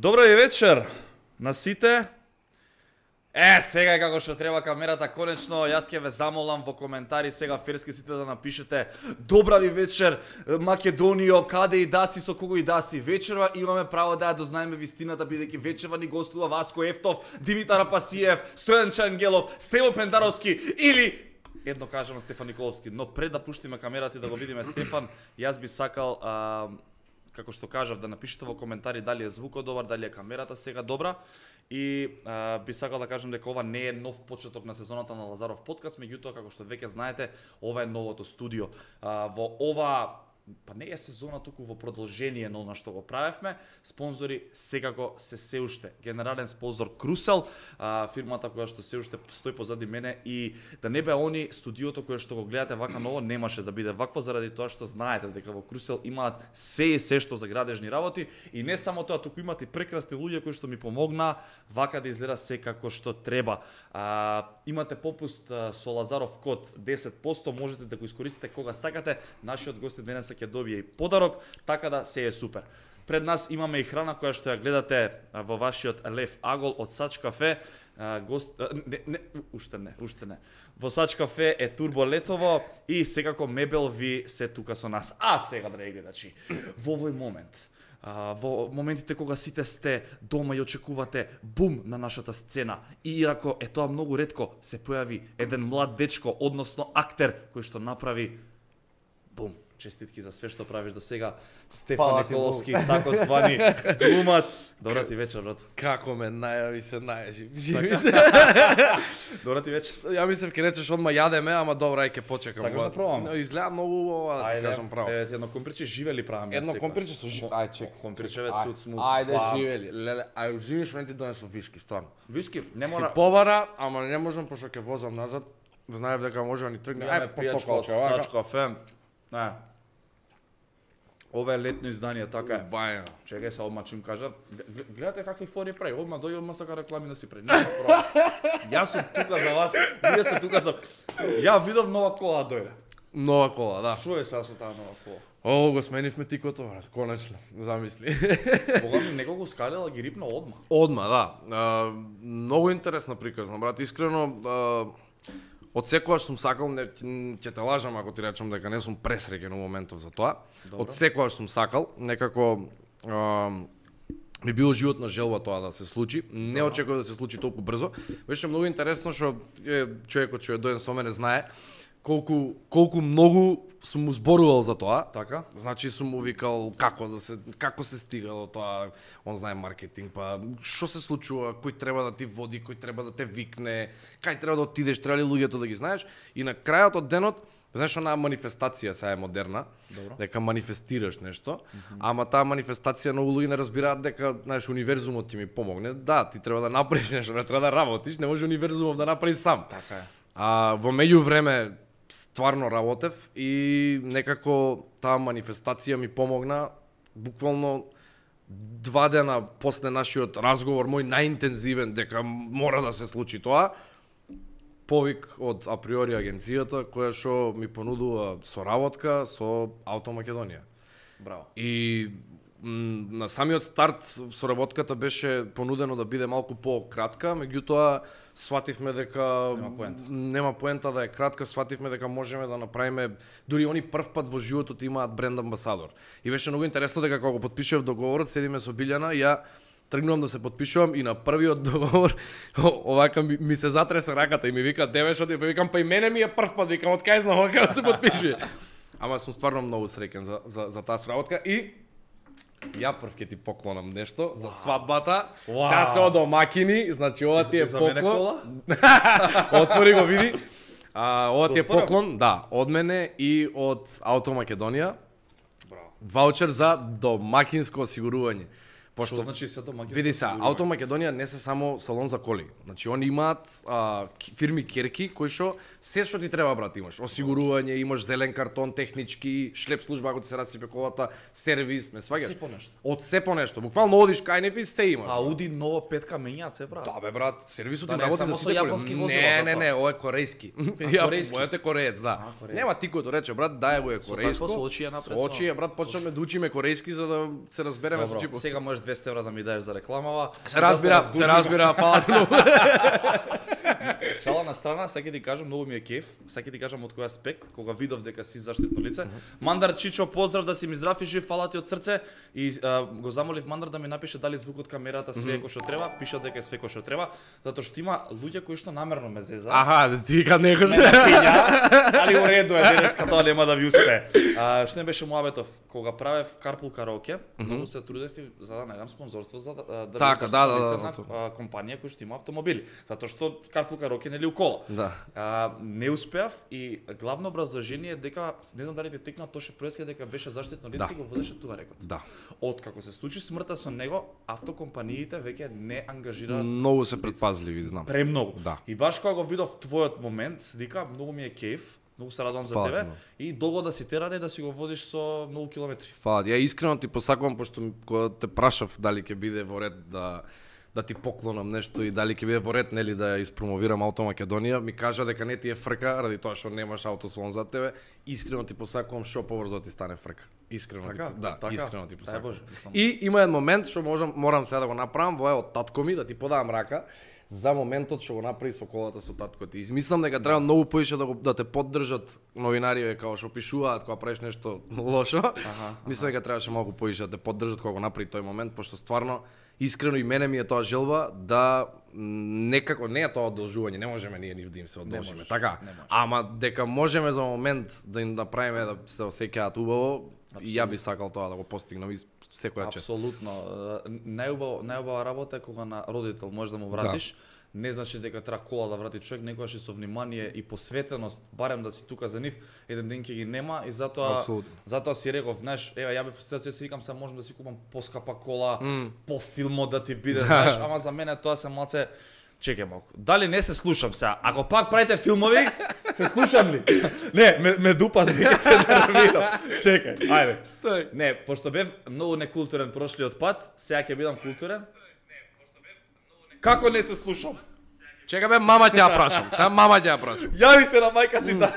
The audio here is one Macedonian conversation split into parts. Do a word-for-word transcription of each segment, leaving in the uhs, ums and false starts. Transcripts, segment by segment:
Добро и вечер на сите. Е, сега е како што треба камерата, конечно, јас ќе ве замолам во коментари сега ферски сите да напишете добра ви вечер, Македонијо, каде и да си, со кого и да си. Вечерва имаме право да ја дознаеме вистината, бидејќи вечерва ни гостува Васко Ефтов, Димитар Апасиев, Стојан Чангелов, Стево Пендаровски или едно кажано Стефан Николовски. Но пред да пуштиме камерата и да го видиме Стефан, јас би сакал а, како што кажав, да напишете во коментари дали е звукот добар, дали е камерата сега добра. И а, би сакал да кажам дека ова не е нов почеток на сезоната на Лазаров подкаст, меѓутоа како што веќе знаете, ова е новото студио. А, во ова па не е сезона туку во продолжение на она што го правевме, спонзори секако се се уште. Генерален спонзор Крусел, а, фирмата која што се уште стои позади мене, и да не бе они студиото кое што го гледате вака ново немаше да биде вакво заради тоа што знаете дека во Крусел имаат се и се што за градежни работи, и не само тоа, туку имаат и прекрасни луѓе кои што ми помогнаа вака да изгледа се како што треба. А, имате попуст а, со Лазаров код десет проценти, можете да го искористите кога сакате. Нашиот гост денес ќе добие и подарок, така да се е супер. Пред нас имаме и храна која што ја гледате во вашиот Лев Агол од Сач кафе. Гост не, не, уште не, уште не. Во Сач кафе е Турбо Летово и секако мебел ви се тука со нас. А сега, драги гледачи, во овој момент, Uh, во моментите кога сите сте дома и очекувате бум на нашата сцена, и иако е тоа многу ретко, се појави еден млад дечко, односно актер, кој што направи бум. Честитки за све што правиш до сега, Стефан Николовски, тако звани глумац. Добра ти вечер, брат. Како ме најави се најажи. Живи се. Добра ти вечер. Ја мислев ќе речеш одма јадеме, ама добра, ај ќе почекам. Сакаш да пробаме? Изгледа многу ова, да ти кажам право. Ајде, едно компирче живели праваме. Едно компирче со живели. Ај чек. Компирчеве цуц смуц. Ајде живели. Леле, ај уживиш не ти донесов виски, стварно. Виски, не мора. Си побара, ама не можам пошто ќе возам назад. Знаев дека може да ни тргне. Ај, пријачка од Сач кафе. Не. Ова е летно издание, така е. Баја. Чекај се, одма чим кажа. Гледате какви фори прави. Одма дојде, одма сака реклами да си прави. Не, јас сум тука за вас. Вие сте тука за. Ја видов нова кола дојде. Нова кола, да. Што е сега со таа нова кола? О, го сменивме тикото, брат, конечно. Замисли. Кога ми некого скалела ги рипна одма. Одма, да. А, многу интересна приказна, брат. Искрено, а, од секогаш сум сакал, не ќе те лажам ако ти речам дека не сум пресреќен во моментов за тоа. Добро. Од секогаш сум сакал, некако а, ми било животна желба тоа да се случи. Не очекував да се случи толку брзо. Беше многу интересно што човекот што е доен со мене знае колку колку многу сум му зборувал за тоа. Така? Значи сум му викал како да се како се стига до тоа, он знае маркетинг, па што се случува, кој треба да ти води, кој треба да те викне, кај треба да отидеш, треба ли луѓето да ги знаеш, и на крајот од денот, знаеш, онаа манифестација сега е модерна. Добро. Дека манифестираш нешто, mm-hmm. ама таа манифестација многу луѓе не разбираат дека, знаеш, универзумот ти ми помогне. Да, ти треба да направиш нешто, не треба да работиш, не може универзумот да направи сам. Така е. А во меѓувреме стварно работев и некако таа манифестација ми помогна. Буквално два дена после нашиот разговор, мој најинтензивен, дека мора да се случи тоа, повик од априори агенцијата која што ми понудува соработка со Auto Македонија. Браво. И на самиот старт соработката беше понудено да биде малку по-кратка, меѓутоа свативме дека нема поента. Нема поента да е кратка, свативме дека можеме да направиме, дури они прв пат во животот имаат бренд амбасадор. И беше многу интересно дека кога потпишував договорот, седиме со Билјана, ја тргнувам да се потпишувам и на првиот договор овака ми, ми се затресе раката и ми вика деве што ти викам, па и мене ми е прв пат, викам од кај знам како да се потпишува. Ама сум стварно многу среќен за за за таа соработка и ја прв ќе ти поклонам нешто за свадбата. Wow. Сега се од домакини, значи ова ти е за поклон. мене кола? Отвори го, види. А, ова ти е Отворам. поклон, да, од мене и од Auto Македонија. Браво. Ваучер за домакинско осигурување. Пошто Што значи се домакинско? види се, Auto Македонија не се само салон за коли. Значи они имаат а, фирми керки кои што се што ти треба, брат, имаш осигурување, имаш зелен картон, технички, шлеп служба ако ти се расипе колата, сервис, ме сваѓаш. Се по нешто. Од се по нешто. Буквално одиш кај неф и се имаш. Ауди нова петка менјаат се, брат. Да бе, брат, сервисот Да им не е работи само за со сите коли. јапонски возила Не, за не, тоа. не, ова е корејски. корејски? Мојот е кореец, да. А, кореец. Нема тикото рече, брат, дај го е Со корејско. такво со очи ја напред, Со очи, ја, брат, почнеме да учиме корејски за да се разбереме со Добро, чипот. сега можеш двесте евра да ми даеш за рекламава. Се разбира, се разбира, фала ти многу. Шала на страна, сега ќе ти кажам, многу ми е кеф, сега ќе ти кажам од кој аспект, кога видов дека си заштитно лице. Мандар Чичо, поздрав, да си ми здрав и жив, фала ти од срце. И а, го замолив Мандар да ми напише дали звукот камерата све е кој што треба, пиша дека е све кој што треба, затоа што има луѓе кои што намерно ме зеза. Аха, ти кад некој Ме напиња, али уреду е денеска, тоа нема да ви успее. А, што не беше муабетов, кога правев Carpool Karaoke, многу се трудев и за да најдам спонзорство за да да Така, да, да, да, на а, компанија која што има автомобили, затоа што Carpool Karaoke нели у кола. Да. А, не успеав и главно образложение дека не знам дали ти текна Тоше Проески дека беше заштитно лице Да. и го водеше тугарекот. Да. Откако се случи смртта со него, автокомпаниите веќе не ангажираат Многу се предпазливи, знам. премногу. Да. И баш кога го видов твојот момент, вика, многу ми е кеф, многу се радувам за Фала ти тебе многу. и долго да си тераде да си го возиш со многу километри. Фала, ја искрено ти посакувам, пошто кога те прашав дали ќе биде во ред да да ти поклонам нешто и дали ќе биде во ред нели да ја испромовирам Ауто Македонија, ми кажа дека не ти е фрка ради тоа што немаш аутосалон за тебе. Искрено ти посакувам што побрзо ти стане фрка. Искрено Така, ти, да, така. искрено ти Дај посакувам. Боже, мислам. И има еден момент што можам морам сега да го направам, во е од татко ми да ти подавам рака за моментот што го направи со колата со татко ти. Измислам дека треба многу поише да го да те поддржат новинари како што пишуваат кога правиш нешто лошо. Аха, Мислам дека требаше малку поише да те поддржат кога го направи тој момент, пошто стварно искрено и мене ми е тоа желба да м, некако не е тоа одолжување, не можеме ние ни да им се одолжиме, можеш, така. не можеш. Ама дека можеме за момент да им направиме да се осеќаат убаво, и ја би сакал тоа да го постигнам и секоја чест. Апсолутно. Најубава најубава работа е кога на родител можеш да му вратиш. Не значи дека треба кола да врати човек, некогаш и со внимание и посветеност, барем да си тука за нив, еден ден ќе ги нема и затоа Апсолутно. затоа си реков, знаеш, еве ја бев во ситуација си викам се можам да си купам поскапа кола, mm. по филмот да ти биде, знаеш, ама за мене тоа се малце чекај малку. Дали не се слушам сега? Ако пак правите филмови, се слушам ли? Не, ме, ме дупа да ќе се нервирам. Чекај, ајде. Стој. Не, пошто бев многу некултурен прошлиот пат, сега ќе бидам културен. Како не се слушам? Чека бе, мама ќе ја прашам. Сега мама ќе ја прашам. Јави се на мајка ти да.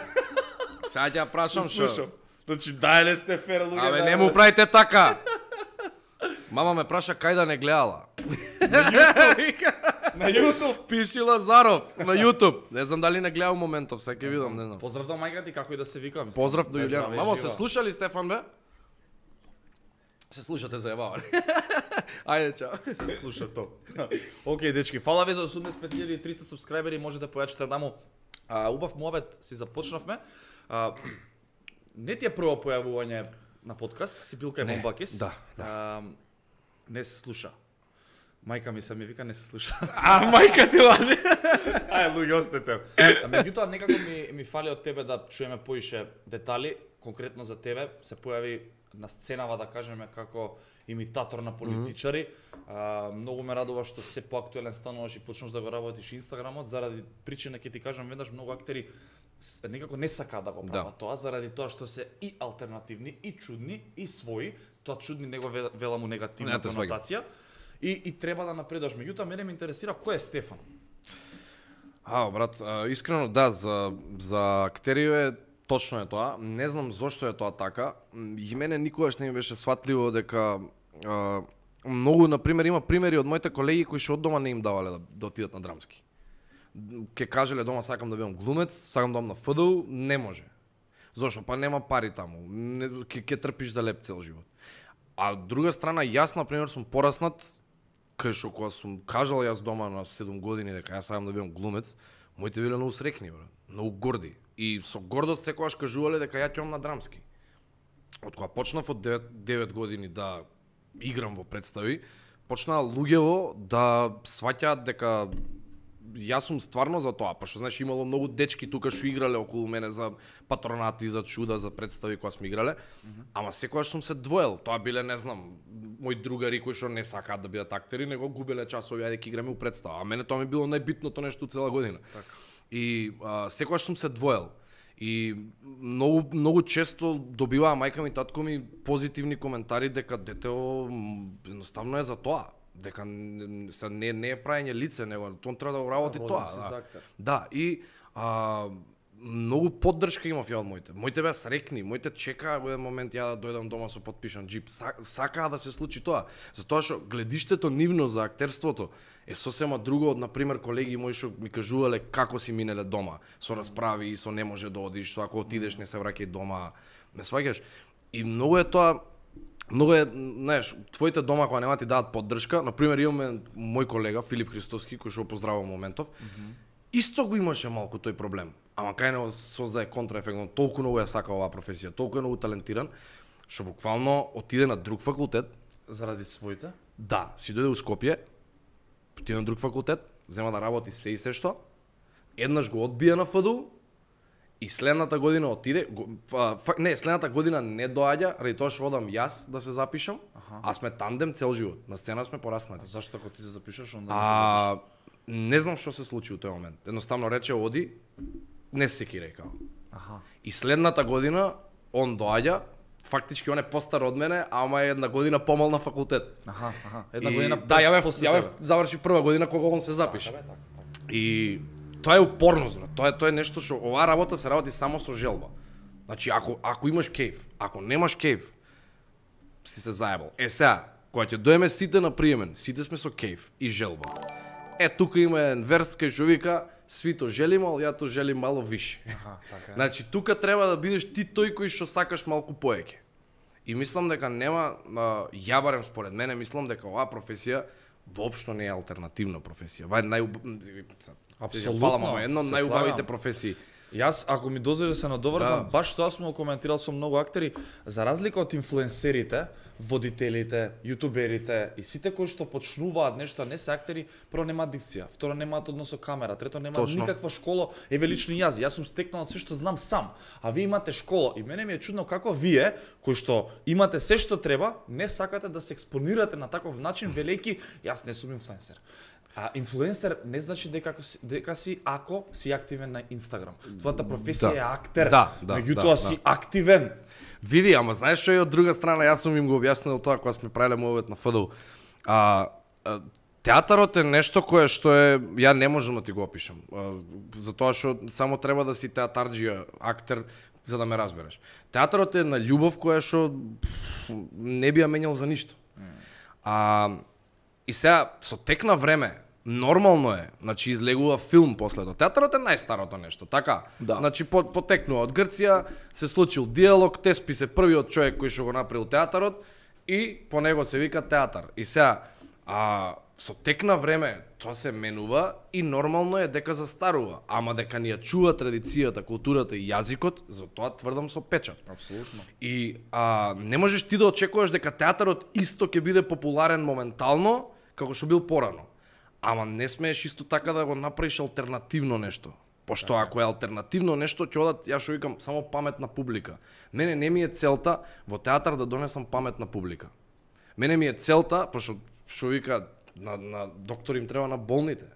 Сега ќе ја прашам што. Слушам. Значи, дај ле сте фер луѓе. Абе да- не му правите така. Мама ме праша кај да не гледала. На YouTube. Пиши Лазаров на YouTube. Не знам дали не гледал моментов, сега ќе видам, не знам. Поздрав до мајка ти, како и да се викам. Поздрав до Дај Јулијана. здраве, Мамо, жива. се слушали Стефан бе? Се слушате заебавали. Ајде, чао. Се слуша то. Океј, дечки, фала ви за осумдесет и пет илјади и триста субскрајбери, може да појачите даму. А, убав муабет си започнавме. А, не ти е прво појавување на подкаст, си бил кај Не, Бомбакис. да, да. А, не се слуша. Мајка ми се ми вика не се слуша. А мајка ти лаже. Ај, луѓе, остете. А меѓутоа некако ми ми фали од тебе да чуеме поише детали, конкретно за тебе се појави на сценава да кажеме како имитатор на политичари. Mm-hmm. А, многу ме радува што се поактуелен стануваш и почнеш да го работиш Инстаграмот заради причина ќе ти кажам веднаш многу актери с- некако не сакаат да го прават Да. тоа заради тоа што се и алтернативни и чудни и своји. Тоа чудни него ве- велам у негативна Не те сваѓам. конотација. И, и треба да напредуваш. Меѓутоа мене ме интересира кој е Стефан. А, брат, а, искрено да, за за актерио е точно е тоа. Не знам зошто е тоа така. М, И мене никогаш не ми беше сватливо дека а, многу, на пример, има примери од моите колеги кои што од дома не им давале да, да отидат на драмски. Ке кажеле дома сакам да бидам глумец, сакам да бидам на ФДУ, не може. Зошто? Па нема пари таму. Не, ке, ке трпиш за леп цел живот. А од друга страна, јас, на пример, сум пораснат, кај што кога сум кажал јас дома на седум години дека јас сакам да бидам глумец, моите биле многу срекни, бре, многу горди. И со гордост секогаш кажувале дека ја ќе на драмски. Од кога почнав од девет, девет години да играм во представи, почнаа луѓево да сваќаат дека јас сум стварно за тоа, пошто знаеш имало многу дечки тука што играле околу мене за патронати, за чуда, за представи кога сме играле, mm-hmm. ама секогаш сум се двоел. Тоа биле, не знам, мои другари кои што не сакаат да бидат актери, него губеле часови ајде ќе играме у представа. А мене тоа ми било најбитното нешто цела година. Така. И а, секогаш сум се двоел. И многу многу често добиваа мајка ми, татко ми позитивни коментари дека детео м, едноставно е за тоа. Дека н- се не не е праење лице, него тоа треба да го работи Роден тоа. си Да. за актер. Да, и а, многу поддршка имав ја од моите. Моите беа срекни, моите чекаа во еден момент ја да дојдам дома со потпишан џип. Сакаа да се случи тоа, затоа што гледиштето нивно за актерството е сосема друго од, например, колеги мои што ми кажувале како си минеле дома, со расправи, со не може да одиш, со ако отидеш не се враќај дома, ме сваќаш? И многу е тоа, многу е, знаеш, твоите дома кога нема ти дадат поддршка, например, имаме мој колега Филип Христоски, кој што го поздравувам моментов, mm -hmm. исто го имаше малку тој проблем. Ама кај него создае контраефект, толку многу ја сака оваа професија, толку е многу талентиран, што буквално отиде на друг факултет заради своите? Да, си дојде у Скопје, отиде на друг факултет, зема да работи се и се што, еднаш го одбија на Ф Д У и следната година отиде, го, фа, фа, не, следната година не доаѓа, ради тоа што одам јас да се запишам, аха. А сме тандем цел живот, на сцена сме пораснати. Зашто ако ти се запишеш, онда не се запишеш? Не знам што се случи у тој момент. Едноставно рече оди, не се ки рекал. Аха. И следната година он доаѓа, фактички он е постар од мене, ама е една година помал на факултет. Аха, аха. Една и, година да, ја бев, ја бев завршив прва година кога он се запиша. Так, так, так. И тоа е упорност, брат. Тоа е тоа е нешто што оваа работа се работи само со желба. Значи ако ако имаш кејф, ако немаш кејф, си се заебал. Е сега, кога ќе доеме сите на приемен, сите сме со кејф и желба. Е тука има еден верс кај што вика свито желим, ал ја то желим мало више. Аха, така е. Значи тука треба да бидеш ти тој кој што сакаш малку поеќе. И мислам дека нема, ја барем според мене, мислам дека оваа професија воопшто не е алтернативна професија. Ова е нај Апсолутно. Фала, едно од најубавите професии. Јас, ако ми дозволиш да се надоврзам, да. баш тоа сум го коментирал со многу актери, за разлика од инфлуенсерите, водителите, јутуберите и сите кои што почнуваат нешто, не се актери, прво немаат дикција, второ немаат однос со камера, трето немаат Точно. никаква школа, еве лично јас, јас сум стекнал се што знам сам, а вие имате школа и мене ми е чудно како вие, кои што имате се што треба, не сакате да се експонирате на таков начин, велејќи јас не сум инфлуенсер. А инфлуенсер не значи дека си, дека си ако си активен на Инстаграм. Твојата професија да. е актер, да, да, меѓутоа да, си да. активен. Види, ама знаеш што е од друга страна, јас сум им го објаснил тоа кога сме правеле мојот на Ф Д У. А, а театарот е нешто кое што е, ја не можам да ти го опишам, а, затоа што само треба да си театарџија, актер, за да ме разбереш. Театарот е на љубов која што не би ја менјал за ништо. А, и сега, со тек на време, нормално е, значи излегува филм после тоа. Театарот е најстарото нешто, така? Да. Значи по, потекнува од Грција, се случил диалог, Теспи се првиот човек кој што го направил театарот и по него се вика театар. И сега, а со тек на време тоа се менува и нормално е дека застарува, ама дека ни ја чува традицијата, културата и јазикот, за тоа тврдам со печат. Апсолутно. И а, не можеш ти да очекуваш дека театарот исто ќе биде популарен моментално како што бил порано. Ама не смееш исто така да го направиш алтернативно нешто. Пошто така. Ако е алтернативно нешто, ќе одат, ја што викам, само паметна публика. Мене не ми е целта во театар да донесам паметна публика. Мене ми е целта, пошто што вика, на, на доктор им треба на болните.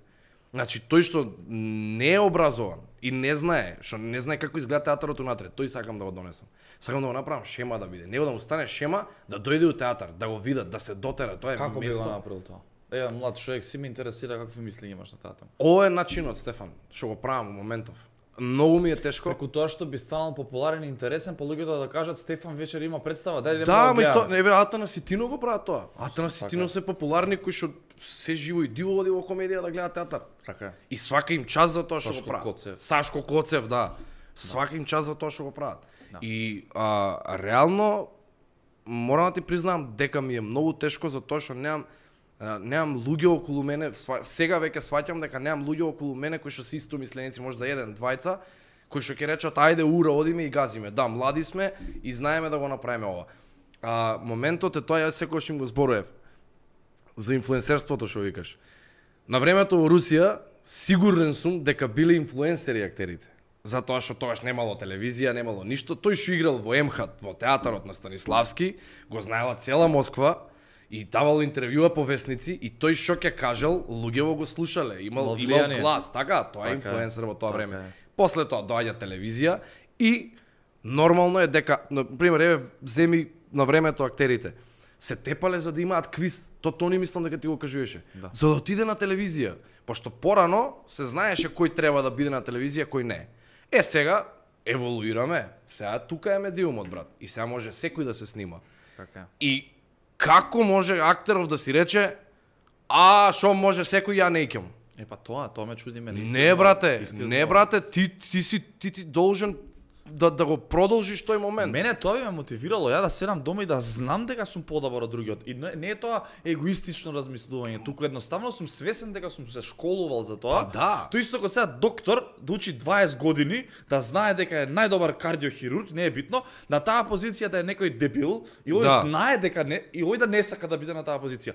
Значи, тој што не е образован и не знае, што не знае како изгледа театарот унатре, тој сакам да го донесам. Сакам да го направам шема да биде. Него да му стане шема, да дојде у театар, да го видат, да се дотера. Тоа е Како место. би го направил тоа? Ева, млад човек, си ме интересира какви мисли имаш на таа тема. Ова е начинот, Стефан, што го правам во моментов. Многу ми е тешко. Преку тоа што би станал популарен и интересен, по луѓето да кажат Стефан вечер има представа, дај Да, да ме тоа, не веројатно на Ситино го прават тоа. Атана Ситино се популарни кои што се живо и диво оди во комедија да гледаат театар. Така е. И свака им час за тоа што го Сашко прават. Коцев. Сашко Коцев, да. Свака им час за тоа што го прават. И а, реално морам да ти признам дека ми е многу тешко за тоа што немам немам луѓе околу мене, сега веќе сваќам дека немам луѓе околу мене кои што се исто мисленици, може да еден, двајца, кои што ќе речат ајде ура одиме и газиме. Да, млади сме и знаеме да го направиме ова. А моментот е тоа, јас секогаш им го зборував за инфлуенсерството што викаш. На времето во Русија сигурен сум дека биле инфлуенсери актерите. Затоа што тогаш немало телевизија, немало ништо. Тој што играл во МХАТ, во театарот на Станиславски, го знаела цела Москва и давал интервјуа по весници и тој што ќе кажал, луѓето го слушале, имал имал глас, така, тоа е инфлуенсер во тоа време. После тоа доаѓа телевизија и нормално е дека, на пример, еве земи на времето актерите се тепале за да имаат квиз. То Тони мислам дека ти го кажуваше. Да. За да отиде на телевизија, пошто порано се знаеше кој треба да биде на телевизија, кој не. Е, сега еволуираме. Сега тука е медиумот, брат. И сега може секој да се снима. Така. И како може актеров да си рече, а шо може секој, ја не икем? Е па тоа, тоа ме чуди мене. Не, брате, не, брате, ти ти си ти ти должен да да го продолжиш тој момент. Мене тоа би ме мотивирало ја да седам дома и да знам дека сум подобар од другиот. И не, не е тоа егоистично размислување, туку едноставно сум свесен дека сум се школувал за тоа. Па да. Тоа исто како сега доктор да учи дваесет години, да знае дека е најдобар кардиохирург, не е битно, на таа позиција да е некој дебил и ој Да. знае дека не и ој да не сака да биде на таа позиција.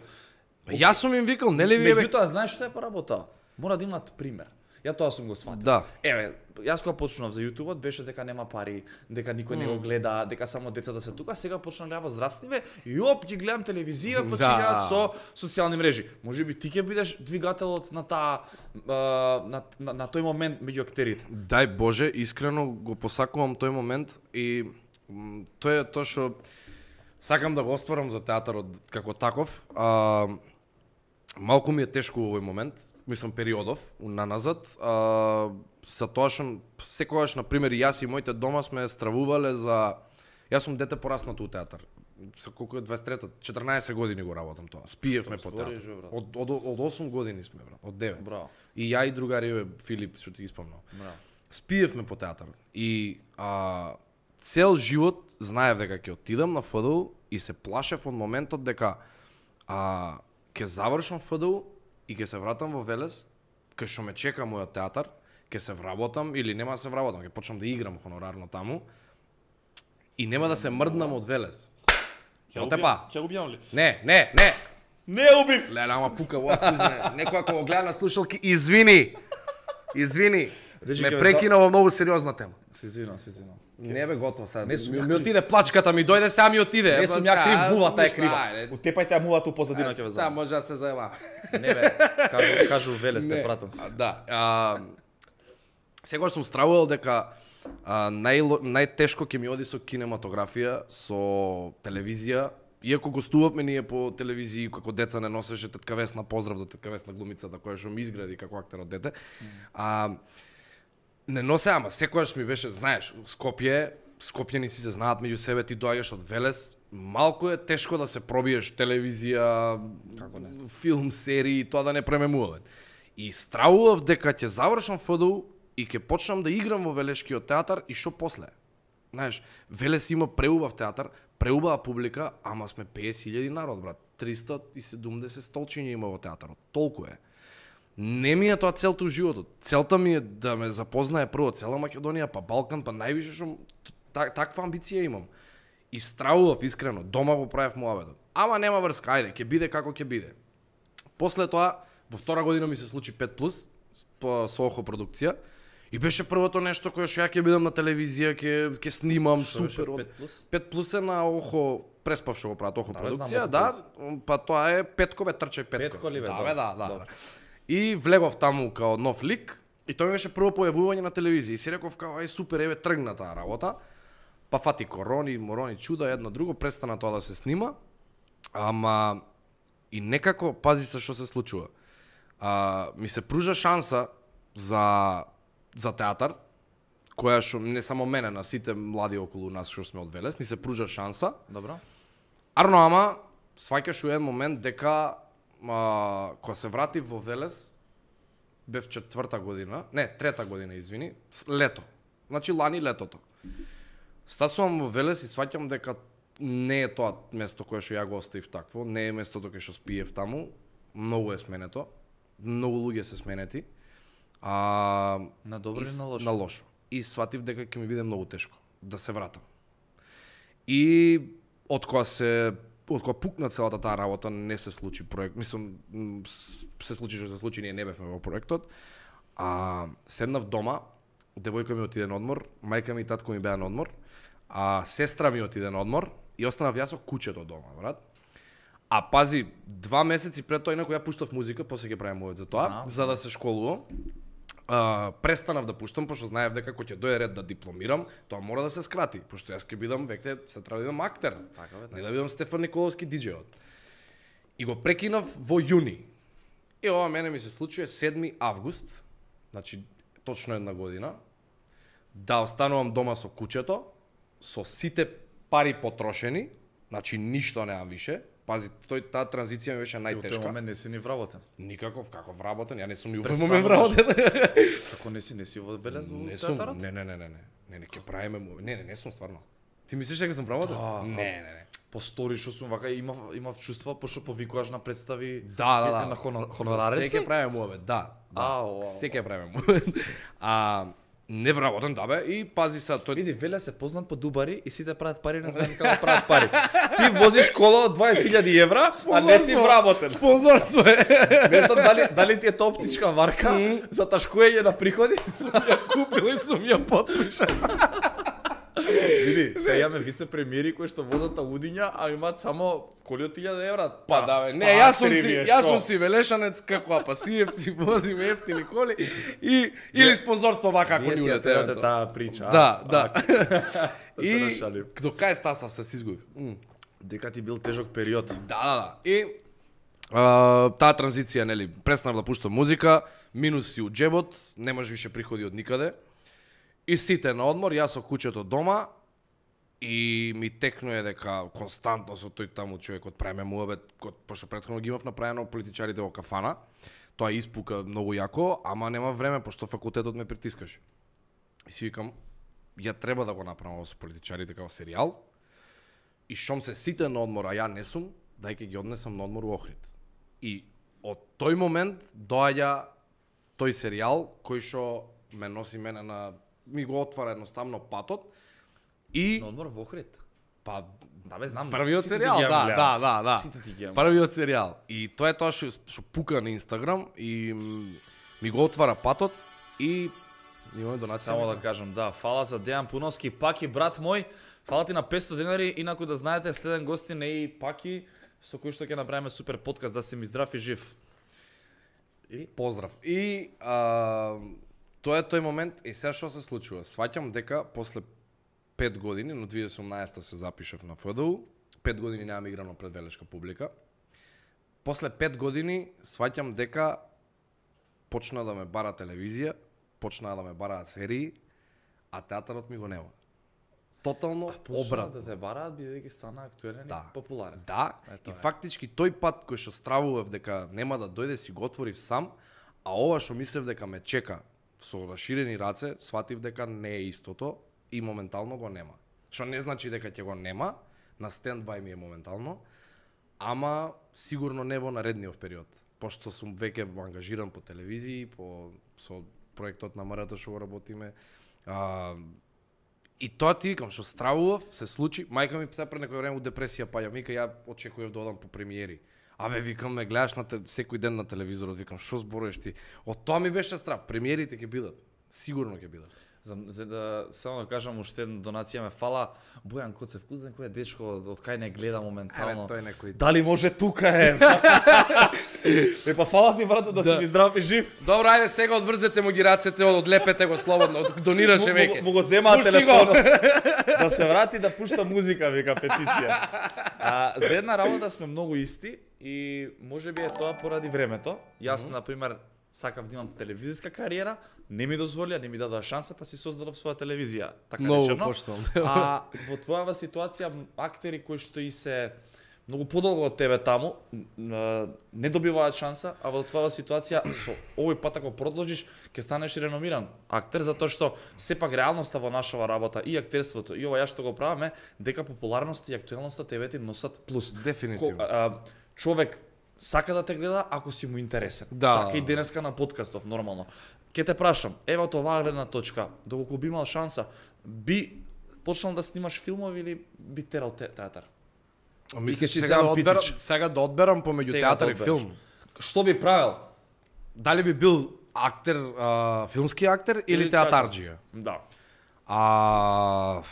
Па јас сум им викал, нели ви бе? Меѓутоа, знаеш што е поработа? Мора да имат пример. Ја тоа сум го сватил. Да. Еве, јас кога почнав за YouTube-от беше дека нема пари, дека никој не го гледа, дека само децата се тука, сега почна љаво здравствениве и оп ги гледам телевизија, почињаат Да. со социјални мрежи. Можеби ти ќе бидеш двигателот на таа а, на, на, на тој момент меѓу актерите. Дај Боже, искрено го посакувам тој момент и м, тој е тоа што сакам да го остварам за театарот како таков. А, малку ми е тешко во овој момент, мислам периодов наназад, а, за тоа што секогаш, например, јас и моите дома сме стравувале за... Јас сум дете пораснато у театар. Со колку е дваесет и трета, четрнаесет години го работам тоа. Спиевме по театар. збориш, бе, брат? Од, од, од осум години сме, брат. Од девет. Браво. И ја и другари Филип, што ти испомнав. Браво. Спиевме по театар. И а, цел живот знаев дека ќе отидам на ФДУ и се плашев од моментот дека а, ќе завршам ФДУ и ќе се вратам во Велес, кај што ме чека мојот театар, ќе се вработам или нема да се вработам, ќе почнам да играм хонорарно таму и нема да се мрднам од Велес. Од тепа. Ќе го убијам ли? Не, не, не. Не убив. Леле, ама пука во кузне. Некој ако го гледа на слушалки, извини. Извини. Дежи, Ме ќе ве прекина во многу сериозна тема. Се извинувам, се извинувам. Не бе готово сега. Не сум ми, ја ми крив. отиде плачката, ми дојде сега ми отиде. Не Па сум ја сега, крив, мувата е ништа, крива. ајде. Утепајте ја мувата у позадина ќе ве Сега знам. може да се заеба. Не бе, кажу, кажу Велес те Не. пратам се. А, Да. А, Сегаш сум стравувал дека а, нај, најтешко ќе ми оди со кинематографија, со телевизија. Иако гостувавме ние по телевизија како деца, не носеше тетка Весна, поздрав до тетка Весна глумицата која што ми изгради како актер од дете. А, не носе, ама секојаш ми беше, знаеш, Скопје, Скопјани си се знаат меѓу себе, ти доаѓаш од Велес, малку е тешко да се пробиеш телевизија, Како не? филм, серии, тоа да не премемуваме. И стравував дека ќе завршам ФДУ и ќе почнам да играм во Велешкиот театар и што после. Знаеш, Велес има преубав театар, преубава публика, ама сме песет илјади народ, брат. триста и седумдесет столчиња има во театарот. Толку е. Не ми е тоа целта у животот. Целта ми е да ме запознае прво цела Македонија, па Балкан, па највише што так, таква амбиција имам. И стравував искрено, дома го правев муабетот. Ама нема врска, ајде, ќе биде како ќе биде. После тоа, во втора година ми се случи пет плюс, по со Охо продукција, и беше првото нешто кое што ја ќе бидам на телевизија, ќе ќе снимам Што беше супер. пет плюс? пет плюс е на Охо, преспав што го прават Охо Да, бе, продукција, знам да, Охо па тоа е Петко, бе, трчај Петко. Петко ли, бе, Да, добро, бе, да, да. добро. И влегов таму као нов лик, и тоа ми беше прво појавување на телевизија. И си реков као, ај супер, еве тргна таа работа. Па фати корони, морони, чуда, едно друго, престана тоа да се снима. Ама и некако, пази се што се случува. А, ми се пружа шанса за за театар, која што не само мене, на сите млади околу нас што сме од Велес, ни се пружа шанса. Добро. Арно, ама сваќаш у еден момент дека а, кога се врати во Велес, бев четврта година, не, трета година, извини, с- лето. Значи лани летото. Стасувам во Велес и сваќам дека не е тоа место кое што ја го оставив такво, не е местото кое што спиев таму, многу е сменето, многу луѓе се сменети. А, На добро и или с- на лошо? На лошо. И сватив дека ќе ми биде многу тешко да се вратам. И од кога се од кога пукна целата таа работа, не се случи проект. Мислам, м, с- се случи што се случи, ние не бевме во проектот. А седнав дома, девојка ми отиде на одмор, мајка ми и татко ми беа на одмор, а сестра ми отиде на одмор и останав јас со кучето дома, брат. А пази, два месеци пред тоа инаку ја пуштав музика, после ќе правим овој за тоа, Знам. за да се школувам. А, престанав да пуштам, пошто знаев дека кога ќе дојде ред да дипломирам, тоа мора да се скрати, пошто јас ќе бидам веќе се треба да бидам актер. Така бе, така. Не да бидам Стефан Николовски диџејот. И го прекинав во јуни. И ова мене ми се случува седми август, значи точно една година. да останувам дома со кучето, со сите пари потрошени, значи ништо немам више. Пази, тој таа транзиција ми беше Ти најтешка. во тој момент не си ни вработен. Никаков, каков вработен, ја не сум ни во Престануваш. момент вработен. Како не си, не си во велез во Не сум, театарот? не, не, не, не, не, не, не, ќе правиме, му- не, не, не сум стварно. Ти мислиш дека сум вработен? Да, Не, не, не. По стори што сум вака имав имав чувства пошто повикуваш на представи Да, да, да. на хоно- хонорари. Се ќе правиме муавет, да. да. Ау, ау. Се ќе правиме муавет. А не вработен, да бе, и пази се, тој Види, Веле се познат по дубари и сите прават пари, не знаем како прават пари. Ти возиш кола од дваесет илјади евра, а не си вработен. спонзорство е. Не знам дали дали ти е тоа оптичка варка за ташкуење на приходи. Сум ја купил и сум ја подпишал. Види, се јаме вице-премиери кои што возат аудиња, а имаат само коли од илјада евра. Па да, бе, не, јас сум си, јас сум си велешанец како апасиев, си возим ефтини коли и или спонзорство вака ако Ние ни си ја улете. терате таа прича. Да, да. се И нашалим. до кај стаса се си изгубив. Дека ти бил тежок период. Да, да, да. И а, таа транзиција, нели, престанав да пуштам музика, минуси од джебот, немаш више приходи од никаде. И сите на одмор, јас со кучето дома и ми текнуе дека константно со тој таму човекот правиме муабет, пошто претходно ги имав направено политичарите во кафана. Тоа испука многу јако, ама нема време пошто факултетот ме притискаше. И си викам, ја треба да го направам со политичарите како серијал. И шом се сите на одмор, а ја не сум, дај ги однесам на одмор во Охрид. И од тој момент доаѓа тој серијал кој што ме носи мене на ми го отвара едноставно патот и На одмор во Охрид. па Да бе, знам. првиот сите ти серијал, ги да, имам да, гледам. да, да. Сите ти ги имам. Првиот серијал. И тоа е тоа што што пука на Инстаграм и м, ми го отвара патот и имаме донација. Само да кажам, да, фала за Дејан Пуновски, Паки брат мој. Фала ти на петсто денари, инаку да знаете, следен гостин е и Паки, со кој што ќе направиме супер подкаст, да си ми здрав и жив. И Поздрав. И а, тоа е тој момент и сега што се случува. Сваќам дека после пет години, но две тисячи и осумнаесета се запишав на ФДУ, пет години немам играно пред велешка публика. После пет години сваќам дека почна да ме бара телевизија, почна да ме бара серии, а театарот ми го нема. Тотално обрат. да те бараат бидејќи стана актуелен Да. и популарен. Да, Ето и е. фактички тој пат кој што стравував дека нема да дојде си го отворив сам, а ова што мислев дека ме чека со расширени раце, сватив дека не е истото и моментално го нема. Што не значи дека ќе го нема, на стендбај ми е моментално, ама сигурно не во наредниот период, пошто сум веќе ангажиран по телевизии, по со проектот на МРТ што го работиме. А, И тоа ти викам, што стравував, се случи. Мајка ми се пред некој време у депресија паѓа. Мика, ја очекував да одам по премиери. Абе, викам, ме гледаш на те, секој ден на телевизорот, викам, што зборуваш ти? Од тоа ми беше страв. Премиерите ќе бидат. Сигурно ќе бидат. За, за да само да кажам уште една донација ме фала Бојан Коцев, кузен кој е дечко од кај не гледа моментално. Еве, тој некој. Дали може тука е? Е па фала ти брате да, Да. си ми здрав и жив. Добро, ајде сега одврзете му ги рацете, одлепете го слободно, од- донираше Му- веќе. Му, му го земаа Пушти телефонот. Да се врати да пушта музика, вика петиција. А, за една работа сме многу исти и можеби е тоа поради времето. Јас, mm -hmm. например, сакав да имам телевизиска кариера, не ми дозволија, не ми дадоа шанса, па си создадов своја телевизија, така Многу речено. поштовно. А во твојава ситуација актери кои што и се многу подолго од тебе таму н- не добиваат шанса, а во твојава ситуација со овој пат ако продолжиш ќе станеш и реномиран актер, затоа што сепак реалноста во нашава работа и актерството и ова ја што го правиме, дека популарноста и актуелноста тебе ти носат плюс. Дефинитивно. Ко- а, човек сака да те гледа ако си му интересен. Да. Така и денеска на подкастов нормално. Ке те прашам, ева од оваа гледна точка, доколку би имал шанса, би почнал да снимаш филмови или би терал те, театар? А мислиш И ќе си сега да земам одберам, писич. сега да одберам помеѓу Сега да театар и одбераш. филм? Што би правил? Дали би бил актер, а, филмски актер или, Или театарџија? Да. А,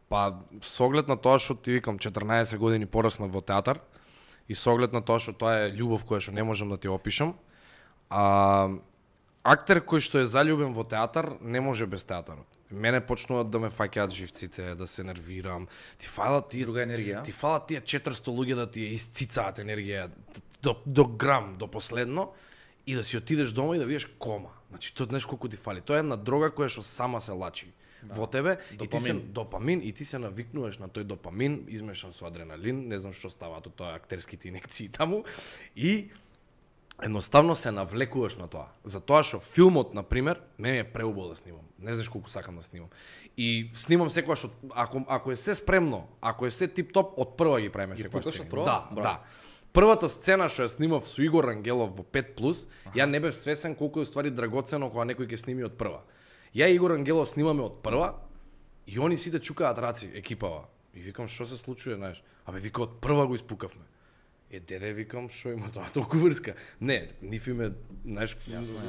па, со оглед на тоа што ти викам, четрнаесет години пораснав во театар и со оглед на тоа што тоа е љубов која што не можам да ти опишам, а, актер кој што е заљубен во театар не може без театарот. Мене почнуваат да ме фаќаат живците, да се нервирам. Ти фалат тие Друга енергија. Ти фалат тие четиристо луѓе да ти ја исцицаат енергија до, до грам, до последно и да си отидеш дома и да видиш кома. Значи тоа знаеш колку ти фали. Тоа е една дрога која што сама се лачи. во тебе и ти се Допамин. допамин и ти се навикнуваш на тој допамин измешан со адреналин, не знам што става од тоа актерските инекции таму и едноставно се навлекуваш на тоа. Затоа што филмот, на пример, мене е преубаво да снимам. Не знаеш колку сакам да снимам. И снимам секогаш од ако ако е се спремно, ако е се тип-топ, од прва ги правиме секогаш. пукаш од сцени. прва? Да, Браво. да. Првата сцена што ја снимав со Игор Ангелов во пет плюс, ја не бев свесен колку е уствари драгоцено кога некој ќе сними од прва. Ја и Игор Ангелов снимаме од прва и они сите чукаат раци, екипава. И викам, што се случува, знаеш? Абе, вика, од прва го испукавме. Е, дере, викам, што има тоа толку врска? Не, ниф име, знаеш,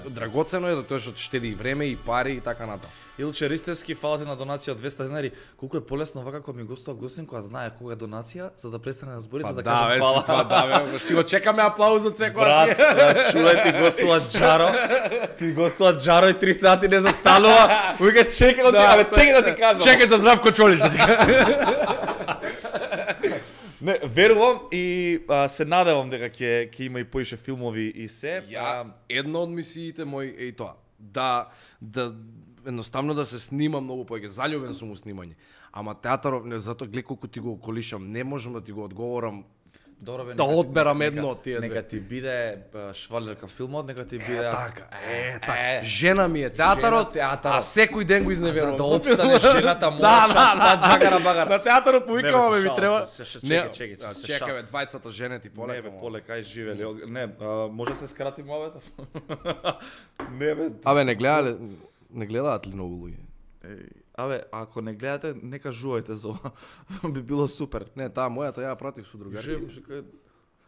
драгоцено е да тоа што штеди и време и пари и така натаму. Илче Ристевски, фала ти на донација од двесте денари. Колку е полесно вака кога ми гостува гостин која знае кога е донација, за да престане да збори, за да да, каже бе, фала. си тоа, да, бе, си го чекаме аплауз од секојаш. Брат, брат, чувај ти гостува Джаро. Ти гостува Джаро и три сати не застанува. Викаш чекај да, абе чекај да ти кажам. Чекај за Здравко Чолиш да ти кажам. Не, верувам и а, се надевам дека ќе ќе има и поише филмови и се. Ја, една од мисиите мои е и тоа. Да, да, едноставно да се снима многу повеќе. Заљубен сум у снимање. Ама театаров, не, затоа гледа колку ти го околишам, не можам да ти го одговорам. Добро бе, Да нека ти- одберам нека- едно од тие две. Нека ти биде а, швалерка филмот, нека ти биде Е, така, е, така. е. Жена ми е театарот, Жена театарот. а секој ден го За изневерувам. да со обстане филмот. жената мора Да, чат да, на джагара багара. На театарот му Не, бе, викам, се бе, ми шалам, треба. се- се- Не, чекај, чекај, а, се чекај, шалам. бе, двајцата жени ти полека. Не бе, мамо. полека, ај живели. Не, а, може да се скрати мовета? Не бе. Абе, не гледале, не гледаат ли многу луѓе? Еј, абе, ако не гледате, не кажувајте за ова. Би било супер. Не, таа мојата ја пратив со другари. Жив, чекај,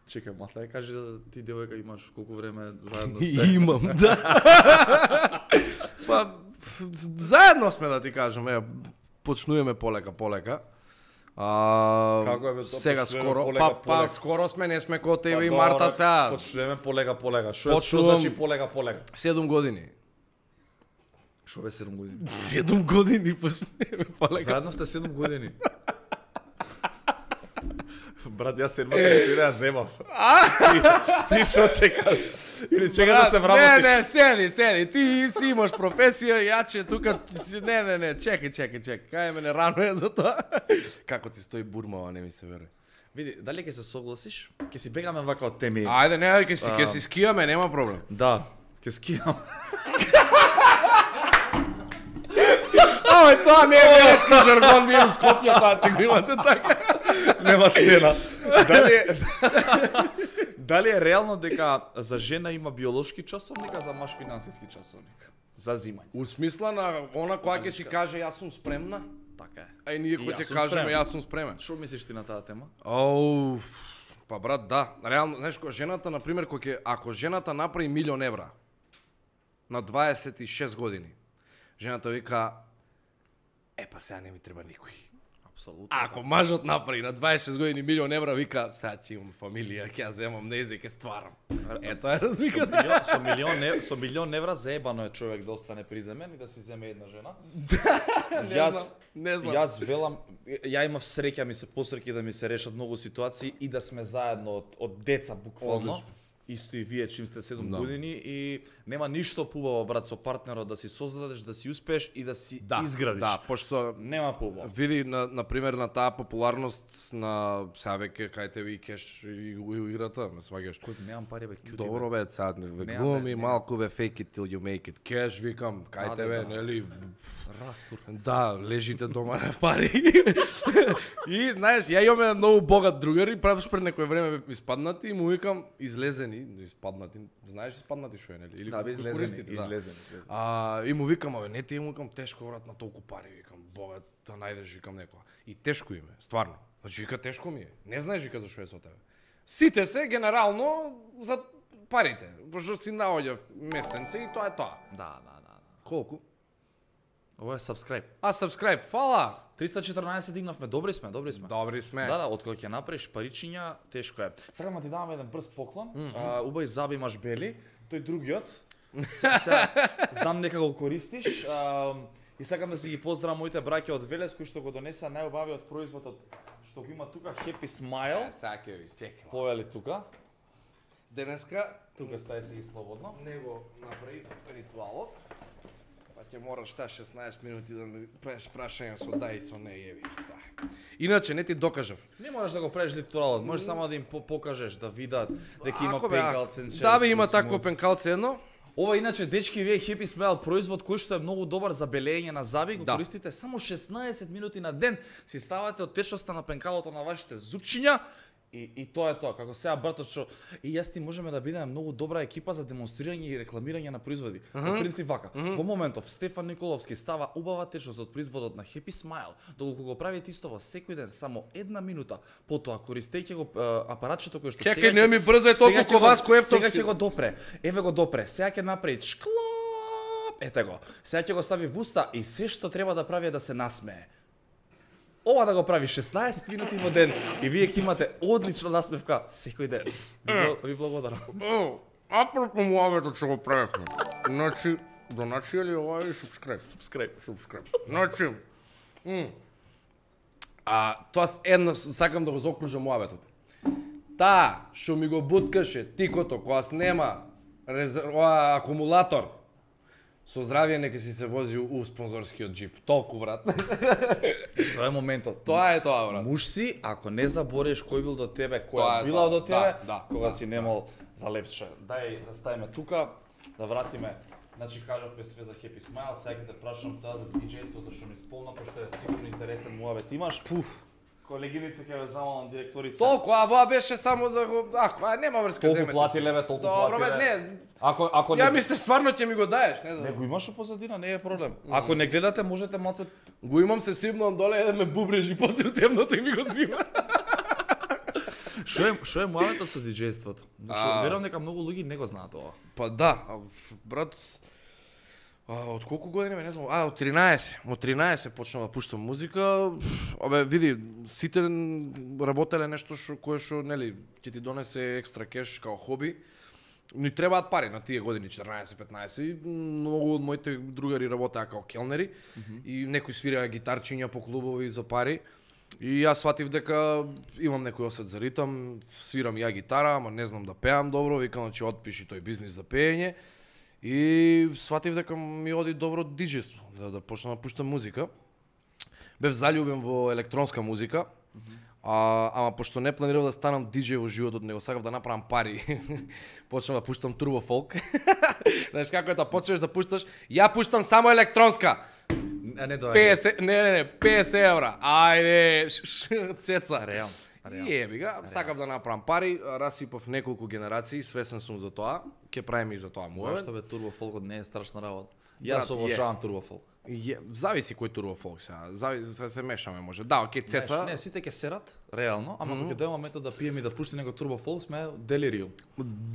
чекај, мата, ја кажи за ти девојка имаш колку време заедно сте. Имам, да. Па, заедно сме да ти кажам, е, почнуваме полека, полека. А, Како е бе тоа, сега почнуваме скоро, полека, па, па полека? скоро сме, не сме ко тебе и Па, Марта добро, сега. Почнуваме полека, полека. Што е, што Почнувам- значи полека, полека? седум години. Што бе седум години? седум години почнуваме полека. Заедно сте седум години. Брат, јас седмата година ја земав. Ти, ти што чекаш? Или чекаш да се Не, вработиш? не, седи, седи. Ти си имаш професија, јаче тука си- не, не, не, чекај, чекај, чекај. Кај мене рано е за тоа. Како ти стои бурмава, не ми се верува. Види, дали ќе се согласиш? Ќе си бегаме вака од теми. Ајде, не, ќе си ќе си скијаме, нема проблем. Да, ќе скијам. Ова тоа не е белешки жаргон, ние у Скопје тоа се го имате така. Нема цена. Дали е, дали е реално дека за жена има биолошки часовник, а за маж финансиски часовник? За зимање. У смисла на она која ќе си каже јас сум спремна, Така е. а и ние И кој јас ќе сум кажеме спремен. јас сум спремен. Што мислиш ти на таа тема? Оу, па брат, да. Реално, знаеш, кога жената, на пример, кој ќе ако жената направи милион евра на дваесет и шест години, жената вика е па сега не ми треба никој. Апсолутно. Ако мажот направи на дваесет и шест години милион евра, вика сега ќе имам фамилија, ќе ја земам незе, ќе стварам. Е, тоа е Со разликата. милион, со милион, ев- со милион евра заебано е човек да остане приземен и да си земе една жена. Не Јас- знам, не знам. Јас велам, ја имав среќа, ми се посреќи да ми се решат многу ситуации и да сме заедно од, од деца буквално. Одлично. Исто и вие чим сте седум Да. години и нема ништо побаво брат со партнерот да си создадеш, да си успееш и да си Да, изградиш. да, пошто Нема побаво. види на на пример на таа популарност на сега веќе кај тебе и кеш и го и играта, ме сваѓаш. Кој немам пари бе, кјути. Добро бе, сад, бе, Нема, глуми бе, нема. малку бе, fake it till you make it. Кеш, викам, кај Да, тебе, да, да. нели, Растур. да, лежите дома на пари. И, знаеш, ја имам еден многу богат другар и правиш пред некој време бев испаднати и му викам, излезени, испаднати, знаеш испаднати шо е, нели? Или Да, бе, излезени, користите, да. излезени, излезени. А, и му викам, абе, не ти му викам, тешко брат на толку пари, викам, богат, да најдеш, викам некоја. И тешко им е, стварно. Значи, вика, тешко ми е. Не знаеш, вика, зашо е со тебе. Сите се, генерално, за парите. Пошто си наоѓа местенце и тоа е тоа. Да, да, да. Колку? Ова е subscribe. А, subscribe, фала! триста и четрнаесет дигнавме, добри сме, добри сме. Добри сме. Да, да, откога ќе направиш паричиња, тешко е. Сакам да ти дам еден брз поклон. Mm -hmm. а, убави заби имаш бели, тој другиот. Се, се, знам дека го користиш. А, и сакам да си ги поздравам моите браќа од Велес кои што го донеса најубавиот производ од што го има тука Happy Smile. Сега ќе ви чекам. Повели тука. Денеска Тука стај си ги слободно. него направив ритуалот. Па ќе мораш сега шеснаесет минути да ми правиш прашања со да и со не еви. Да. Иначе не ти докажав. Не можеш да го правиш литерално, можеш само да им покажеш, да видат дека има Ако бе, пенкалцен. Да бе, има такво пенкалце едно. Ова иначе дечки вие Happy Smile производ кој што е многу добар за белење на заби, го Да. користите само шеснаесет минути на ден, си ставате од течноста на пенкалото на вашите зупчиња. И, и тоа е тоа, како сега братот што и јас ти можеме да бидеме многу добра екипа за демонстрирање и рекламирање на производи. Uh -huh. По принцип вака, uh -huh. во моментов Стефан Николовски става убава течност од производот на Happy Smile, доколку го прави исто во секој ден само една минута, потоа користејќи го а, апаратчето кој што Чекај, не ми брзај толку ко вас кој сега ќе го допре. Еве го допре. Сега ќе направи шклоп. Ете го. Сега ќе го стави в уста и се што треба да прави е да се насмее. Ова да го прави шеснаесет минути во ден и вие ќе имате одлична насмевка секој ден. Ви, ви благодарам. О, апропо муабетот што го правевме. Значи, донација ли ова и субскрайб? Subscribe. Субскрайб. Значи, м, а тоа с една сакам да го заокружам муабетот. Таа што ми го буткаше тикото кога снема резер... ова акумулатор, со здравје нека си се вози у спонзорскиот джип. Толку, брат. Тоа е моментот. Тоа е тоа, брат. Муж си, ако не забореш кој бил до тебе, Тоа која е била тоа. до тебе, Да, да, кога да, си немал за лепше. Дај да ставиме тука, да вратиме. Значи кажавме све за Happy Smile, сега ќе те прашам тоа за диџејството што ми спомна, пошто е сигурно интересен муабет имаш. Пуф. Колегиница ќе ве замолам директорица. Толку, а тоа беше само да го... Ако, а нема врска, Толку земете плати си. леве, толку Добро, плати бе, леве. не. Ако ако Ја не мислев стварно ќе ми го даеш, не не знам. го имаш у позадина, не е проблем. Ако не гледате, можете малце Го имам, се сипнам доле, еден ме бубрежи после у темното и ми го зима. Што е што е муабетот со диџејството? Зашто А. верувам дека многу луѓе не го знаат ова. Па да, а, брат, а, од колку години ме не знам, а од тринаесет, од тринаесет почнав да пуштам музика. Абе види, сите работеле нешто што кое што нели ќе ти донесе екстра кеш као хоби. Ни требаат пари на тие години четрнаесет петнаесет. И многу од моите другари работеа као келнери mm -hmm. и некои свираа гитарчиња по клубови за пари. И јас сватив дека имам некој осет за ритам, свирам ја гитара, ама не знам да пеам добро, викам значи отпиши тој бизнис за пеење. И сватив дека ми оди добро диџејство, да, да почнам да пуштам музика. Бев заљубен во електронска музика, mm -hmm. а, ама пошто не планирав да станам диџеј во животот, него сакав да направам пари. Почнав да пуштам турбо фолк. Знаеш како е да почнеш да пушташ? Ја пуштам само електронска. А не доаѓа. песет, не, не, не, песет евра. Ајде, цеца. Реално. Еби га, сакав да направам пари, расипав неколку генерации, свесен сум за тоа, ќе правиме и за тоа муабет. Зашто бе турбо фолкот не е страшна работа? Брат, Јас обожавам турбо фолк. Е, зависи кој турбо фолк сега. Зависи, се, се мешаме може. Да, окей, цеца. Знаеш, не, сите ќе серат, реално, ама кога ќе дојде моментот да пиеме и да пуштиме него турбо фолк, сме делириум.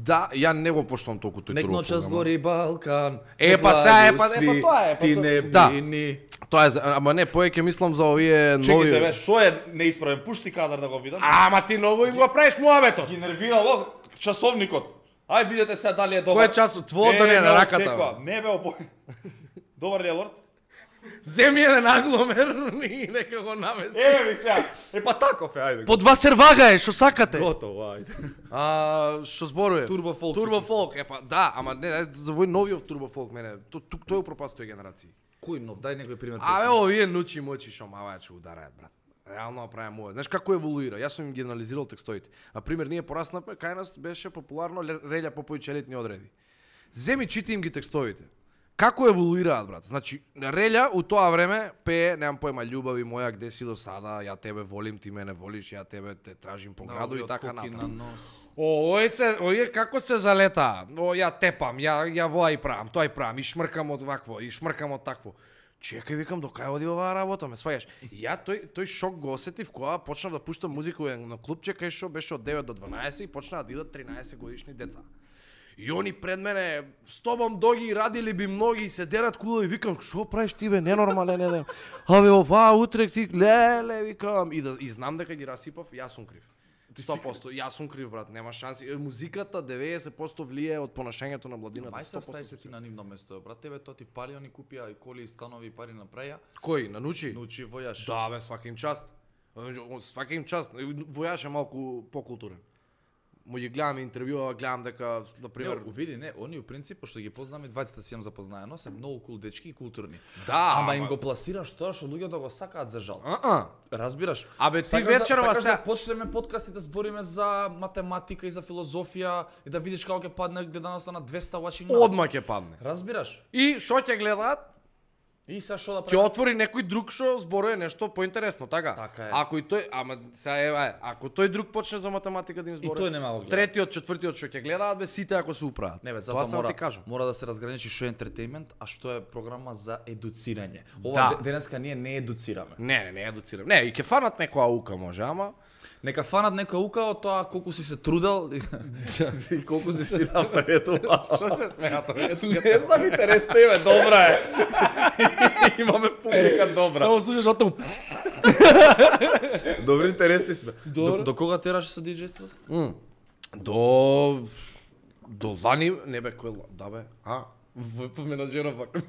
Да, ја не го поштувам толку тој Нек турбо ночас фолк. гори Балкан. Е, нек па сега, е, лагу па- е, па сви, тоа е, па Ти тоа- не да. брини. Тоа е, за- ама не, повеќе мислам за овие нови. Чекайте, бе, што е неисправен? Пушти кадар да го видам. Ама ти многу им го правиш муабетот. Ги нервирало часовникот. Ај видете сега дали е добар. Кој е час? Твојот да не е на ме раката, оттекува. Не бе овој. Добар ли е лорд? Земи еден агломер и нека го намести. Еве ми сега. Е па таков е, ајде. По два сервага е, што сакате. Готово, ајде. А, што зборував? Турбо фолк Турбо си фолк, е па да, ама не, ај, за овој новиот турбо фолк мене. Тук тој упропасти тој генерација. Кој нов? Дај некој пример. Абе, овие нучи мочи што мава ќе удараат, брат. Реално правам ова. Знаеш како еволуира? Јас сум им ги анализирал текстовите. На пример, ние пораснавме, кај нас беше популарно Релја Поповиќ елитни одреди. Земи чити им ги текстовите. Како еволуираат, брат? Значи, Релја у тоа време пее, немам појма, љубави моја, где си до сада, ја тебе волим, ти мене волиш, ја тебе те тражим по граду и така натаму. О, ој се, ој како се залета. О, ја тепам, ја ја воа и правам, тоа и правам, и шмркам од вакво, и шмркам од такво. Чекај, викам, до кај оди оваа работа, ме сваѓаш. И ја тој тој шок го осетив кога почнав да пуштам музика на клубче кај што беше од девет до дванаесет и почнаа да идат тринаесет годишни деца. И они пред мене, с тобом доги, радили би многи, и се дерат кула и викам, што правиш ти бе, ненормален еден. Абе, оваа утрек ти, леле, викам. И, да, и знам дека ги расипав, јас сум крив. сто проценти, јас сум крив, брат, нема шанси. Музиката деветдесет проценти влие од понашањето на младината. Мај се стај се ти на нивно место, брат, тебе тоа ти пали, они купија и коли и станови и пари направија. Кој, на Нучи? Нучи војаш. Да, бе, свака им част. Свака им част. Војаш е малку покултурен. му ги гледам интервјуа, гледам дека на пример Не, види, не, они у принцип што ги познаме двајцата си имам запознаено, се многу кул дечки и културни. Да, ама им ама- го пласираш тоа што луѓето го сакаат за жал. А-а. Разбираш? Абе, ти Сакаш вечерова да, сакаш се- да почнеме подкаст и да збориме за математика и за филозофија и да видиш како ќе падне гледаноста на двеста watching now. Одма ќе падне. Разбираш? И што ќе гледаат? И сега што да Ќе правиме? отвори некој друг што зборува нешто поинтересно, така? Така е. Ако и тој, ама сега е, ако тој друг почне за математика да им зборува. тој нема го гледа. Третиот, четвртиот што ќе гледаат, бе сите ако се управат. Не бе, Тоа затоа сам мора, ти кажам. мора да се разграничи што е ентертејмент, а што е програма за едуцирање. Ова Да. де- денеска ние не едуцираме. Не, не, не едуцирам. Не, и ќе фанат некоја ука може, ама Нека фанат нека ука од тоа колку си се трудел и, и колку си си напредувал. што се смеа тоа? Не знам, интерес тебе, добра е. Имаме публика добра. Само слушаш отам. Добри интересни сме. Добро. До, до кога тераш со диџејството? До до лани, не бе кој ла- да бе. А, в по менаџеров вака.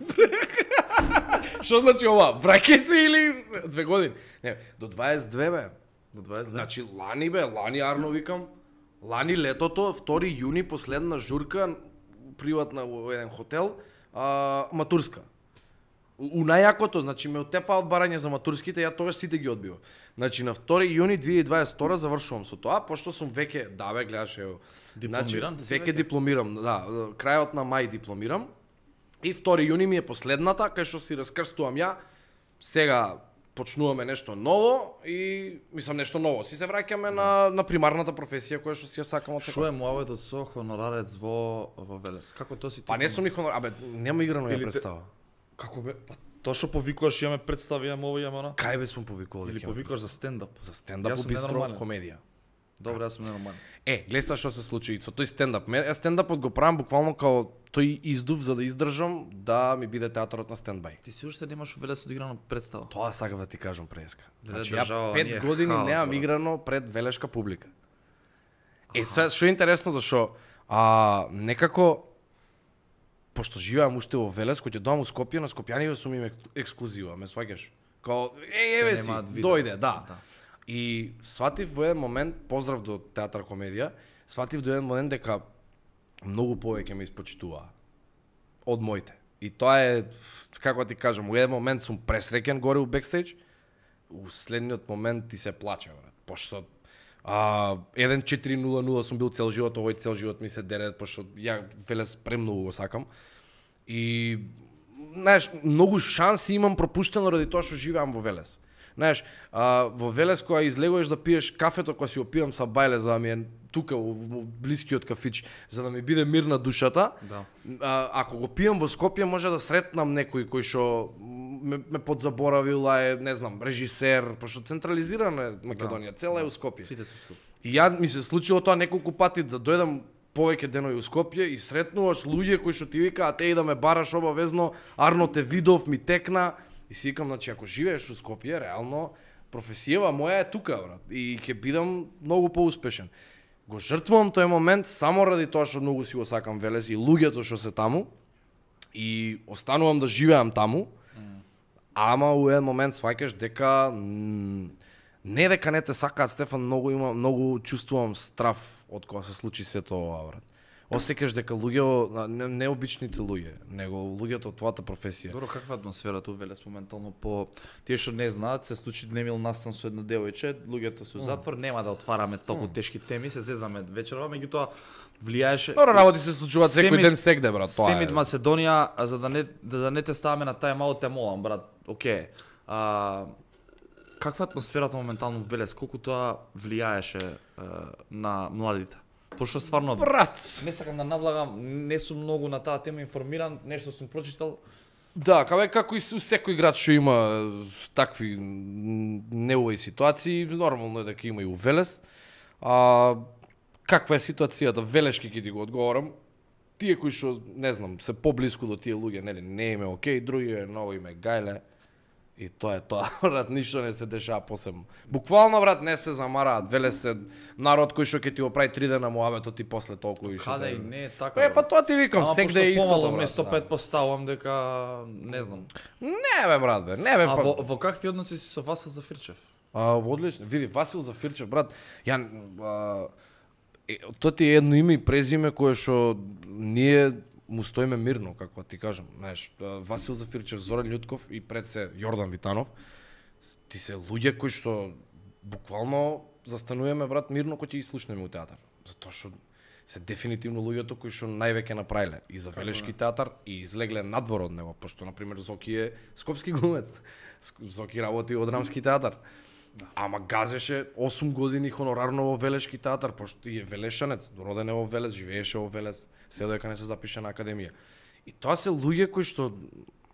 Што значи ова? Враќај се или две години? Не, до дваесет и две бе. До дваесет. Значи лани бе, лани арно викам. Лани летото, втори јуни, последна журка приватна во еден хотел, а, матурска. У у најакото, значи ме отепа од барање за матурските, ја тогаш сите ги одбивам. Значи на втори јуни две илјади и дваесет и втора завршувам со тоа, пошто сум веќе, да бе, гледаш ево. Дипломиран си Значи, веќе веќе? дипломирам, да, крајот на мај дипломирам. И втори јуни ми е последната, кај што си раскрстувам ја. Сега почнуваме нешто ново и мислам нешто ново. Си се враќаме на на примарната професија која што си ја сакам од Што секој. е муаветот со хонорарец во во Велес? Како тоа си ти? Па не сум ни хонор, абе нема играно ја Или те- представа. Како бе? Па тоа што повикуваш, имаме представи, имаме ово, имаме она. Кај бе сум повикувал? Или дека имам повикуваш за стендап? за стендап Јас у сум бистро ненормален. комедија. Добро, јас сум ненормален. Е, гледа сега што се случи и со тој стендап. Ме јас стендапот го правам буквално као тој издув за да издржам да ми биде театарот на стендбај. Ти си уште немаш у Велес одиграно представа. Тоа сакав да ти кажам преска. Леле, Значи држава, ја пет ние години хаос, немам брат. играно пред велешка публика. Е, сега што е интересно зашо а некако пошто живеам уште во Велес, кога ќе доам у Скопје, на Скопјани сум им ек- ексклузива, ме сваќаш? Као, е, еве си, немаат видео. дојде, да. Да. И сватив во еден момент, поздрав до театар комедија, сватив до еден момент дека многу повеќе ме испочитуваа од моите. И тоа е, како ти кажам, во еден момент сум пресреќен горе у бекстејдж, у следниот момент ти се плаче, брат. Пошто а, еден четири нула нула сум бил цел живот, овој цел живот ми се дере, пошто ја Велес премногу го сакам. И, знаеш, многу шанси имам пропуштено ради тоа што живеам во Велес. Знаеш, а, во Велес кога излегуваш да пиеш кафето, кога си опивам са бајле за да ми е тука во, во блискиот кафич, за да ми биде мирна душата. Да. А, ако го пијам во Скопје, може да сретнам некој кој што ме, ме подзаборавил, а е, не знам, режисер, пошто централизирана е Македонија, цела е у Скопје. Сите се скуп. И ја ми се случило тоа неколку пати да дојдам повеќе денови у Скопје и сретнуваш луѓе кои што ти викаат еј да ме бараш обавезно, Арно те видов, ми текна и си викам, значи ако живееш у Скопје, реално професијава моја е тука, брат, и ќе бидам многу поуспешен. Го жртвувам тој момент само ради тоа што многу си го сакам Велес и луѓето што се таму и останувам да живеам таму. Ама у еден момент сваќаш дека м, не дека не те сакаат, Стефан, многу има многу чувствувам страв од кога се случи сето ова, брат. Осеќаш дека луѓе, не, необичните луѓе, него луѓето од твојата професија. Добро, каква е атмосферата у Велес моментално по тие што не знаат, се случи немил настан со едно девојче, луѓето се у затвор, нема да отвараме толку тешки теми, се зезаме вечерва, меѓутоа влијаеше. Добро, работи се случуваат секој Семид- ден стегде, брат, тоа Семид е. Македонија, а за да не да, да не те ставаме на тај мало те молам, брат. Океј. А каква е атмосферата моментално во Велес, колку тоа влијаеше а, на младите? Пошто стварно Брат. не сакам да навлагам, не сум многу на таа тема информиран, нешто сум прочитал. Да, кабе како и у секој град што има е, такви м, неувои ситуации, нормално е дека има и у Велес. А каква е ситуацијата велешки ќе ти го одговорам. Тие кои што не знам, се поблиску до тие луѓе, нели, не им е окей, други е ново име гајле. И тоа е тоа, брат, ништо не се дешава посебно. Буквално, брат, не се замараат. Велес се народ кој што ќе ти го прави три дена муабето ти после толку и што. Каде те- и не е така. Е, па тоа ти викам, Ама секде е пошто исто, помало брат. место да. пет поставам дека не знам. Не бе, брат, бе, не бе, А па... во, во какви односи си со Васил Зафирчев? А, одлично. Види, Васил Зафирчев, брат, ја а, Е, тоа ти е едно име и презиме кое што ние му стоиме мирно, како ти кажам. Знаеш, Васил Зафирчев, Зоран Љутков и пред се Јордан Витанов, ти се луѓе кои што буквално застануваме, брат, мирно кој ќе ги слушнеме у театар. Затоа што се дефинитивно луѓето кои што највеќе направиле и за Велешки театар и излегле надвор од него, пошто на пример Зоки е скопски глумец. Зоки работи од Драмски театар. Ама газеше осум години хонорарно во Велешки театар, пошто е велешанец, роден е во Велес, живееше во Велес, се додека не се запише на академија. И тоа се луѓе кои што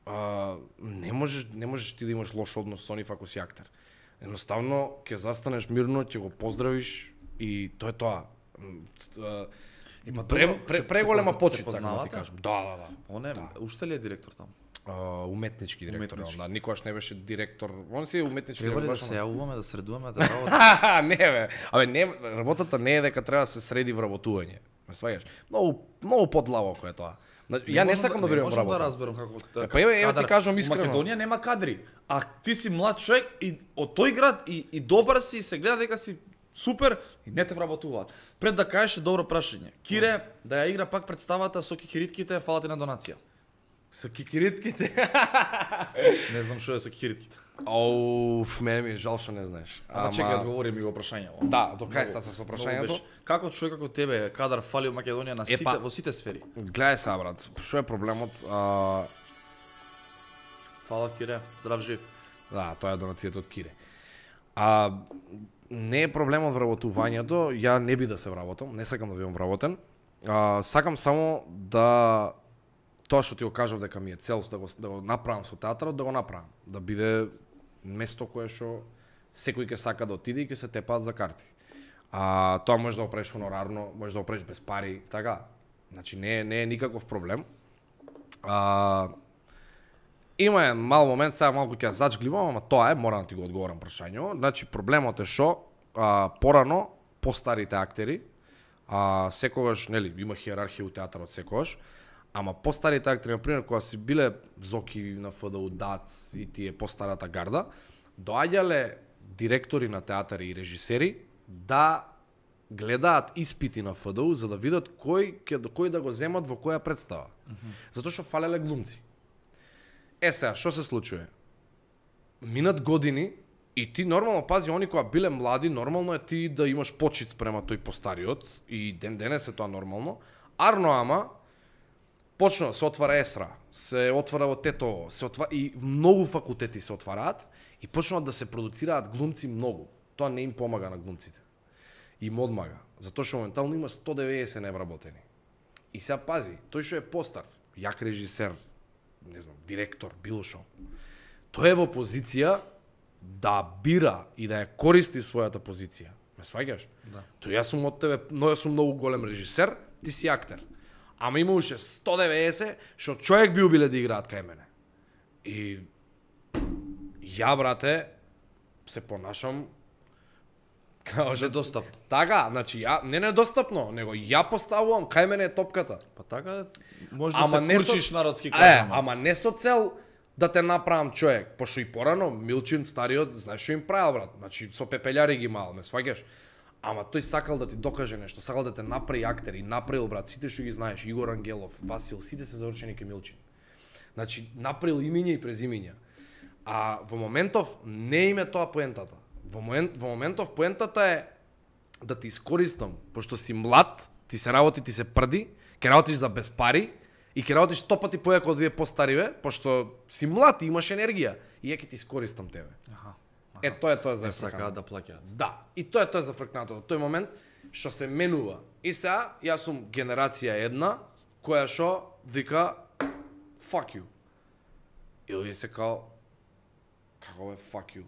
а, не можеш не можеш ти да имаш лош однос со нив ако си актер. Едноставно ќе застанеш мирно, ќе го поздравиш и тоа е тоа. Има пре, пре, преголема почит, сакам да ти кажам. Да, да, да. Он е, уште ли е директор таму? Uh, уметнички директор, уметнички. Да, никогаш не беше директор. Он си е уметнички директор. Треба ли да се јавуваме, да средуваме, да работиме? Не бе. Абе не, работата не е дека треба да се среди вработување. Ме сваѓаш? Многу многу подлабоко е тоа. Ја не сакам да верувам во работа. Не можам да разберам како така. Па еве ти кажам искрено. Македонија нема кадри, а ти си млад човек и од тој град и, и добар си и се гледа дека си супер и не те вработуваат. Пред да кажеш добро прашање. Кире да ја игра пак представата со кикиритките, фала ти на донација. Со кикиритките? Не знам што е со кикиритките. Оуф, мене ми е жал што не знаеш. Ама чекај, одговори ми го прашањето. Да, до кај стаса со прашањето? Како човек како тебе кадар фали во Македонија на сите во сите сфери? Гледај се, брат, што е проблемот? А... Фала Кире, здрав жив. Да, тоа е донацијата од Кире. А не е проблемот вработувањето, ја не би да се вработам, не сакам да бидам вработен. А, сакам само да тоа што ти го кажав дека ми е цел да го, да го направам со театарот, да го направам. Да биде место кое што секој ќе сака да отиде и ќе се тепаат за карти. А тоа може да го правиш хонорарно, може да го правиш без пари, така. Значи не е, не е никаков проблем. А, има е мал момент, сега малку ќе зачгливам, ама тоа е, морам да ти го одговорам прашањето. Значи проблемот е што а, порано постарите актери, а, секогаш, нели, има хиерархија у театарот секогаш, ама постарите актери, например, кога си биле Зоки на ФДУ, ДАЦ и тие постарата гарда, доаѓале директори на театари и режисери да гледаат испити на ФДУ за да видат кој ќе кој да го земат во која представа. Mm -hmm. Затоа што фалеле глумци. Е сега, што се случува? Минат години и ти нормално, пази, они кои биле млади, нормално е ти да имаш почит спрема тој постариот и ден денес е тоа нормално. Арно ама почна се отвара ЕСРА, се отвара во Тетово, се отвара и многу факултети се отвараат и почнуваат да се продуцираат глумци многу. Тоа не им помага на глумците. Им одмага, затоа што моментално има сто деветдесет невработени. И сега пази, тој што е постар, јак режисер, не знам, директор, било шо, тој е во позиција да бира и да ја користи својата позиција. Ме сваѓаш? Да. Тој јас сум од тебе, но јас сум многу голем режисер, ти си актер. Ама има уште сто деветдесет што човек би убиле да играат кај мене. И ја, брате, се понашам као што недостапно. Така, значи ја не недостапно, него ја поставувам кај мене е топката. Па така може да се курчиш со... народски кажано. Е, ама не со цел да те направам човек, пошто и порано Милчин стариот, знаеш што им правил, брат. Значи со пепелјари ги имал, ме сваѓаш. Ама тој сакал да ти докаже нешто, сакал да те направи актер и направил, брат, сите што ги знаеш, Игор Ангелов, Васил, сите се завршени кај Милчин. Значи направил имиња и презимиња. А во моментов не име тоа поентата. Во момент во моментов поентата е да ти искористам, пошто си млад, ти се работи, ти се прди, ќе работиш за без пари и ќе работиш сто пати појако од вие постариве, пошто си млад и имаш енергија и ја ќе ти искористам тебе. Аха. Е, тоа е тоа за сакаат да плаќаат. Да, и тоа е тоа за фркнатото. Тој момент што се менува. И сега јас сум генерација една која што вика fuck you. И овие се као како е fuck you.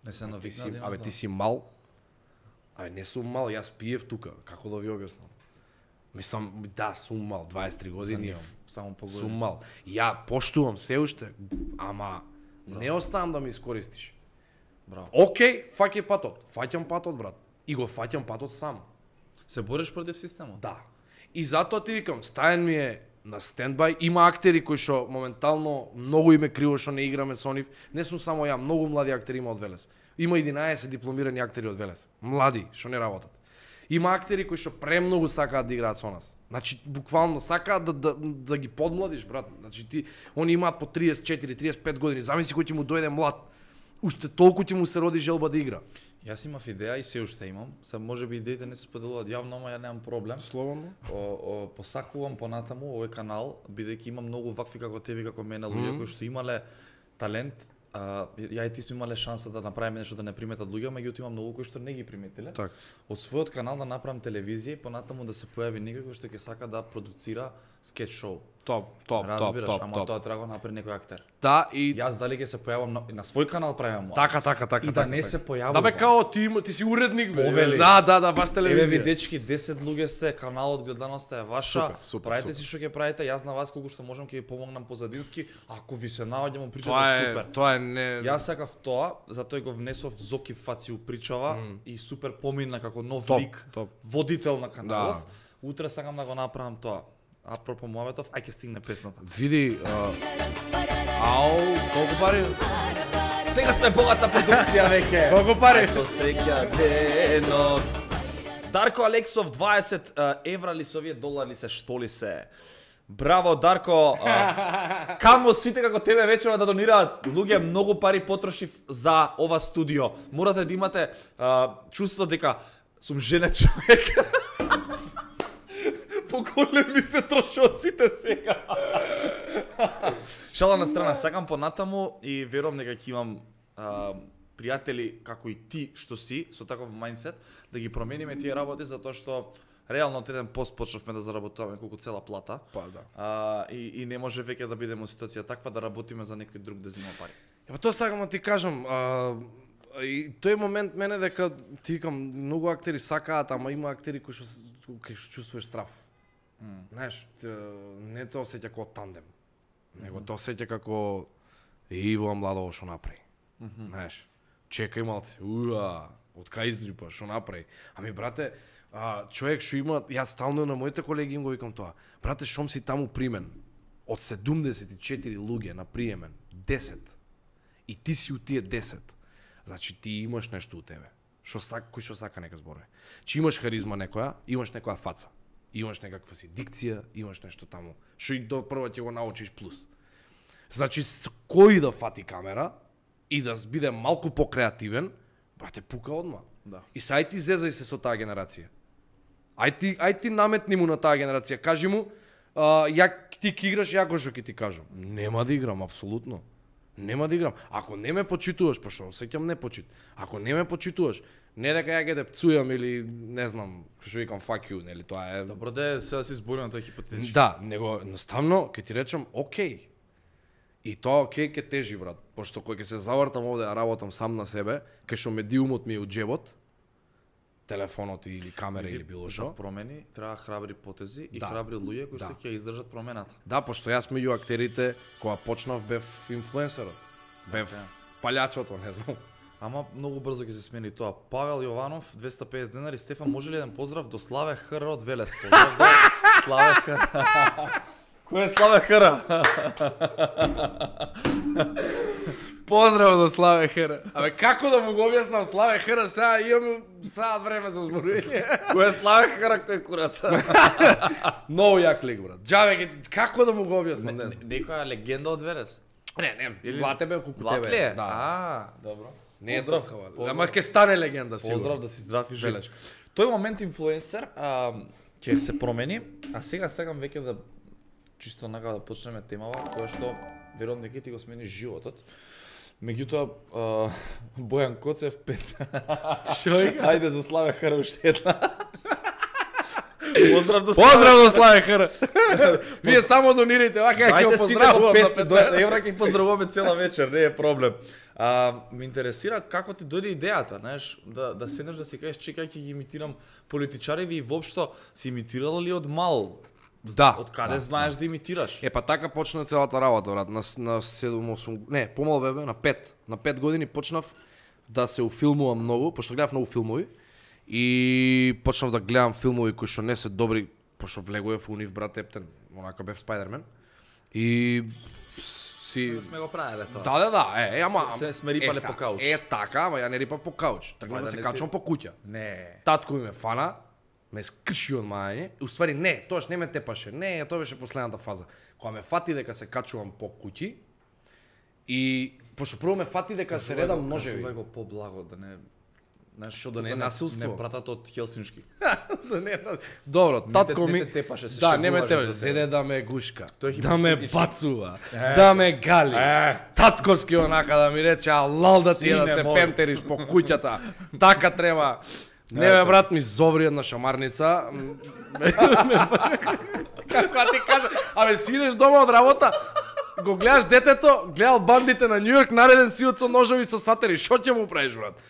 Не се навикнати. Абе ти си мал. Абе не сум мал, јас пиев тука. Како да ви објаснам? Мислам, да, сум мал, дваесет и три години, само погодини. Сум мал. Ја поштувам се уште, ама Браво. Не оставам да ме искористиш. Браво. Океј, фаќај патот. Фаќам патот, брат. И го фаќам патот сам. Се бориш против системот? Да. И затоа ти викам, стаен ми е на стендбај, има актери кои што моментално многу име криво што не играме со нив. Не сум само ја, многу млади актери има од Велес. Има единаесет дипломирани актери од Велес. Млади што не работат. Има актери кои што премногу сакаат да играат со нас. Значи буквално сакаат да, да, да ги подмладиш, брат. Значи ти они имаат по триесет и четири триесет и пет години. Замисли кој ќе му дојде млад. Уште толку ќе му се роди желба да игра. Јас имав идеја и се уште имам. Се можеби идеите не се споделуваат јавно, ама ја немам проблем. Слободно. О, о, посакувам понатаму овој канал, бидејќи има многу вакви како тебе, како мене, луѓе mm -hmm. кои што имале талент. А, ја и ти сме имале шанса да направиме нешто да не приметат луѓе, меѓутоа има многу кои што не ги приметиле. Так. Од својот канал да направам телевизија и понатаму да се појави некој кој што ќе сака да продуцира скеч шоу. Топ, топ, Разбираш, топ, топ, ама топ. тоа треба да направи некој актер. Да, и Јас дали ќе се појавам на, на свој канал правам. така, така, така, и да така, не така. се појавувам. Да бе као ти има, ти си уредник бе. Повели. Да, да, да, баш Еве телевизија. ви дечки, десет луѓе сте, каналот гледаноста е ваша. Супер, супер, правете супер. си што ќе правите, јас на вас колку што можам ќе ви помогнам позадински. Ако ви се наоѓам причата Тоа е, супер. тоа е не. Јас сакав тоа, затоа го внесов Зоки Фаци упричава mm. и супер помина како нов Топ, лик, топ. водител на каналов. Да. Утре сакам да го направам тоа. Апропо моветов, ај ќе стигне песната. Види, а... ау, колку пари? Сега сме богата продукција веќе. Колку пари? Со среќа денот. Дарко Алексов дваесет евра ли се овие долари ли се, што ли се? Браво Дарко. А, камо сите како тебе вечерва да донираат. Луѓе многу пари потрошив за ова студио. Морате да имате а, чувство дека сум женет човек. Поголеми се троши од сите сега. Шала на страна, сакам понатаму и верувам дека ќе имам а, пријатели како и ти што си со таков мајндсет да ги промениме тие работи затоа што реално од еден пост почнавме да заработуваме колку цела плата. Па да. А, и, и не може веќе да бидеме во ситуација таква да работиме за некој друг да зема пари. Па тоа сакам да ти кажам, а, и тој момент мене дека ти викам многу актери сакаат, ама има актери кои што кои што чувствуваш страф. Mm. Знаеш, не те осеќа како тандем, mm -hmm. него те осеќа како Иво младово што направи. Mm -hmm. Знаеш, чекај малце, уа, од кај издрипа, што направи. Ами брате, а, човек што има, јас стално на моите колеги им го викам тоа. Брате, шом си таму примен од седумдесет и четири луѓе на приемен, десет. И ти си у тие десет. Значи ти имаш нешто у тебе. Што сака, кој што сака нека зборе. Че имаш харизма некоја, имаш некоја фаца. Имаш некаква си дикција, имаш нешто таму. Што и до прво ќе го научиш плюс. Значи кој да фати камера и да биде малку покреативен, брате, пука одма. Да. И сај ти зезај се со таа генерација. Ај ти, ај ти наметни му на таа генерација. Кажи му, а, ја ти ќе играш, ја што ќе ти кажам. Нема да играм, апсолутно. Нема да играм. Ако не ме почитуваш, пошто осеќам не почит. Ако не ме почитуваш, не дека ја ќе те пцујам или не знам, што викам fuck you, нели тоа е. Добро де, сега си зборувам тоа хипотетично. Да, него едноставно ќе ти речам окей. И тоа окей ќе тежи, брат, пошто кој ќе се завртам овде да работам сам на себе, кај што медиумот ми е од џебот, телефонот или камера или било што. За промени треба храбри потези и Да. храбри луѓе кои Да. што ќе издржат промената. Да, пошто јас меѓу актерите кога почнав бев инфлуенсерот. Бев Така. палјачото, не знам. Ама многу брзо ќе се смени тоа. Павел Јованов, двеста и песет денари. Стефан, може ли еден поздрав до Славе Хр од Велес? Поздрав до Славе Хр. Кој е Славе Хр? Поздрав до Славе Хр. Абе како да му го објаснам Славе Хр, сега имам саат време за зборување. Кој е Славе Хр, кој е курац? Многу јак лик, брат. Џаве ќе ти- како да му го објаснам, не знам. Некоја легенда од Велес? Не, не, Влате бе колку Влат тебе. ли е? Да. А, добро. Не е Поздрав, толкова. поздрав. Ама ќе стане легенда сигурно. Поздрав да си здрав и жив. Белешка. Тој момент инфлуенсер а, ќе се промени, а сега сакам веќе да чисто нака да почнеме темава која што верувам дека ти го смени животот. Меѓутоа а, Бојан Коцев пет. Што вика? Ајде за Славе Хр уште една. Поздрав до Поздрав до Славе Хр. Вие само донирайте, вака ќе го Ајде сите по поздравувам за пет до пет. евра ќе поздравуваме цела вечер, не е проблем. А, ме интересира како ти дојде идејата, знаеш, да да седнеш да си кажеш чекај ќе ги имитирам политичари и воопшто си имитирала ли од мал? Да. Од каде да, знаеш да имитираш? Е, па така почна целата работа, брат, на, на седум осум, не, помал бебе, на пет. На пет години почнав да се уфилмувам многу, пошто гледав многу филмови, и почнав да гледам филмови кои што не се добри, пошто влегував у нив, брат Ептен, онака бев Спајдермен, и си... Сме го правеле тоа. Да, да, да, е, е, ама... Се- сме рипале са, по кауч. Е, така, ама ја не рипав по кауч, тргнав да Вајда се не качувам си- по куќа. Не. Татко ми ме фана, ме скрши од мајање. Уствари не, тоаш не ме тепаше. Не, тоа беше последната фаза. Кога ме фати дека се качувам по куќи и пошто прво ме фати дека се редам ножеви. Кажувај го поблаго да не знаеш што да не е насилство. Не братат од Хелсиншки. Да не. Добро, татко ми не те тепаше, се да, не ме шегуваше тепаше, за седе да ме гушка, Тој е да ме хипотетички. бацува, Е, да ме гали. Е. Татковски онака да ми рече, а лал да ти е да Сине се мой. пемтериш по куќата. Така треба. Не бе, брат, ми зоври една шамарница. Како да ти кажа, абе свидеш дома од работа, го гледаш детето, гледал бандите на Њујорк, нареден си од со ножови со сатери, шо ќе му правиш, брат?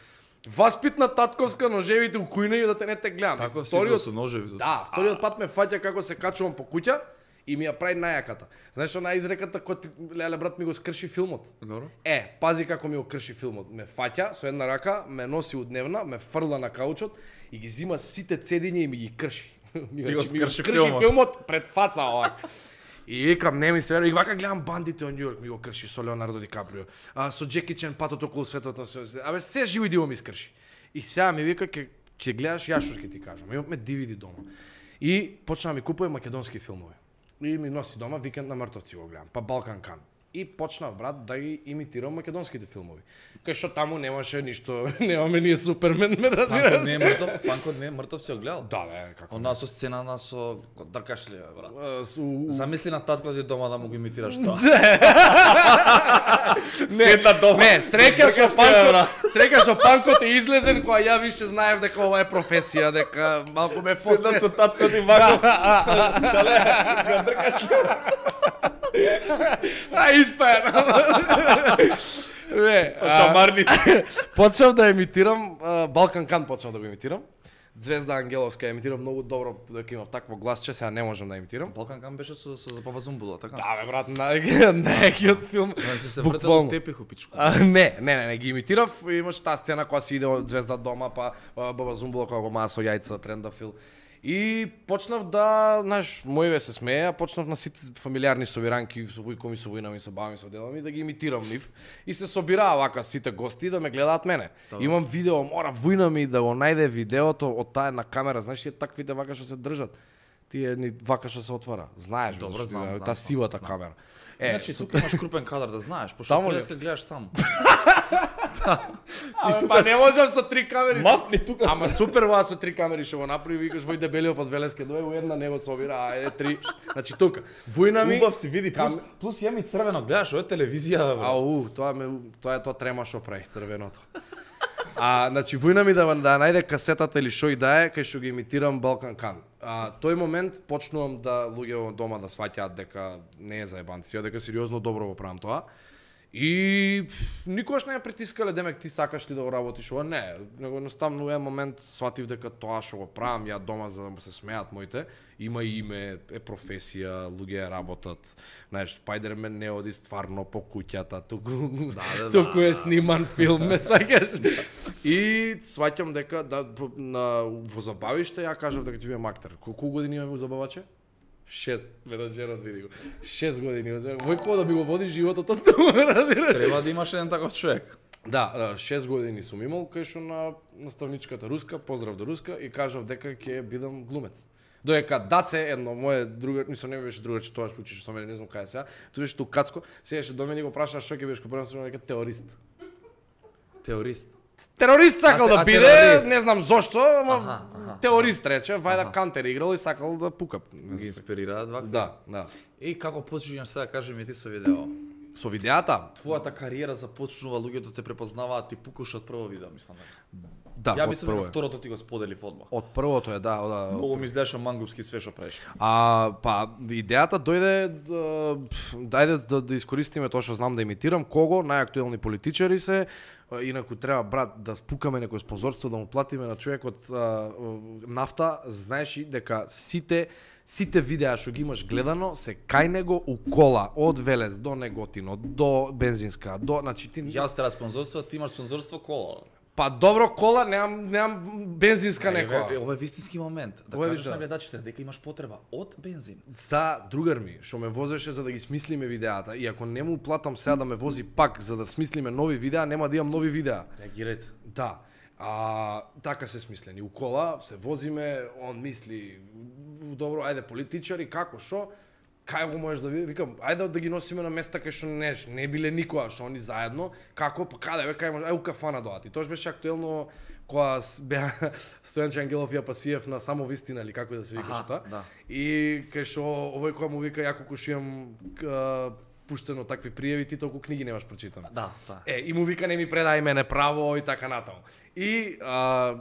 Васпитна татковска, ножевите у кујна и да те не те гледам. Таков си Вториот- бил со ножеви. со- Да, вториот пат ме фаќа како се качувам по куќа и ми ја прави најаката. Знаеш она изреката кој ти, леле брат, ми го скрши филмот. Добро. Е, пази како ми го крши филмот. Ме фаќа со една рака, ме носи удневна, ме фрла на каучот и ги зима сите цедиња и ми ги крши. Ми Ти го значи, ми го скрши крши филмот. филмот пред фаца овак. И викам, не ми се верува. И вака гледам бандите од Њујорк, ми го крши со Леонардо Ди Каприо. А, со Джеки Чен патот околу светот. на се- Абе, се живо диво ми скрши. И сега ми вика, ќе ќе гледаш, ја што ќе ти кажам. Имаме ди ви ди дома. И почна да ми купува македонски филмови. И ми носи дома Викенд на мртовци го гледам, па Балкан Кан. И почнав, брат, да ги имитирам македонските филмови. Кај што таму немаше ништо, немаме ние Супермен, ме Панкот разбираш? не е мртов, Панкот не е мртов, си го гледал. Да, бе, како. Она со сцена со дркаш ли, бе, брат. А, с- у- у- Замисли на татко ти дома да му го имитираш тоа. Не, Сета дома. Не, среќа со Дркаш ли, бе, брат? Панкот, среќа со Панкот е излезен кога ја више знаев дека ова е професија, дека малку ме Седат со посвес. татко ти вако. Шале, го дркаш ли? А испаен. Не, По а, шамарници. почнав да емитирам, а, Балкан Кан почнав да го емитирам. Звезда Ангеловска емитирам многу добро, дека имав такво гласче, сега не можам да емитирам. Балкан Кам беше со со Папа Зумбула, така? Да, бе, брат, најакиот филм. Да се се вртел Буквално. од тепих пичко. А, не, не, не, не ги имитирав. Имаш таа сцена кога си иде од Звезда дома, па а, Баба Зумбула кога го маа со јајца, трендафил. И почнав да, знаеш, моиве се смеја, почнав на сите фамилиарни собиранки, со вујко ми, со вујна ми, со баба ми, со дедо ми, да ги имитирам нив. И се собираа вака сите гости да ме гледаат мене. Имам видео, мора вујна ми да го најде видеото од таа една камера, знаеш, тие таквите вака што се држат. Тие ни вака што се отвара. Знаеш, Добро, зашто, знам, знам, таа знам, сивата знам. камера. Е, Значи, со- тука имаш крупен кадар да знаеш, пошто Таму ли? преска гледаш таму. Абе, па не можам со три камери. Мафни тука. Ама супер ова со три камери што го направи, викаш Вој Дебелиов од Велеске дој, у една него собира, а е три. Значи тука. Војна ми. Убав си види, плюс, Кам- плюс ја ми црвено гледаш, ова е телевизија, бе. Ау, тоа ме тоа е тоа трема што прави црвеното. А, значи војна ми да да најде касетата или што и да е, кај што ги имитирам Балкан Кан. А тој момент почнувам да луѓе во дома да сваќаат дека не е заебанција, дека сериозно добро го правам тоа. И пф, никогаш не ја притискале, демек ти сакаш ли да го работиш ова? Не, него едноставно во еден момент сватив дека тоа што го правам ја дома за да се смеат моите, има име, е професија, луѓе ја работат. Знаеш, Спајдермен не оди стварно по куќата, туку да, туку е сниман филм, ме сваќаш. И сваќам дека да по- на во забавиште ја кажав дека ќе бидам актер. Колку години имаме во забаваче? Шест, менаџерот види го. Шест години. Вој кога да би го води животот од тоа, ме разбираш? Треба да имаш еден таков човек. Да, да, шест години сум имал, кај што на наставничката Руска, поздрав до Руска, и кажав дека ќе бидам глумец. Доека Даце, едно мое друго, мислам не беше друго, че тоа што учиш со мене, не знам кај е сега, тоа беше ту Кацко, седеше до мене и го праша што ќе бидеш, го пренесувам дека теорист. Теорист. Терорист сакал А, да а биде, терорист. не знам зошто, ама Аха, аха. теорист рече, вајда Кантер играл и сакал да пука. Ги инспирираат вака. Да, да. И како почињаш сега, кажи ми ти со видео. Со видеата? Твојата кариера започнува, луѓето те препознаваат, ти пукаш од прво видео, мислам. Да, Ја од мислам прво дека е. второто ти го споделив одма. Од првото е, да, да. Многу ми изгледаше мангупски све што правиш. А, па, идејата дојде, да, пф, дајде да, да искористиме тоа што знам да имитирам, кого, најактуелни политичари се, а, инаку треба, брат, да спукаме некој спонзорство, да му платиме на човекот а, нафта, знаеш и дека сите сите видеа што ги имаш гледано се кај него у кола, од Велес до Неготино, до бензинска, до, значи ти... Јас треба спонзорство, ти имаш спонзорство кола. Па добро кола, немам, немам бензинска некоја. Еве, ова е вистински момент. Да Ова е кажеш вистина. на гледачите дека имаш потреба од бензин. За другар ми, што ме возеше за да ги смислиме видеата, и ако не му платам сега да ме вози пак за да смислиме нови видеа, нема да имам нови видеа. Реагирајте. Да. А, така се смислени. У кола се возиме, он мисли, добро, ајде политичари, како, шо, кај го можеш да види, викам, ајде да ги носиме на места кај што не, не биле никоја, што они заедно, како, па каде бе, кај може, ај у кафана доати. Тоа беше актуелно кога беа Стојанче Ангелов и Апасиев на Само вистина или како да се викаше тоа. Да. И кај што овој кој му вика, јако кога имам пуштено такви пријави, ти толку книги немаш прочитано. Да, да. Е, и му вика, не ми предај мене право и така натаму. И а,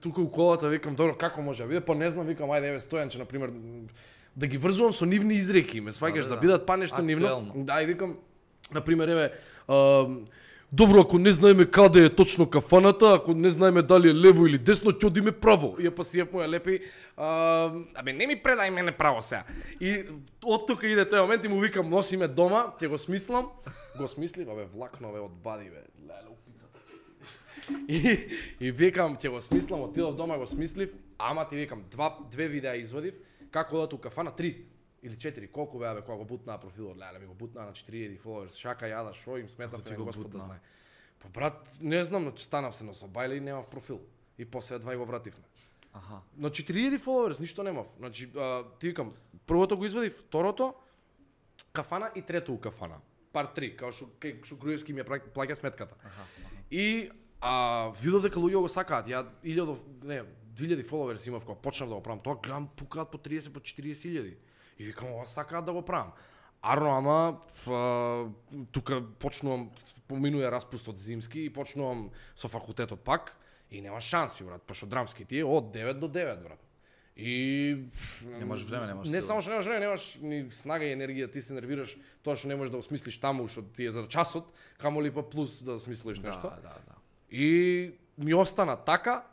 тука у колата викам, добро, како може да биде? Па не знам, викам, ајде, еве Стојанче, на пример, да ги врзувам со нивни изреки, ме сваќаш да, да, да бидат па нешто нивно. Да, и викам, на пример, еве, а, добро, ако не знаеме каде е точно кафаната, ако не знаеме дали е лево или десно, ќе одиме право. И Апасиев му ја лепи, а, абе не ми предај мене право сега. И од тука иде тој момент и му викам, носиме дома, ќе го смислам, го смислив, абе влакно бе од бади бе, леле упицата. И и викам, ќе го смислам, отидов дома го смислив, ама ти викам, два две видеа извадив, како одат у кафана, три или четири, колку беа бе кога го бутнаа профилот, леле ми го бутнаа на четири илјади фоловерс, шака јада, шо им сметав, те Господ да знае. Па брат, не знам, но станав се на собајле и немав профил. И после два го вративме. Аха. На четири илјади фоловерс ништо немав. Значи, а, ти викам, првото го извадив, второто кафана и трето у кафана. Пар три, као што кај што Груевски ми ја плаќа сметката. Аха. И а видов дека луѓе го сакаат. Ја илјади, не, две илјади фоловерс имав кога почнав да го правам. Тоа гледам пукаат по триесет, по четириесет илјади. И викам, ова сакаат да го правам. Арно, ама а, тука почнувам, поминуе распустот зимски и почнувам со факултетот пак и нема шанси, брат, пошто драмски ти е од девет до девет, брат. И немаш време, немаш не сила. само што немаш време, немаш ни снага и енергија, ти се нервираш тоа што не можеш да осмислиш таму што ти е за часот, камоли па плюс да смислиш нешто. Да, да, да. И ми остана така,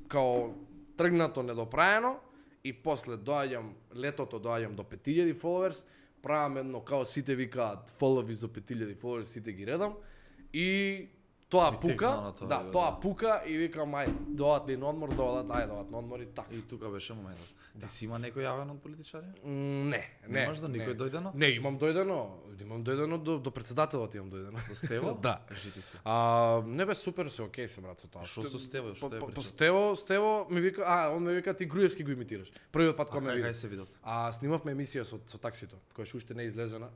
као тргнато недопраено, и после доаѓам, летото доаѓам до пет илјади фоловерс, правам едно, као сите викаат, фолови за пет илјади фоловерс, сите ги редам, и тоа И пука, тоа, да, да. тоа пука, и викам, ај, доат ли на одмор, доат, ај, доат на одмор, и така. И тука беше моментот. Ти си има некој јавен од политичари? М, Не, не. Немаш да никој не. дојдено? Не, имам дојдено, имам дојдено до, до председателот имам дојдено. До Стево? Да. Кажи се. А, не бе супер се, окей се брат со тоа. Што со Стево, што е Па прича? Стево, Стево ми вика, а, он ми вика ти Груевски го имитираш. Првиот пат А кога ме кај види. кај се видовте? А снимавме емисија со со таксито, која ше уште не е излезена.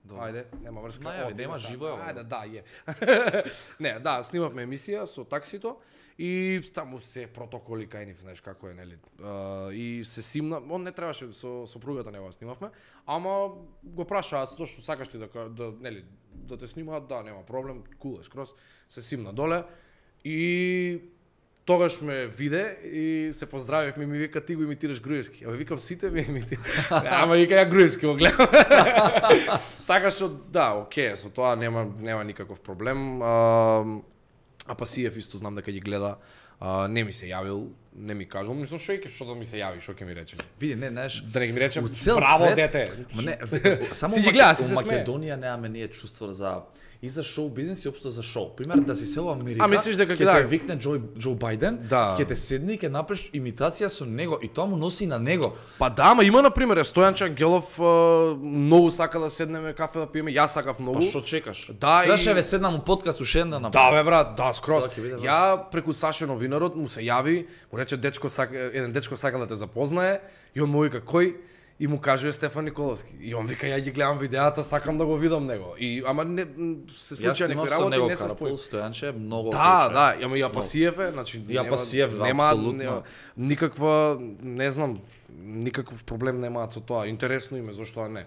Добро. Ајде, нема врска. Најави, оти нема са. живо е ова. Ајде, да, е. Не, да, снимавме емисија со таксито и таму се протоколи кај нив, знаеш како е, нели? А, и се симна, он не требаше со сопругата него снимавме, ама го прашаа тоа што сакаш ти да ка- да нели да те снимаат, да, нема проблем, кул е скроз, се симна доле и тогаш ме виде и се поздравивме и ми вика ти го имитираш Груевски. Абе викам сите ми имитираш. Ама вика ја Груевски го гледам. Така што да, окей, со тоа нема нема никаков проблем. А, Апасиев исто знам дека ги гледа. А, не ми се јавил, не ми кажал, мислам што е што да ми се јави, што ќе ми рече. Види, не, знаеш, Да не ги ми рече у цел браво свет- дете. Ма не, само Си ги Маке- гледа, си у се смее. Македонија немаме ние чувство за и за шоу бизнис и општо за шоу. Пример да си се во Америка. А, мислиш дека ќе да. те викне Џо Џо Бајден, Да. ќе те седне и ќе направиш имитација со него и тоа му носи и на него. Па да, ама има на пример Стојанче Ангелов, а, многу сака да седнеме кафе да пиеме, јас сакав многу. Па што чекаш? Да, Требаше и- ве седнам у подкаст уште еден да Да направи. бе брат, да, скроз. Тоа ќе биде Ја преку Саше новинарот му се јави, му рече дечко сака, еден дечко сака да те запознае и он му вика кој и му кажува Стефан Николовски. И он вика ја ги гледам видеата, сакам да го видам него. И ама не м, се Јас случија снимав некои со работи него не се Карапол, спои. Стојанче, многу Да, прича. да, ама и Апасиев е, значи И Апасиев, да, нема, апсолутно. нема никаква, не знам, никаков проблем немаат со тоа. Интересно име, зошто не.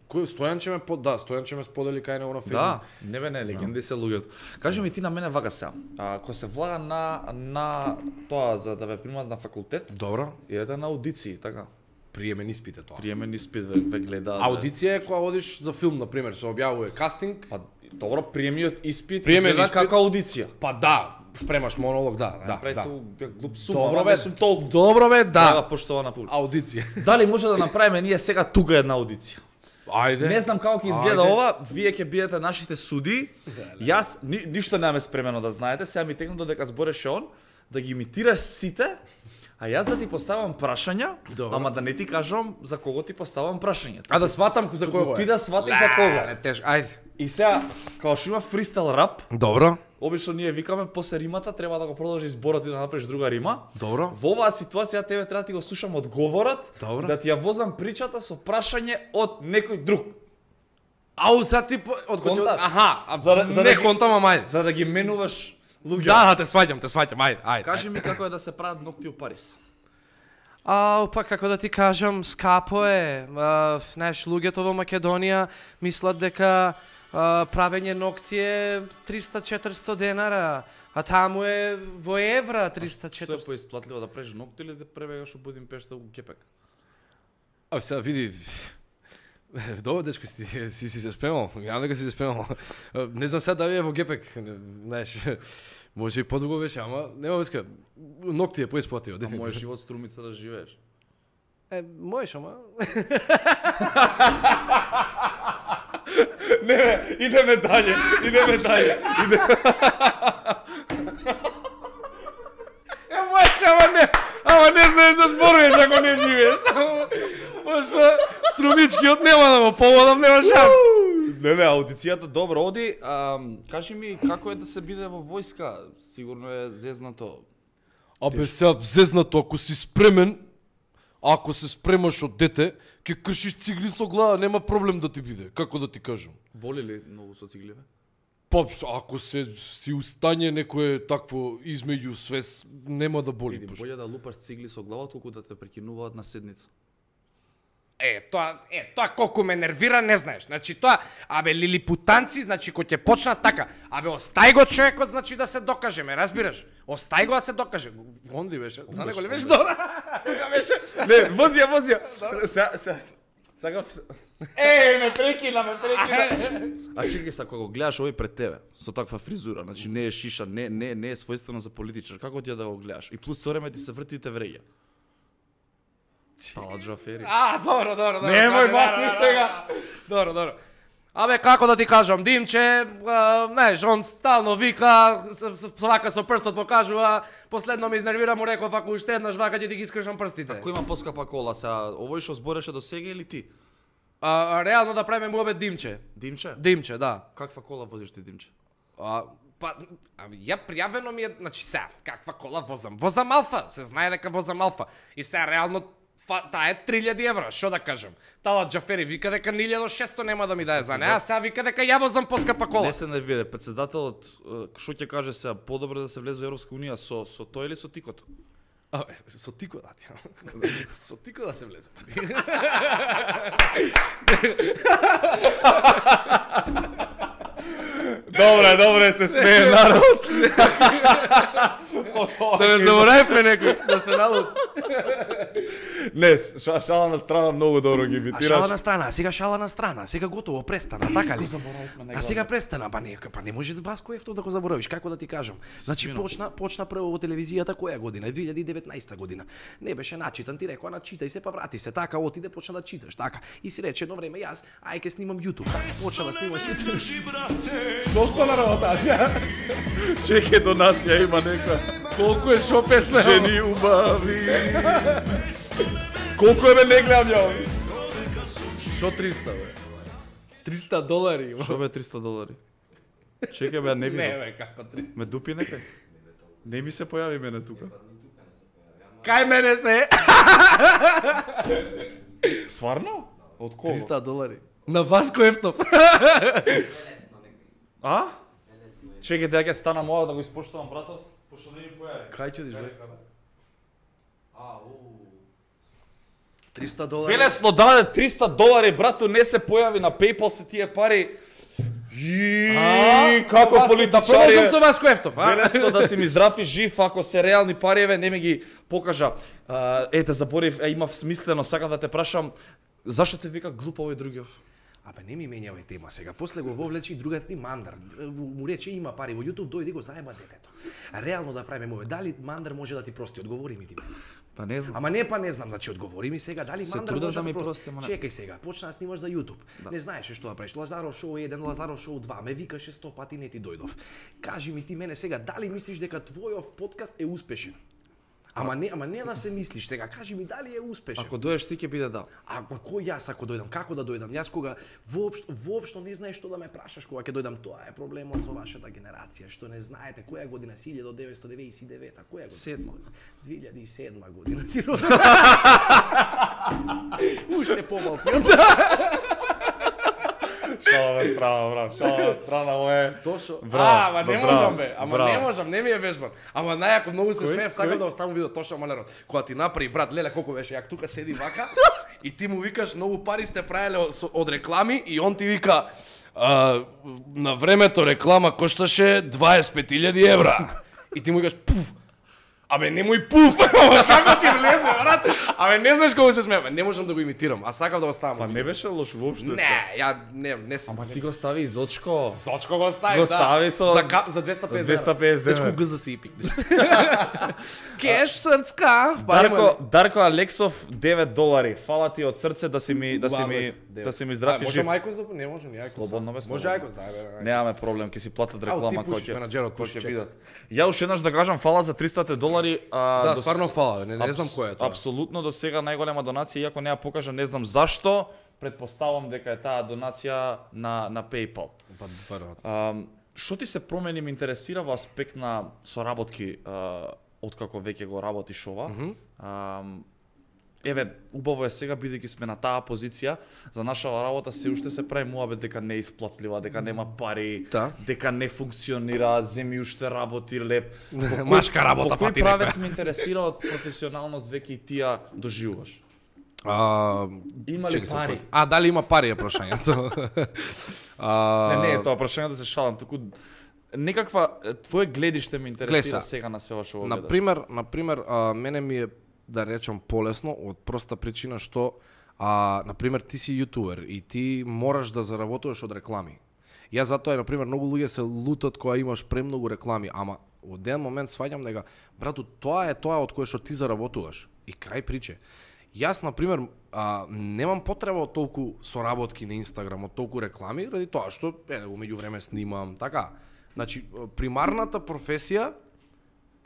Кој Стојанче ме под, да, Стојанче ме сподели кај него на Facebook. Да, не бе не, легенди се луѓето. Кажи ми ти на мене вака сега. А кога се влага на на тоа за да ве примат на факултет, Добро. идете на аудиции, така. Приемен испит е тоа. Приемен испит ве, ве гледаат. бе. Аудиција е кога одиш за филм, на пример, се објавува кастинг. Па добро, приемниот испит Приемен изгледа испит. како аудиција. Па да, спремаш монолог, да, да, Направи да. ту глуп сум, Добро ама бе, не сум толку. добро бе, Да, да. поштована публика. Аудиција. Дали може да направиме ние сега тука една аудиција? Ајде. Не знам како ќе изгледа Ајде. ова, вие ќе бидете нашите суди. Јас ни, ништо немаме спремено да знаете, сега ми текна додека збореше он, да ги имитираш сите, А јас да ти поставам прашања, Добро. ама да не ти кажам за кого ти поставам прашање. А да сватам за кого е? Ти да сватиш за кого. Не, теш, ајде. И сега, као што има фристайл рап, Добро. обично ние викаме после римата треба да го продолжиш зборот и да направиш друга рима. Добро. Во оваа ситуација тебе треба да ти го слушам одговорот, Добро. да ти ја возам причата со прашање од некој друг. Ау, са ти по- од кој? Контакт. Аха, а, За да- за не да ги- контам, ама ајде. За да ги менуваш луѓе. Да, да, те сваќам, те сваќам, ајде, ајде. Кажи ми како е да се прават ногти у Париз. Ау, па како да ти кажам, скапо е. А, знаеш, луѓето во Македонија мислат дека а, правење ногти е триста-четиристо денара, а таму е во евра Што е триста-четиристо. поисплатливо да правиш ногти или да пребегаш у Будимпешта у Кепек? А сега види. Добро, дечко, си си, си се спремал. Ја дека си се спремал. Не знам сега дали е во Гепек, знаеш. Може и подолго беше, ама нема врска. Ногти е поисплативо, А дефинитивно. мојот живот струмица да живееш. Е, можеш, ама. Не, бе, идеме далje, идеме далje. Идеме. Е, можеш, ама не. Ама не знаеш да зборуваш ако не живееш. Пошто струмичкиот нема да го поводам, нема шанс. Не, не, аудицијата добро оди. А, кажи ми како е да се биде во војска? Сигурно е зезнато. Абе, сега зезнато, ако си спремен, ако се спремаш од дете, ќе кршиш цигли со глава, нема проблем да ти биде. Како да ти кажам? Боли ли многу со цигливе? Па, ако се си устање некое такво измеѓу свес, нема да боли. Види, пошто. болje да лупаш цигли со глава, толку да те прекинуваат на седница. Е, тоа, е, тоа колку ме нервира, не знаеш. Значи тоа, абе лилипутанци, значи кој ќе почнат така. Абе остај го човекот, значи да се докажеме, разбираш? Остај го да се докаже. Онди беше, за него ли беше добра? Тука беше. Не, возија, возија. Сега, сега, сега... Е, ме прекина, ме прекина. А чекај са, кога го гледаш овој пред тебе, со таква фризура, значи не е шиша, не, не, не е својствено за политичар, како ти е да го гледаш? И плюс со време ти се врти и те вреја. Тала Джафери. А, добро, добро, добро. Немој чакај, ваку да, да, сега. Добро, добро. Абе, како да ти кажам, Димче, а, знаеш, он стално вика, с- с- вака со прстот покажува, последно ме изнервира, му реков, ако уште еднаш вака ќе ти ги искршам прстите. Кој има поскапа кола сега? Овој што збореше до сега или ти? А, а, реално да правиме муабет Димче. Димче? Димче, да. Каква кола возиш ти, Димче? А, па, ами, ја пријавено ми е, значи сега, каква кола возам? Возам Алфа, се знае дека возам Алфа. И сега реално фа, таа е три илјади евра, што да кажам? Тала Джафери вика дека ни илјада и шесто нема да ми дае за неа, а сега вика дека ја возам поскапа кола. Не се нервира, председателот е, што ќе каже сега, подобро да се влезе во Европска унија со со тој или со тикото? А, со тико да ти. Со тико да се влезе. Добре, добре, се смее народ. Да не заборавме некој, да се налут. Не, ша, шала на страна многу добро ги А имитираш. шала на страна, сега шала на страна, сега готово, престана, така ли? заборавивме А сега престана, па не, па не може Васко Ефтов да го заборавиш, како да ти кажам. Значи почна, почна прво во телевизијата која година? две илјади и деветнаесета година. Не беше начитан, ти рекоа начитај се па врати се, така отиде почна да читаш, така. И си рече едно време јас, ај ке снимам YouTube, така почна да снимаш YouTube. Што стана работа сега? Чеке донација има нека. Колку е шо песна? Жени убави. Колку е бе не гледам ја ови? Шо триста бе? триста долари. Што бе триста долари? Чекај бе, не Не видов. бе, како триста. Ме дупи некај? Не ми се појави мене тука. Кај мене се? Сварно? Од кого? триста долари. На Васко Ефтов. А? Чекај, дека ќе стана моја да го испоштувам братот, пошто не ми појави. Кај ќе одиш бе? триста долари. Велесно даде триста долари, брато, не се појави на PayPal се тие пари. И како Да политичари. продолжам со Васко Ефтов, а? Велесно да си ми здрав и жив, ако се реални париеве, не ми ги покажа. А, ете, заборив, е, имав смислено, сакав да те прашам, зашто те вика глуп овој другиов? Абе не ми менјавај тема сега. После го вовлече и другата ти Мандар. Му рече има пари во YouTube, дојди го заеба детето. Реално да правиме мове. Дали Мандар може да ти прости? Одговори ми ти. Па не знам. Ама не па не знам, значи одговори ми сега дали Се Мандар трудам може да да ми ти прости. прости, ама не. Чекај сега, почна да снимаш за YouTube. Не знаеше што да правиш. Лазаро шоу еден, Лазаро шоу два, ме викаше сто пати, не ти дојдов. Кажи ми ти мене сега, дали мислиш дека твојов подкаст е успешен? Ама не, ама не да се мислиш сега, кажи ми дали е успешен. Ако доеш ти ќе биде да. А ма кој јас ако дојдам, како да дојдам? Јас кога воопшто воопшто не знаеш што да ме прашаш кога ќе дојдам, тоа е проблемот со вашата генерација, што не знаете која година си илјадум деветстотини деветдесет и девета, која година? Седма. две илјади и седма година си роден. Уште помал си. Шала страна, брат, шала страна, ое. Тошо. Браво, А, ама не браво, можам бе, ама браво. не можам, не ми е вежбан. Ама најако многу се Кој? смеев, сакам Кој? да оставам видео Тошо Малерот. Кога ти направи брат леле колку беше јак тука седи вака и ти му викаш многу пари сте правеле од, од реклами и он ти вика а, на времето реклама кошташе дваесет и пет илјади евра. И ти му викаш пуф. Абе немој пуф. Како ти влезе брат? Абе не знаеш колку се смеев, не можам да го имитирам, а сакам да оставам. Па не беше лош воопшто. Не, ја не не сум. Ама ти го стави изочко. Сочко го стави, Го да. стави со- за, ка... за двеста и педесет двеста и педесет Дечко денара. гъз да си и пикнеш. Кеш срцка. Дарко, Дарко Алексов девет долари. Фала ти од срце да си ми да си ми да си ми здрав и Може жив. Мајкос да не може ни Ајкос. Слободно бе, Може слободно. Ајкос да бе. Немаме проблем, ќе си платат Ау, реклама ти кој пушиш, ќе менаџерот кој пуши, ќе чекај. видат. Ја уште еднаш да кажам фала за тристата долари. А, Да, до- стварно фала, не, не Апс- знам кој е тоа. Апсолутно до сега најголема донација, иако не ја покажа, не знам зашто. Претпоставам дека е таа донација на на PayPal. Па веројатно. Ам, Што ти се промени ме интересира во аспект на соработки а, откако веќе го работиш ова. Mm -hmm. Ам, еве, убаво е сега бидејќи сме на таа позиција, за наша работа се уште се прави муабет дека не е исплатлива, дека нема пари, Да. дека не функционира, земи уште работи леп. По кој- Машка работа, по кој фати правец ме интересира од професионалност веќе и тија доживуваш? А, Има ли чекай се, пари? кој- А, дали има пари е прашањето. А, Не, не е тоа прашање да се шалам, туку некаква е, твое гледиште ме интересира Гледа, сега на све што го На гледаш. пример, на пример, а, мене ми е да речам полесно од проста причина што а на пример ти си јутубер и ти мораш да заработуваш од реклами. Ја затоа е на пример многу луѓе се лутат кога имаш премногу реклами, ама од еден момент сваѓам дека брато тоа е тоа од кое што ти заработуваш. И крај приче. Јас на пример а, немам потреба од толку соработки на Инстаграм, од толку реклами, ради тоа што е у меѓувреме снимам, така. Значи примарната професија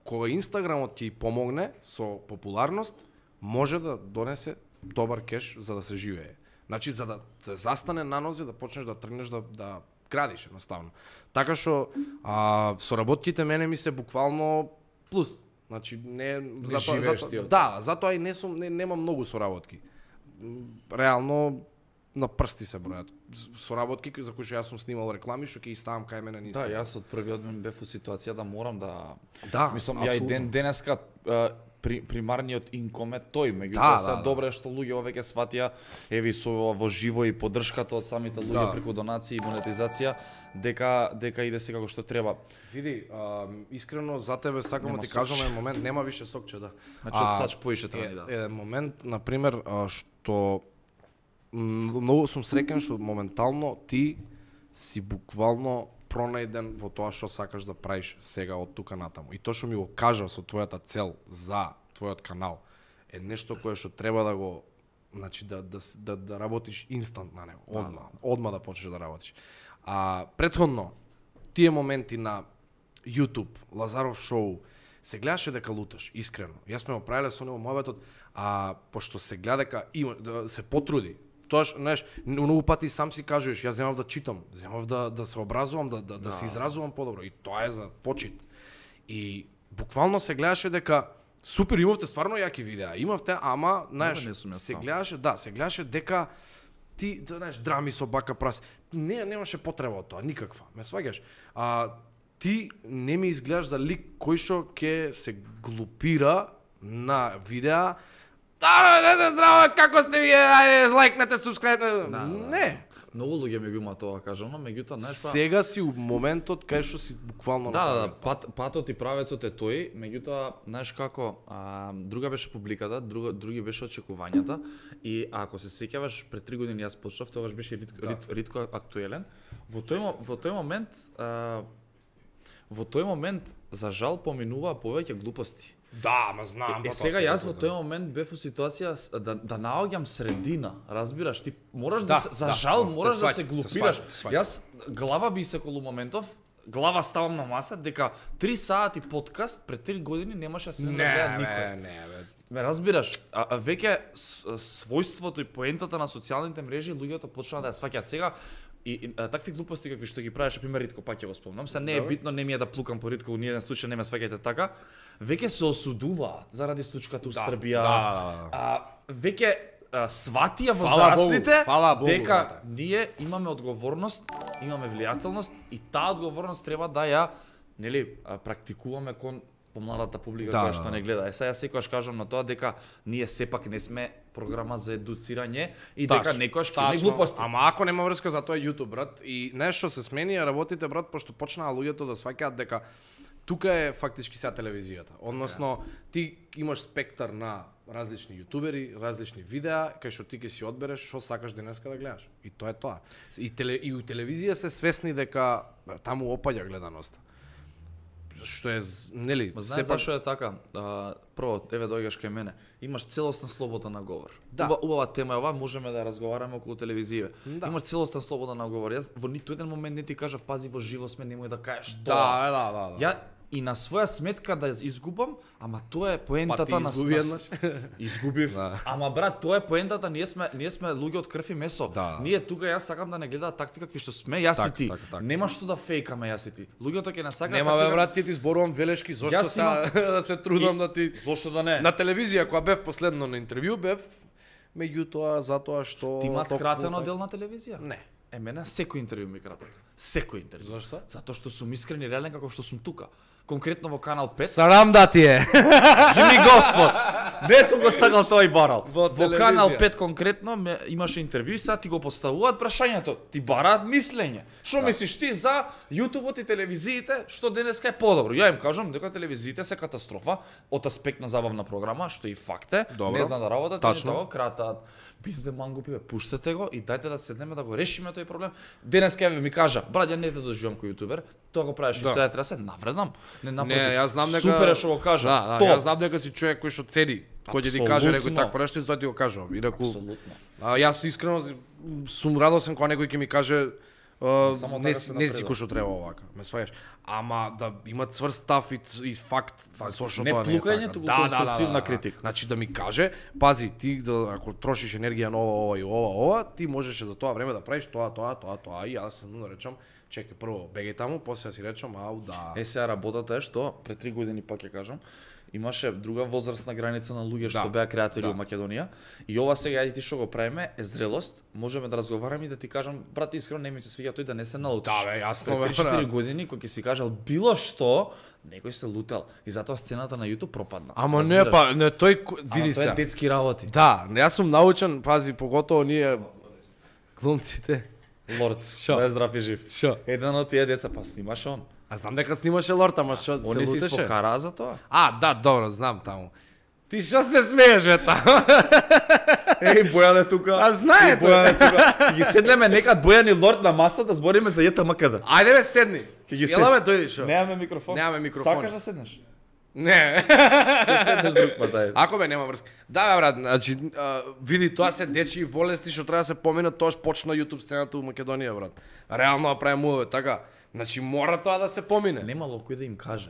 кога Инстаграмот ќе ја помогне со популарност, може да донесе добар кеш за да се живее. Значи за да се застане на нозе, да почнеш да тргнеш да да градиш едноставно. Така што а соработките мене ми се буквално плюс. Значи не затоа живееш затоа ти од да, затоа и не сум не, немам многу соработки. Реално на прсти се бројат. Соработки за кои што јас сум снимал реклами што ќе ги ставам кај мене на Да, Инстаграм. јас од првиот ден бев во ситуација да морам да Да, мислам ја и апсолутно. ден денеска а, при, примарниот инком е тој, меѓутоа Да, се да, да. добро е што луѓе овеќе сватија еве со ова во живо и поддршката од самите луѓе Да. преку донации и монетизација дека дека иде се како што треба. Види, а, искрено за тебе сакам Нема да ти сокче. кажам еден момент, нема више сокче, да. Значи од сач поише треба е, ни да. еден момент, на пример, а, што м, многу сум среќен што моментално ти си буквално пронајден во тоа што сакаш да правиш сега од тука натаму. И тоа што ми го кажа со твојата цел за твојот канал е нешто кое што треба да го значи да да с- да, да работиш инстант на него, одма, одма да почнеш да работиш. А претходно тие моменти на YouTube, Лазаров шоу, се гледаше дека луташ, искрено. Јас сме го правеле со него мојбетот, а пошто се гледа дека има да се потруди. Тоаш, знаеш, многу пати сам си кажуваш, јас земав да читам, земав да да се образувам, да да, да се изразувам подобро и тоа е за почит. И буквално се гледаше дека супер, имавте стварно јаки видеа, имавте, ама, знаеш, не сум јас се сам. гледаше, да, се гледаше дека ти, да, знаеш, драми со бака прас. Не, немаше потреба од тоа, никаква. Ме сваѓаш. А ти не ми изгледаш за лик кој што ќе се глупира на видеа. Да, не знам, здраво, како сте вие, ајде, лајкнете, субскрајбнете. Не. Многу луѓе ми го има тоа кажано, меѓутоа знаеш па Сега си у моментот кај што си буквално Да, да, да, направил. пат, патот и правецот е тој, меѓутоа, знаеш како, а, друга беше публиката, друга, други беше очекувањата и ако се сеќаваш пред три години јас почнав, тогаш беше ритко, Да. рит, ритко актуелен. Во тој мо- во тој момент а, во тој момент за жал поминуваа повеќе глупости. Да, ма знам. Е, сега јас во тој момент бев во ситуација с- да да наоѓам средина, разбираш, ти мораш да, Да, се, за да, жал те мораш да сваќам, се те глупираш. сваќам, те сваќам. Јас глава би се колу моментов глава ставам на маса дека три сати подкаст пред три години немаше да се гледа никој. Не, не, бе. Ме разбираш, а, а веќе својството и поентата на социјалните мрежи луѓето почнаа да ја сваќаат сега и, и а, такви глупости какви што ги правеше пример Ритко, пак ќе го спомнам. Се не е битно, не ми е да плукам по Ритко, ни еден случај не ме сваќајте така. Веќе се осудуваат заради случката у Да, Србија. да. А, веќе а, сватија Фала возрастните Богу, фала Богу, дека брате. ние имаме одговорност, имаме влијателност и таа одговорност треба да ја, нели, а, практикуваме кон помладата публика Да, која да, што да. не гледа. Е сега секогаш кажам на тоа дека ние сепак не сме програма за едуцирање и Тачно, дека некојаш ќе има тачно. глупости. Ама ако нема врска за тоа е YouTube, брат, и нешто се смени, а работите, брат, пошто почнаа луѓето да сваќаат дека тука е фактички сега телевизијата. Односно, ти имаш спектар на различни јутубери, различни видеа, кај што ти ќе си одбереш што сакаш денеска да гледаш. И тоа е тоа. И, теле, и у телевизија се свесни дека таму опаѓа гледаноста. Што е, нели, Ма знаеш сепак- зашо е така? А, прво, еве доаѓаш кај мене. Имаш целосна слобода на говор. Да. Уба, убава тема е ова, можеме да ја разговараме околу телевизија. Да. Имаш целосна слобода на говор. Јас во ниту еден момент не ти кажав пази во живо сме, немој да кажеш тоа. Да, да, да, да. Ја и на своја сметка да изгубам, ама тоа е поентата Па ти на изгуби на- еднаш. Изгубив. Да. Ама брат, тоа е поентата, ние сме ние сме луѓе од крв и месо. Да. Ние тука јас сакам да не гледаат такви какви што сме, јас и Така, ти. така, така. Нема што да фейкаме јас и ти. Луѓето ќе не сакаат Нема такви бе какви- брат, ти ти зборувам велешки, зошто Јас са да се трудам И- да ти Зошто да не? на телевизија кога бев последно на интервју бев меѓутоа затоа што Ти имаат толку скратено така- дел на телевизија? Не. Е, мене секој интервју ми кратат. Секој интервју. Зошто? Затоа што сум искрен и реален како што сум тука. Конкретно во канал пет. Сарам да ти е. Живи Господ! Не сум го сакал тоа и барал. Во Во телевизија. канал пет конкретно ме, имаше интервју и сега ти го поставуваат прашањето. Ти бараат мислење. Што мислиш ти за јутубот и телевизиите, што денеска е подобро? Ја им кажам дека телевизиите се катастрофа од аспект на забавна програма, што и факт е. Добро. Не знаат да работат, Тачно. не да го кратат. Бидете мангупи, бе, пуштете го и дајте да седнеме да го решиме тој проблем. Денеска еве ми кажа, брат, ја не те доживам кој јутубер, тоа го правиш Да. и сега треба да се навредам. Не напротив. Не, јас знам дека Супер е што го кажа. Да, да, Тоа. јас знам дека си човек кој што цени, кој ќе ти каже некој Апсолутно. так прешти, затоа ти го кажувам. Инаку Апсолутно. а, јас искрено сум радосен кога некој ќе ми каже а, Само не така си се не си напредува. кој што треба овака, ме сваѓаш. Ама да има цврст став и, и факт, зошто Не тоа не е плукање, така. туку конструктивна критика. Значи да ми каже, пази, ти за- ако трошиш енергија на ова, ова и ова, ова, ти можеше за тоа време да правиш тоа, тоа, тоа, тоа и јас се да речам, чекај прво бегај таму, после да си речам, ау да. Е, сега работата е што пред три години пак ќе кажам, имаше друга возрастна граница на луѓе што Да, беа креатори да. во Македонија и ова сега и ти што го правиме е зрелост, можеме да разговараме и да ти кажам, брат, искрено не ми се свиѓа тој да не се налутиш. Да, бе, јасно, бе, Пред три-четири брат. години кој ќе си кажал било што, некој се лутел и затоа сцената на YouTube пропадна. Ама не, Разбираш? па, не, тој, ко- Ама види тоа се. е детски работи. Да, јас сум научен, пази, поготово ние глумците. Лорд, Шо? да е здрав и жив. Шо? Еден од тие деца па снимаше он. А знам дека снимаше Лорд, ама што се Они се лутеше? испокараа за тоа. А, да, добро, знам таму. Ти што се смееш бе таму? Еј, Бојан е тука. А знае Еј, Бојан е тука. Ќе ги седнеме некад Бојан и Лорд на маса да збориме за Јета МКД. Ајде бе, седни. Ќе ги Ела сед- бе, дојди шо. Немаме микрофон. Немаме микрофон. Сакаш да седнеш? Не. Ќе седнеш друг пат, ајде. Ако бе, нема врска. Да, бе, брат, значи, а, види, тоа се дечи болести што треба да се поминат, тоаш почна YouTube сцената у Македонија, брат. Реално да правиме муве, така. Значи, мора тоа да се помине. Немало кој да им каже.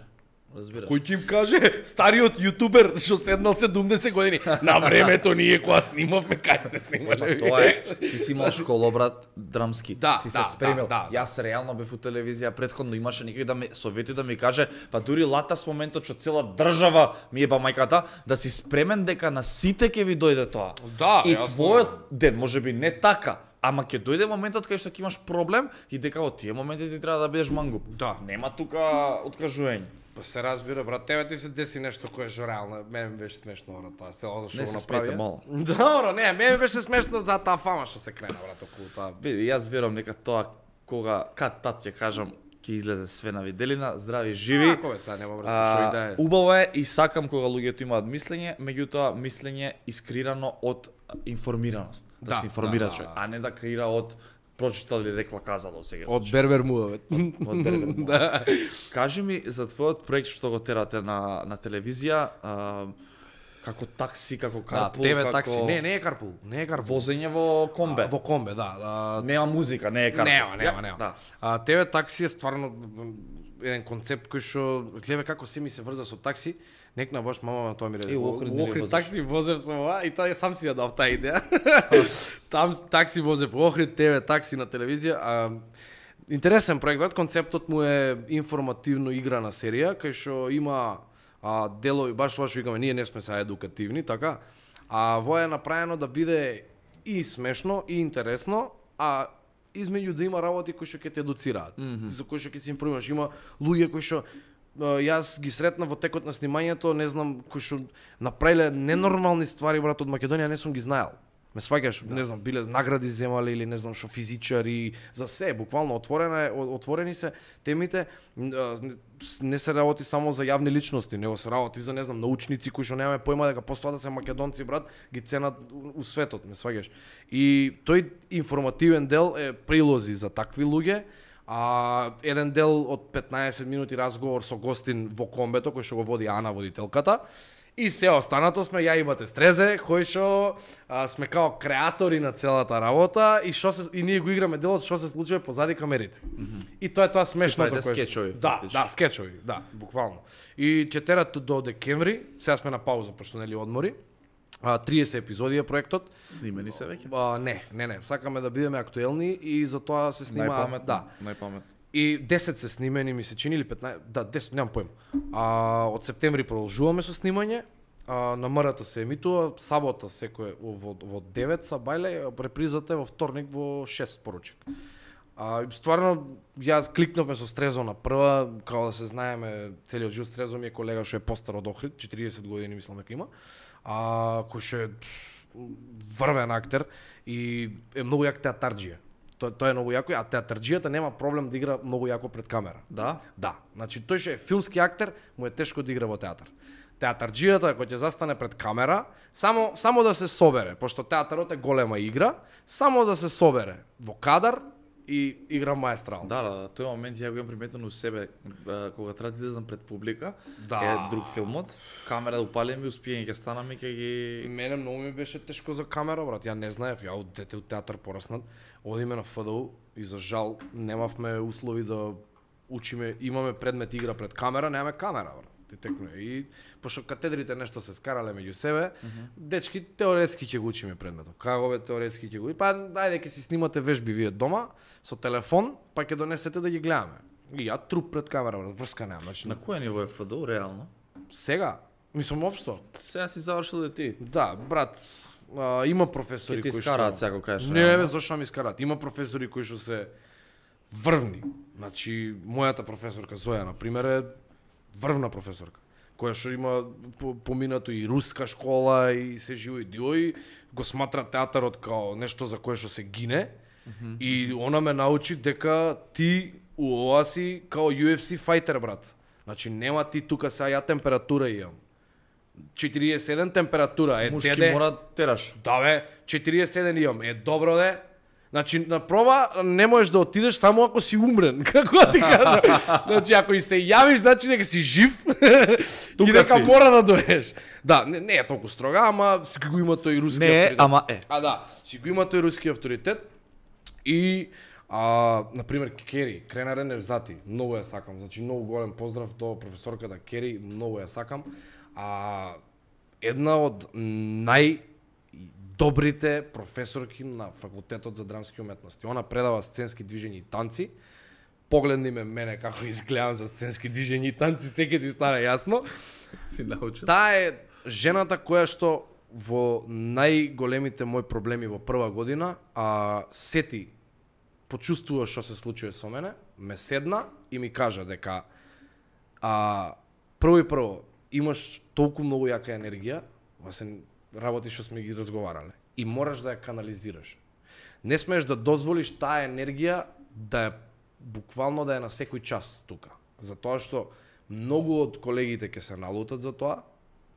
Разбираш? Кој ќе им каже, стариот јутубер што седнал седумдесет години, на времето ние кога снимавме, кај сте Па снимале? тоа е. Ти си имал школа, брат, драмски. Да, си се да, спремил. да, да. Јас реално бев у телевизија, претходно имаше некој да ме совети да ми каже, па дури латас моментот што цела држава ми еба мајката, да си спремен дека на сите ќе ви дојде тоа. Да, И јасно. твојот ден можеби не така, ама ќе дојде моментот кај што ќе имаш проблем и дека во тие моменти ти треба да бидеш мангуп. Да. Нема тука откажување. Па се разбира, брат, тебе ти се деси нешто кое што реално, мене ми беше смешно, брат, тоа се ова што Не го се направи. смете мало. Добро, не, мене ми беше смешно за таа фама што се крена, брат, околу таа. Види, јас верувам дека тоа кога кад тат ќе кажам ќе излезе све на виделина, здрави живи. Ако бе, сега нема врска, што и да е. убаво е и сакам кога луѓето имаат мислење, меѓутоа мислење искрирано од информираност. Да, Да, се информира да, човек, да. а не да креира од прочитал или рекла казало сега. Од Бербер муавет. од Бербер. Да. Кажи ми за твојот проект што го терате на на телевизија, а, Како такси, како Да, карпул, тебе како... такси. Не, не е карпул, не е карпул. Возење во комбе. А, во комбе, да. А, Нема музика, не е карпул. Нема, нема, нема. Да. А, тебе такси е стварно еден концепт кој што гледа како се ми се врза со такси. Некна баш мама на тоа ми реде. Е, у Охрид нели возиш? такси возев со ова и тоа сам си ја дав таа идеја. Там такси возев во Охрид, тебе такси на телевизија. А, интересен проект, брат, концептот му е информативно играна серија кај што има а, делови, баш тоа што викаме, ние не сме сега едукативни, така? А во е направено да биде и смешно, и интересно, а измеѓу да има работи кои што ќе те едуцираат, mm -hmm. за кои што ќе се информираш. Има луѓе кои што јас ги сретна во текот на снимањето, не знам, кои што направиле ненормални ствари, брат, од Македонија, не сум ги знаел. Ме сваќаш, да. Не знам, биле награди земале или не знам што физичари, за се, буквално отворена е, отворени се темите, не се работи само за јавни личности, него се работи за, не знам, научници кои што немаме појма дека постојат да се македонци, брат, ги ценат у светот, ме сваќаш. И тој информативен дел е прилози за такви луѓе. А еден дел од петнаесет минути разговор со гостин во комбето кој што го води Ана, водителката. И се останато сме ја и Мате Стрезе, кои што а, сме као креатори на целата работа и што се и ние го играме делот што се случува позади камерите. Mm -hmm. И тоа е тоа смешното кој скечови. Да, да, скечови, да, буквално. И ќе терат до декември, сега сме на пауза пошто нели одмори. А, триесет епизоди е проектот. Снимени се веќе? А, не, не, не, сакаме да бидеме актуелни и за тоа се снима, најпаметно, да. Најпаметно. И десет се снимени, ми се чини, или петнаесет, да, десет, немам појма. А, од септември продолжуваме со снимање, а, на МРТ се емитува, сабота секој во, во девет са бајле, репризата е во вторник во шест поручек. А, стварно, јас кликнавме со Стрезо на прва, као да се знаеме, целиот живот. Стрезо ми е колега што е постар од Охрид, четириесет години мислам дека има, а, кој што е врвен актер и е многу јак театарџија. Тоа тоа е многу јако, а театарџијата нема проблем да игра многу јако пред камера. Да? Да. Значи тој што е филмски актер, му е тешко да игра во театар. Театарџијата кој ќе застане пред камера, само само да се собере, пошто театарот е голема игра, само да се собере во кадар и игра маестрално. Да, да, да, тој момент ја го имам приметено у себе, кога треба да излезам пред публика, Да. е друг филмот, камера да упалим и успиење ќе станам и ќе ги... Мене многу ми беше тешко за камера, брат. Ја не знаев, ја од дете од театар пораснат. Одиме на ФДУ и за жал немавме услови да учиме, имаме предмет игра пред камера, немаме камера, брат. Ти текнуе. И пошто катедрите нешто се скарале меѓу себе, mm -hmm. дечки теоретски ќе го учиме предметот. Како бе теоретски ќе го. И па ајде ќе си снимате вежби вие дома со телефон, па ќе донесете да ги гледаме. И ја труп пред камера, брат, врска немам. Значи, На кој ниво е ФДУ реално? сега, мислам општо. Сега си завршил да ти. Да, брат, а, има професори Ке ти кои скараат што... сега го кажеш. Не, реално. бе, зашто ми скараат? Има професори кои што се врвни. Значи, мојата професорка Зоја, на пример, е врвна професорка, која што има поминато и руска школа и се живо и диој, го сматра театарот као нешто за кое што се гине, mm -hmm. и она ме научи дека ти у ова си као Ю Еф Си фајтер, брат. Значи, нема ти тука сега ја температура имам. четириесет и седум температура, е Мушки теде... мора тераш. Да бе, четириесет и седум имам, е добро де. Значи, на проба не можеш да отидеш само ако си умрен, како да ти кажам. Значи, ако и се јавиш, значи дека си жив и дека си. мора да доеш. Да, не, не е толку строга, ама си го има тој руски Не, авторитет. ама е. А да, си го има тој руски авторитет и а, например Кери, Крена Невзати, многу ја сакам. Значи, многу голем поздрав до професорката Кери, многу ја сакам. А една од нај добрите професорки на факултетот за драмски уметности. Она предава сценски движења и танци. Погледни ме мене како изгледам за сценски движења и танци, секој ти стане јасно. Си научен. Таа е жената која што во најголемите мои проблеми во прва година, а сети почувствува што се случува со мене, ме седна и ми кажа дека а прво и прво имаш толку многу јака енергија, во се работи што сме ги разговарале, и мораш да ја канализираш. Не смееш да дозволиш таа енергија да е буквално да е на секој час тука. Затоа што многу од колегите ќе се налутат за тоа,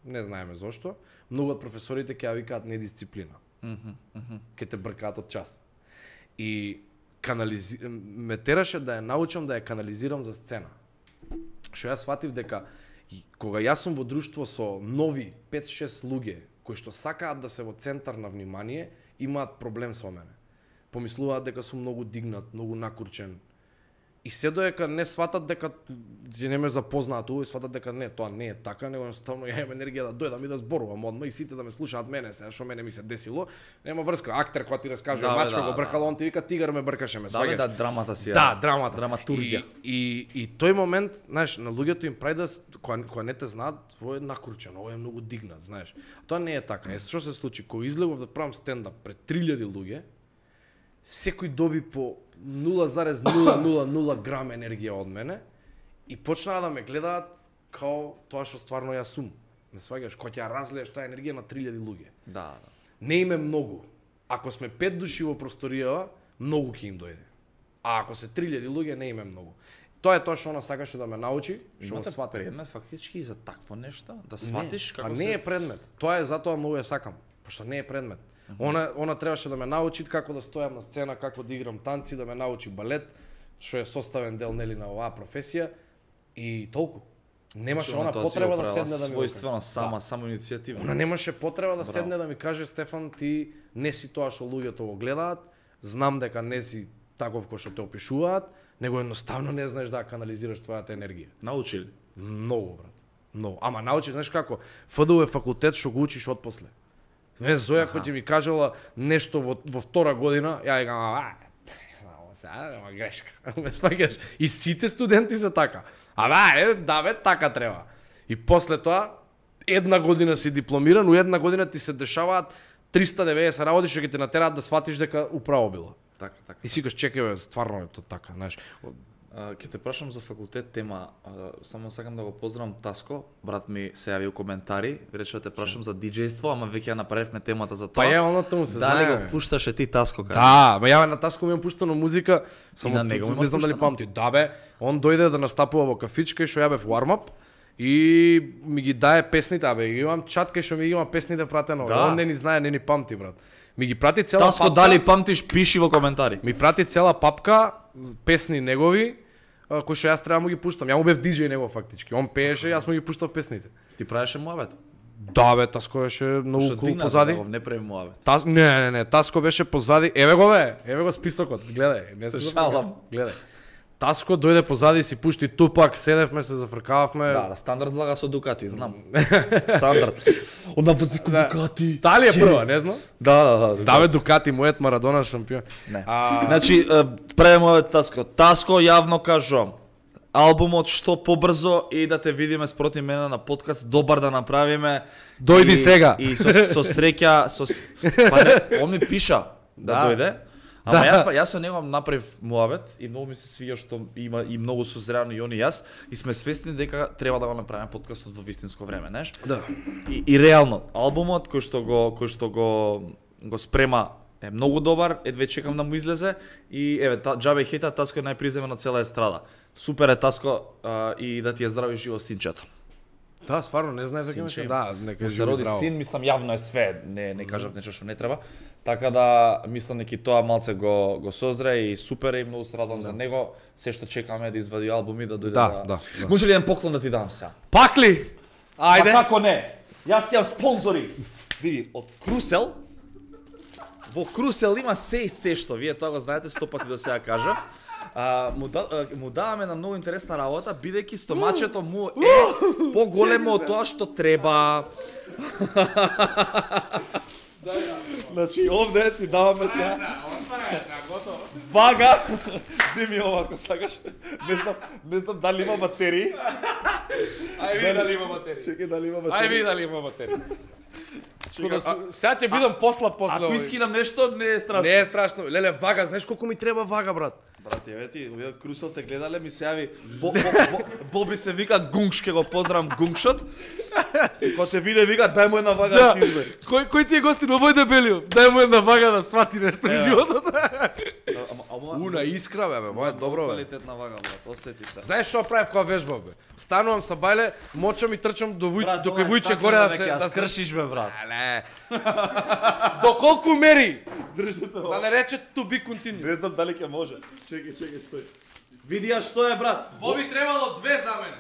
не знаеме зошто, многу од професорите ќе ја викаат недисциплина. Mm -hmm, mm -hmm. Ќе те бркаат од час. И канализи... ме тераше да ја научам да ја канализирам за сцена. Што јас сватив дека И кога јас сум во друштво со нови пет-шест луѓе кои што сакаат да се во центар на внимание, имаат проблем со мене. Помислуваат дека сум многу дигнат, многу накурчен. И се доека не сватат дека ќе не ме запознаат и сватат дека не, тоа не е така, него едноставно ја имам енергија да дојдам и да зборувам одма и сите да ме слушаат мене се, што мене ми се десило. Нема врска, актер кој ти раскажува Да, бе, мачка да, го бркало, да. он ти вика тигар ме бркаше ме, Да, бе, сваѓаш? да, драмата си е. Да, драмата. Драматургија. И, и, и тој момент, знаеш, на луѓето им прави да, с- која, која не те знаат, ово е накручен, ово е многу дигнат, знаеш. Тоа не е така. Е, што се случи? Кога излегов да правам стендап пред три илјади луѓе, секој доби по нула зарез нула нула нула грам енергија од мене и почнаа да ме гледаат као тоа што стварно јас сум. Не сваѓаш, кој ќе ја разлееш таа енергија на три илјади луѓе. Да, да. Не им е многу. Ако сме пет души во просторијава, многу ќе им дојде. А ако се три илјади луѓе, не им е многу. Тоа е тоа што она сакаше да ме научи, што Имате свати. предмет фактички и за такво нешто, да сватиш Не, како а се... не е предмет. Тоа е затоа многу ја сакам, пошто не е предмет. Она она требаше да ме научи како да стојам на сцена, како да играм танци, да ме научи балет, што е составен дел нели на оваа професија и толку. Немаше она Тоа си потреба го да правила седне да ми својствено, Да. сама, само иницијативно. Она немаше потреба да Браво. седне да ми каже Стефан, ти не си тоа што луѓето го гледаат, знам дека не си таков кој што те опишуваат, него едноставно не знаеш да ја канализираш твојата енергија. Научили. Многу, брат. Многу. Ама научи, знаеш како? ФДУ е факултет што го учиш отпосле. Не, Зоја кој ќе ми кажела нешто во, во втора година, ја викам, а, ова сега, ама грешка. Ме сваќаш. И сите студенти се така. А да, е, да бе, така треба. И после тоа, една година си дипломиран, у една година ти се дешаваат триста и деветдесет работи што ќе те натераат да сватиш дека управо било. Така, така. И си кажеш, чекај бе, стварно е тоа така, знаеш. А, Ке те прашам за факултет тема, а, само сакам да го поздравам Таско, брат ми се јави у коментари, рече да те прашам за диџејство, ама веќе ја направивме темата за тоа. Па е, оното му се Дали знае, го бе. пушташе ти Таско кај? Да, ма ја на Таско ми имам пуштано музика, само на него не има знам дали пуштано? памти. Да бе, он дојде да настапува во кафичка и што ја бев warm-up и ми ги дае песните, абе, ги имам чат кај што ми ги има песните пратено. Да. Он не ни знае, не ни памти, брат. Ми ги прати цела Таско, папка. дали памтиш, пиши во коментари. Ми прати цела папка з- песни негови, а, кои што јас треба да му ги пуштам. Ја му бев диџеј него фактички. Он пееше, јас му ги пуштав песните. Ти правеше муабет? Да бе, Таско беше многу Што кул дигна позади. него, не прави муабет. Тас... Не, не, не, Таско беше позади. Еве го бе, еве го списокот. Гледај, не се Се запрекав. шалам. Гледај. Таско дојде позади и си пушти Тупак, седевме се зафркававме. Да, да, стандард влага со Дукати, знам. Стандард. Онда возико Дукати. Дали е прва, не знам? Да, да, да. Да бе, Дукати, мојот Марадона шампион. Не. А, Значи, правиме муабет Таско. Таско, јавно кажувам. Албумот што побрзо и да те видиме спроти мене на подкаст, добар да направиме. Дојди И- сега. И со, со среќа, со с- па не, он ми пиша да, Да. дојде. Ама Да. јас па јас со него направив муабет и многу ми се свиѓа што има и многу созрено и он и јас и сме свесни дека треба да го направиме подкастот во вистинско време, знаеш? Да. И, и реално албумот кој што го кој што го го спрема е многу добар, едве чекам да му излезе и еве та, џабе хета Таско е најприземен од цела естрада. Супер е Таско а, и да ти е здраво и живо синчето. Да, стварно, не знаев дека Синче имаше. има. Да, нека Му е се живо роди здраво. син, мислам јавно е све, не не кажав нешто што не треба. Така да мислам дека и тоа малце го го созре и супер е и многу се радувам за него. Се што чекаме да извади албум и да дојде Да, да. да, да. Може ли еден поклон да ти дам сега? Пак ли? Ајде. Па како не? Јас имам спонзори. Види, од Крусел. Во Крусел има се и се што, вие тоа го знаете, сто пати до сега кажав. А, му, да, а, му даваме на многу интересна работа, бидејќи стомачето му е поголемо од тоа што треба. Значи, овде ти даваме се. Вага. Земи ова ако сакаш. Не знам, не знам дали има батерии. Ај види дали има материја. Чекај дали има Ај батерии. види дали има материја. Чекај, а- Сега ќе бидам послаб после Ако овој. искинам нешто, не е страшно. Не е страшно. Леле, вага, знаеш колку ми треба вага, брат? Брат, еве ти, овие Крусел те гледале, ми се јави, Бо- Бо- Бо- Боби се вика Гунгш, ке го поздравам Гунгшот. И кога те виде, вика, дај му една вага да си избери. Кој кој ти е гостин овој дебелиот? Дај му една вага да свати нешто во животот. Ама, ама, Уна искра бе, бе, мој е добро бе. Квалитетна вага, брат, остајте се. Знаеш што правев кога вежбав бе? Станувам са бајле, мочам и трчам до вуј, Брат, до ова е кај вујче стаклена горе да веќе, се ја да се скршиш бе, брат. Але. До колку мери? Држите Да не рече to be continued. Не знам дали ќе може. Чекај, чекај, стој. Види ја што е, брат. Во би требало две за мене.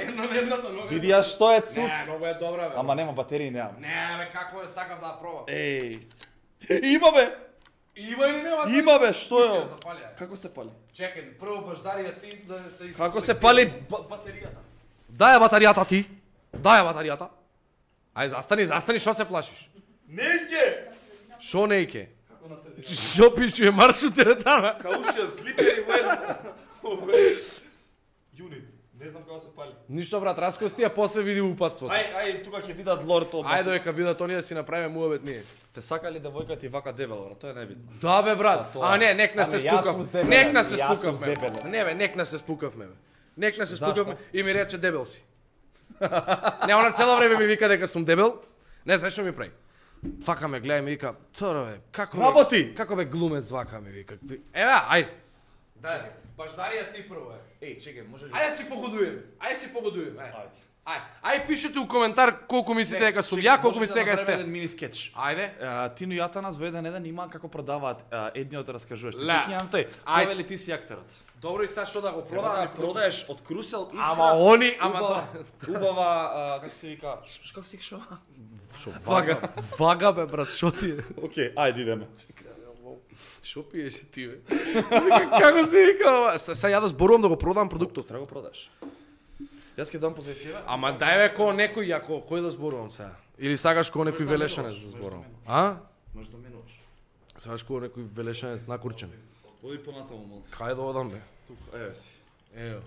Едно на едното, но Види ја што е цуц. Не, многу е добра, бе. Ама нема батерии, немам. Не, бе, како е, сакам да ја пробам. Еј. Има бе. Има или нема? Има бе, што Пушти ја е? запали, ја. Како се пали? Чекај, прво баждарија ти да не се изпали. Како се пали ба- батеријата? Дај ја батеријата ти. Дај ја батеријата. Ај, застани, застани, шо се плашиш? Неќе. Шо нејке? Како наследира? Шо пишува маршрут теретана? Каушен, слипери, уен. Юнит. Не знам како се пали. Ништо брат, раскости, а после види упатството. Ај, ај, тука ќе видат лорд од. Ајде дека видат они да си направиме муабет ние. Те сакали девојка ти вака дебел, брат, тоа е небитно. Да бе брат. тоа. А не, нек не се Ами, јас сум спукав. здебелен, Нек не се јас сум спукавме. здебелен. Не бе, нек не се спукавме бе. Нек не се Зашто? спукавме и ми рече дебел си. Не, она цело време ми вика дека сум дебел. Не знаеш што ми прави. Фака ме гледа и ми вика, "Торо бе, како бе, Работи! како бе глумец вака ми вика." Еве, ајде. Дај, баждарија ти прво е. Еј, чекај, може ли? Ајде си погодуеме. Ајде си погодуеме. Ајде. Ајде. Ајде. Ајде пишете у коментар колку мислите дека сум ја, колку мислите дека сте. еден мини скеч. Ајде. А, Тино и Атанас во еден еден има како продаваат а, едниот раскажуваш. Ти Ле. ќе имам тој. Ајде. Кој вели ти си актерот? Добро и сега што да го Треба продавам? да продаеш од Крусел искра. Ама они, ама убава, тоа. убава, а, како се вика? Ш- Како се вика? Шо, вага. Вага бе брат, шо ти е? Океј, ајде идеме. Шо пиеш ти бе? Како се вика ова? Се се ја да зборувам да го продам продуктот. Треба го продаш. Јас ќе дам позај тебе. Ама дај бе ко некој јако, кој да зборувам сега? Или сакаш ко некој велешанец да зборувам? А? Можеш да менуваш. Сакаш ко некој велешанец накурчен? Оди понатаму малце. Кај да одам бе? Тука, еве си. Ево.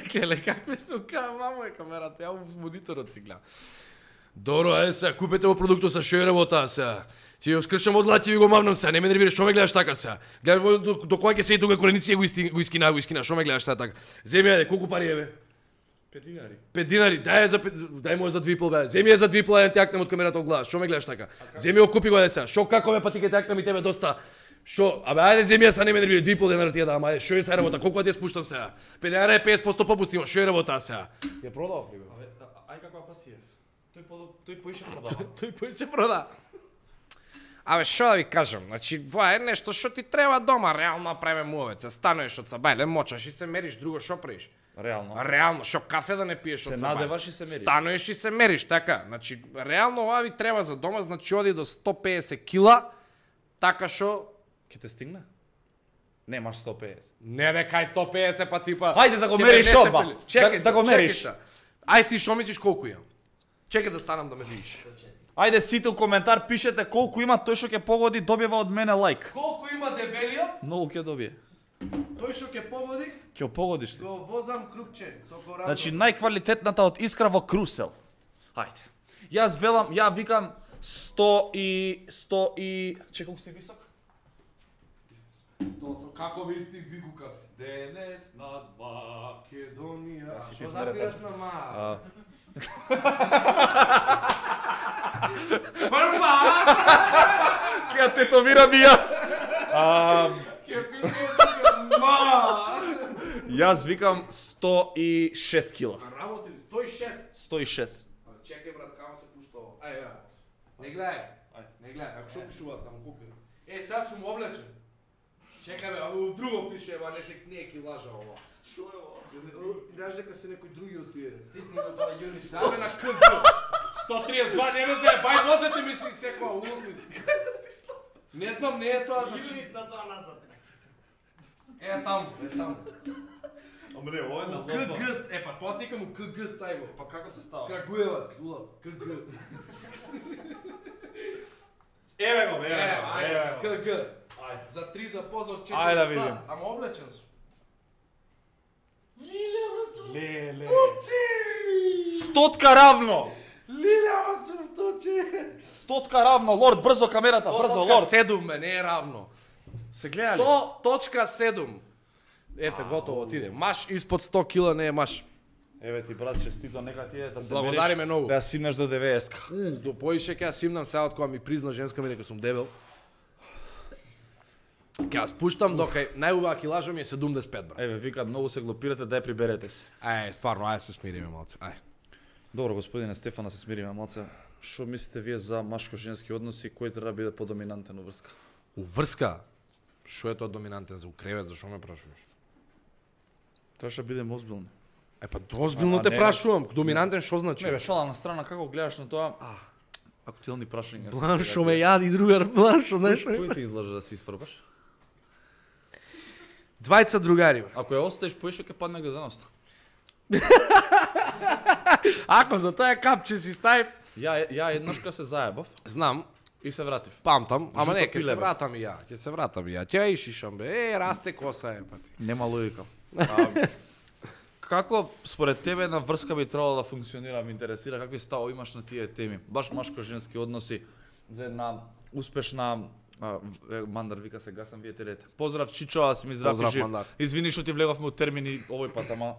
Келе, какви сме ка, мамо е камерата, ја во мониторот си гледам. Добро, ајде сега, купете во продуктот са шо е работа сега. Ти ја скршам од лати и го мавнам сега, не ме нервираш, што ме гледаш така сега? Гледаш во- до, до кога ќе седи тука кореници го исти, го искина, го искина, што ме гледаш сега така? Земи ајде, колку пари е бе? пет динари. пет динари, дај ја за пет, дај му ја за двипол бе. Земи ја за двипол, еден тјакнем од камерата од глава. Што ме гледаш така? Земи ја купи го ајде сега. Шо како бе па ти ке тјакнем и тебе доста. Шо, абе ајде земи ја са не ме нервира, двипол денара ти ја дам, ајде, шо е сега работа? Колку ја ти ја спуштам сега? пет денара е петдесет проценти попуст има, шо е работа сега? Ја продав ли бе? Абе, а- ај како пасиев. Тој по тој поише продава. Тој поише прода. Абе, што да ви кажам, значи, тоа е нешто што ти треба дома, реално направиме муавец, се станеш од сабајле, мочаш и се мериш, друго што правиш? Реално. Реално, што кафе да не пиеш Се од сабајле? надеваш и се мериш. Стануеш и се мериш, така. Значи, реално ова ви треба за дома, значи оди до сто педесет кила, така што... Ќе те стигне? Немаш сто педесет. Не бе, кај сто педесет па типа... Ајде да го Ќе мериш ме не се одма. пели. Чекај Да- да го се, мериш. чекај се. Ај ти што мислиш колку имам? Чекај да станам да ме видиш. Ајде сите у коментар пишете колку има, тој што ќе погоди добива од мене лайк. Колку има дебелиот, Многу ќе добие. тој што ќе погоди, Ќе погодиш ли? го возам крупче со коразон. Значи најквалитетната од искра во Крусел. Ајде. Јас велам, ја викам сто и сто и чекај колку си висок? сто сам, како би стиг викука си? Денес над Македонија. си ти Што смерете. забираш на ма? А, Прва! ќе тетовирам и јас. А, Ке пише тука ма! јас викам сто и шест кила. Работи ли? сто и шест. сто и шест. Чекај брат, како се пушта ово? Ај, ај. Не гледај. Не гледај, ако што пишуваат таму купи. Е, сега сум облечен. Чекај бе, а во друго пише, ева не се не ки лажа ова. Шо е ова? Ти знаеш дека се некој други од тие. Стисни го тоа Јуни. Ставе на КГ. сто триесет и два, не ме се, бај нозете ми си секоја, улов ми си. Не знам, не е тоа, значи. на тоа назад. Е таму, е таму. Ама не, ова е на КГ, е па тоа тика му КГ стај го. Па како се става? Крагуевац, улов, КГ. Еве го, Е, ајде, КГ. Ајде. За три за позор четири Ајде да сат. видим. Ама облечен сум. Леле. Стотка равно. Лилева сум точи. Стотка равно, лорд, брзо камерата, брзо, лорд. седум ме, не е равно. Се гледа ли? сто точка седум. Ете, готово, отиде. Маш испод сто кила не е маш. Еве ти брат, честито, нека ти е да се Благодариме мериш, многу. да ја симнеш до деветдесет. До поише ќе ја симнам сега од кога ми призна женска ми дека сум дебел. Ќе ја спуштам дока најубава килажа ми е седумдесет и пет брат. Еве, викат, многу се глупирате, дај приберете се. Ај, стварно, ај се смириме малце. Ај. Добро, господине Стефана, се смириме малце. Што мислите вие за машко-женски односи, кој треба да биде подоминантен у врска? Уврска. Што е тоа доминантен за укревет, зашо ме прашуваш? Тоа ќе бидем озбилни. Е па озбилно А, те не, прашувам, доминантен што значи? Не бе, шала на страна, како гледаш на тоа? Актуелни прашања. Бланшо ме јади другар, Бланшо, знаеш? Кој ти излажа да си сврбаш? Двајца другари. Ако ја оставиш поише ќе падне гледаноста. Ако за тоа капче си ставив, Ја ја еднаш кога се заебав знам, и се вратив. памтам, ама не, Жуто ќе се пиле, бе. вратам и ја, ќе се вратам и ја. Ќе и шишам бе. Е, расте коса е пати. Нема логика. А, како според тебе една врска би требало да функционира? Ме интересира какви ставови имаш на тие теми. Баш машко-женски односи за една успешна а, в- е, Мандар вика се гасам, вие терете. Поздрав Чичо, аз ми здрав и Поздрав, жив. Мандар. Извини што ти влеговме од термини овој пат, ама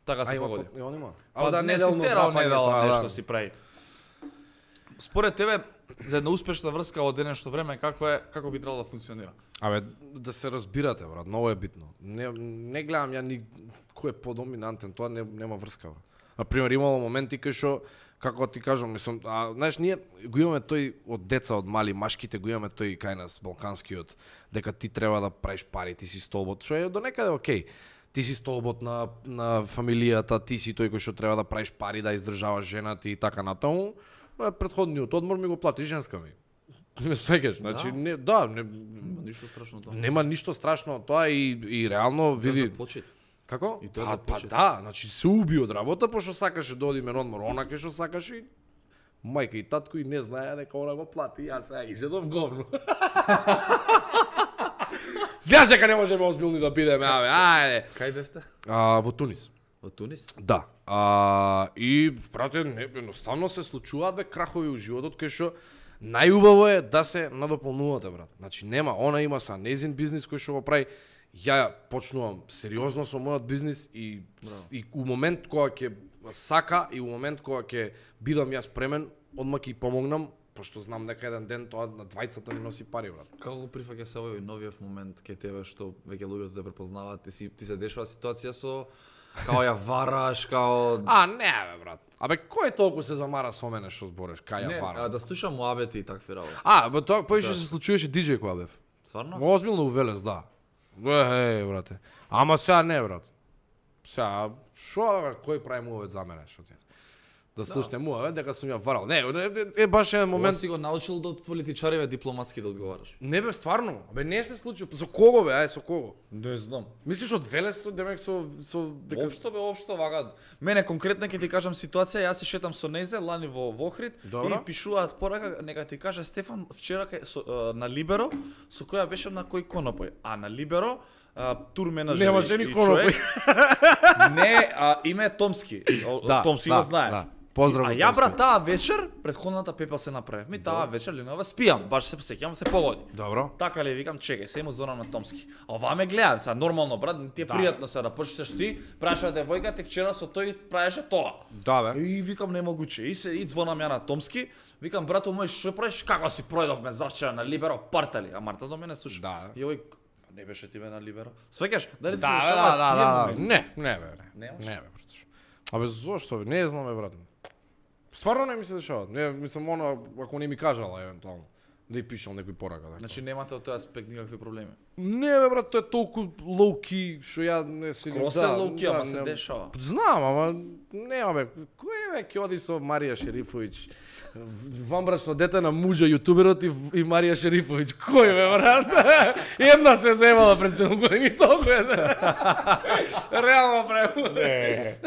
така се А има, погоди. и он има. Па да не си терал недела нешто си прави. Според тебе за една успешна врска во денешно време какво е, како би требало да функционира? Абе, да се разбирате, брат, многу е битно. Не, не гледам ја ни кој е подоминантен, тоа не, нема врска, брат. Например, имало моменти кај што, како ти кажам, мислам, а, знаеш, ние го имаме тој од деца, од мали, машките го имаме тој кај нас, балканскиот, дека ти треба да правиш пари, ти си столбот, што е до некаде окей. Ти си столбот на, на фамилијата, ти си тој кој што треба да правиш пари, да издржаваш жената и така натаму. Е, Претходниот одмор ми го плати женска ми. Не свеќаш, значи, Да? не, да, не, Нема ништо страшно тоа. нема ништо страшно од тоа и, и реално види... За почет. Како? И тоа па, за па почет. да, значи се уби од работа, пошто сакаше да оди мен одмор, она кај што сакаше и мајка и татко и не знаеа дека она го плати, јас сега изедов говно. Гледаш дека не можеме озбилни да бидеме, абе, ајде. Кај бевте? А, во Тунис. Во Тунис? Да. А, и, брате, не, едноставно се случуваат бе крахови у животот, кај што најубаво е да се надополнувате, брат. Значи, нема, она има са незин бизнис кој што го прави. Ја почнувам сериозно со мојот бизнис и, и у момент кога ќе сака и у момент кога ќе бидам јас премен, одма ќе помогнам, пошто знам дека еден ден тоа на двајцата ни носи пари, брат. Како го прифаќа се овој новиот момент кај тебе што веќе луѓето те препознаваат, ти си ти се дешава ситуација со као ја вараш, као А, не, бе, брат. Абе, кој толку се замара со мене што збореш, кај ја не, варам? а, да слушам муабети и такви работи. А, бе, тоа поише се случуваше диџеј кога бев. Стварно? Озбилно у Велес, да. Е, е, брате. Ама сега не, брат. Сега, шо, бе, кој прави муавет за мене, шо ти? Да слушате муавет, дека сум ја варал. Не, е, е баш еден Момент момент. си го научил да од политичариве дипломатски да одговараш. Не бе, стварно. Бе, не се случи. Со кого бе, ај, со кого? Не знам. Мислиш од Велес, со демек со со дека Општо бе, општо вака. Мене конкретно ќе ти кажам ситуација, јас се шетам со незе лани во во Охрид Добро. и пишуваат порака, нека ти каже Стефан вчера кај со, а, на Либеро, со која беше на кој конопој. А на Либеро а, тур менаџер Немаше и- ни и конопој. човек. Не, а, име е Томски. О, Да, Томски да, го знае. да. Поздрав А од ја Томски. брат таа вечер, предходната пепа се направив. Ми таа вечер ленова спијам, баш се сеќавам се погоди. Добро. Така ли викам, чекај, се му звонам на Томски. А ова ме гледаат, са нормално брат, ти е Да. пријатно се да почнеш ти, прашаат девојка ти вчера со тој правеше тоа. Да, бе. И викам немогуче. И се и звонам ја на Томски, викам брато мој што правиш, како си пројдовме завчера на Либеро партали. А Марта до мене слуша. Да. И овој не беше ти бе на Либеро. Свеќаш, дали ти Да, се бе, дешаваат да, тие да, да. моменти? Не, не бе, не. Немаш? Не бе, брат. Абе зошто бе? Не знам бе, брат. Стварно не ми се дешава. Не, мислам она ако не ми кажала евентуално да ја пишам некој порака. Така. Значи немате од тој аспект никакви проблеми. Не бе брат, тоа е толку лоу-ки што ја не се Скроз е low-key, ама се дешава. Знам, ама нема бе. Кој бе ќе оди со Марија Шерифовиќ? Ванбрачно дете на муџа јутуберот и, и Марија Шерифовиќ. Кој бе брат? Една се земала пред седум години толку е. Реално прему. Не.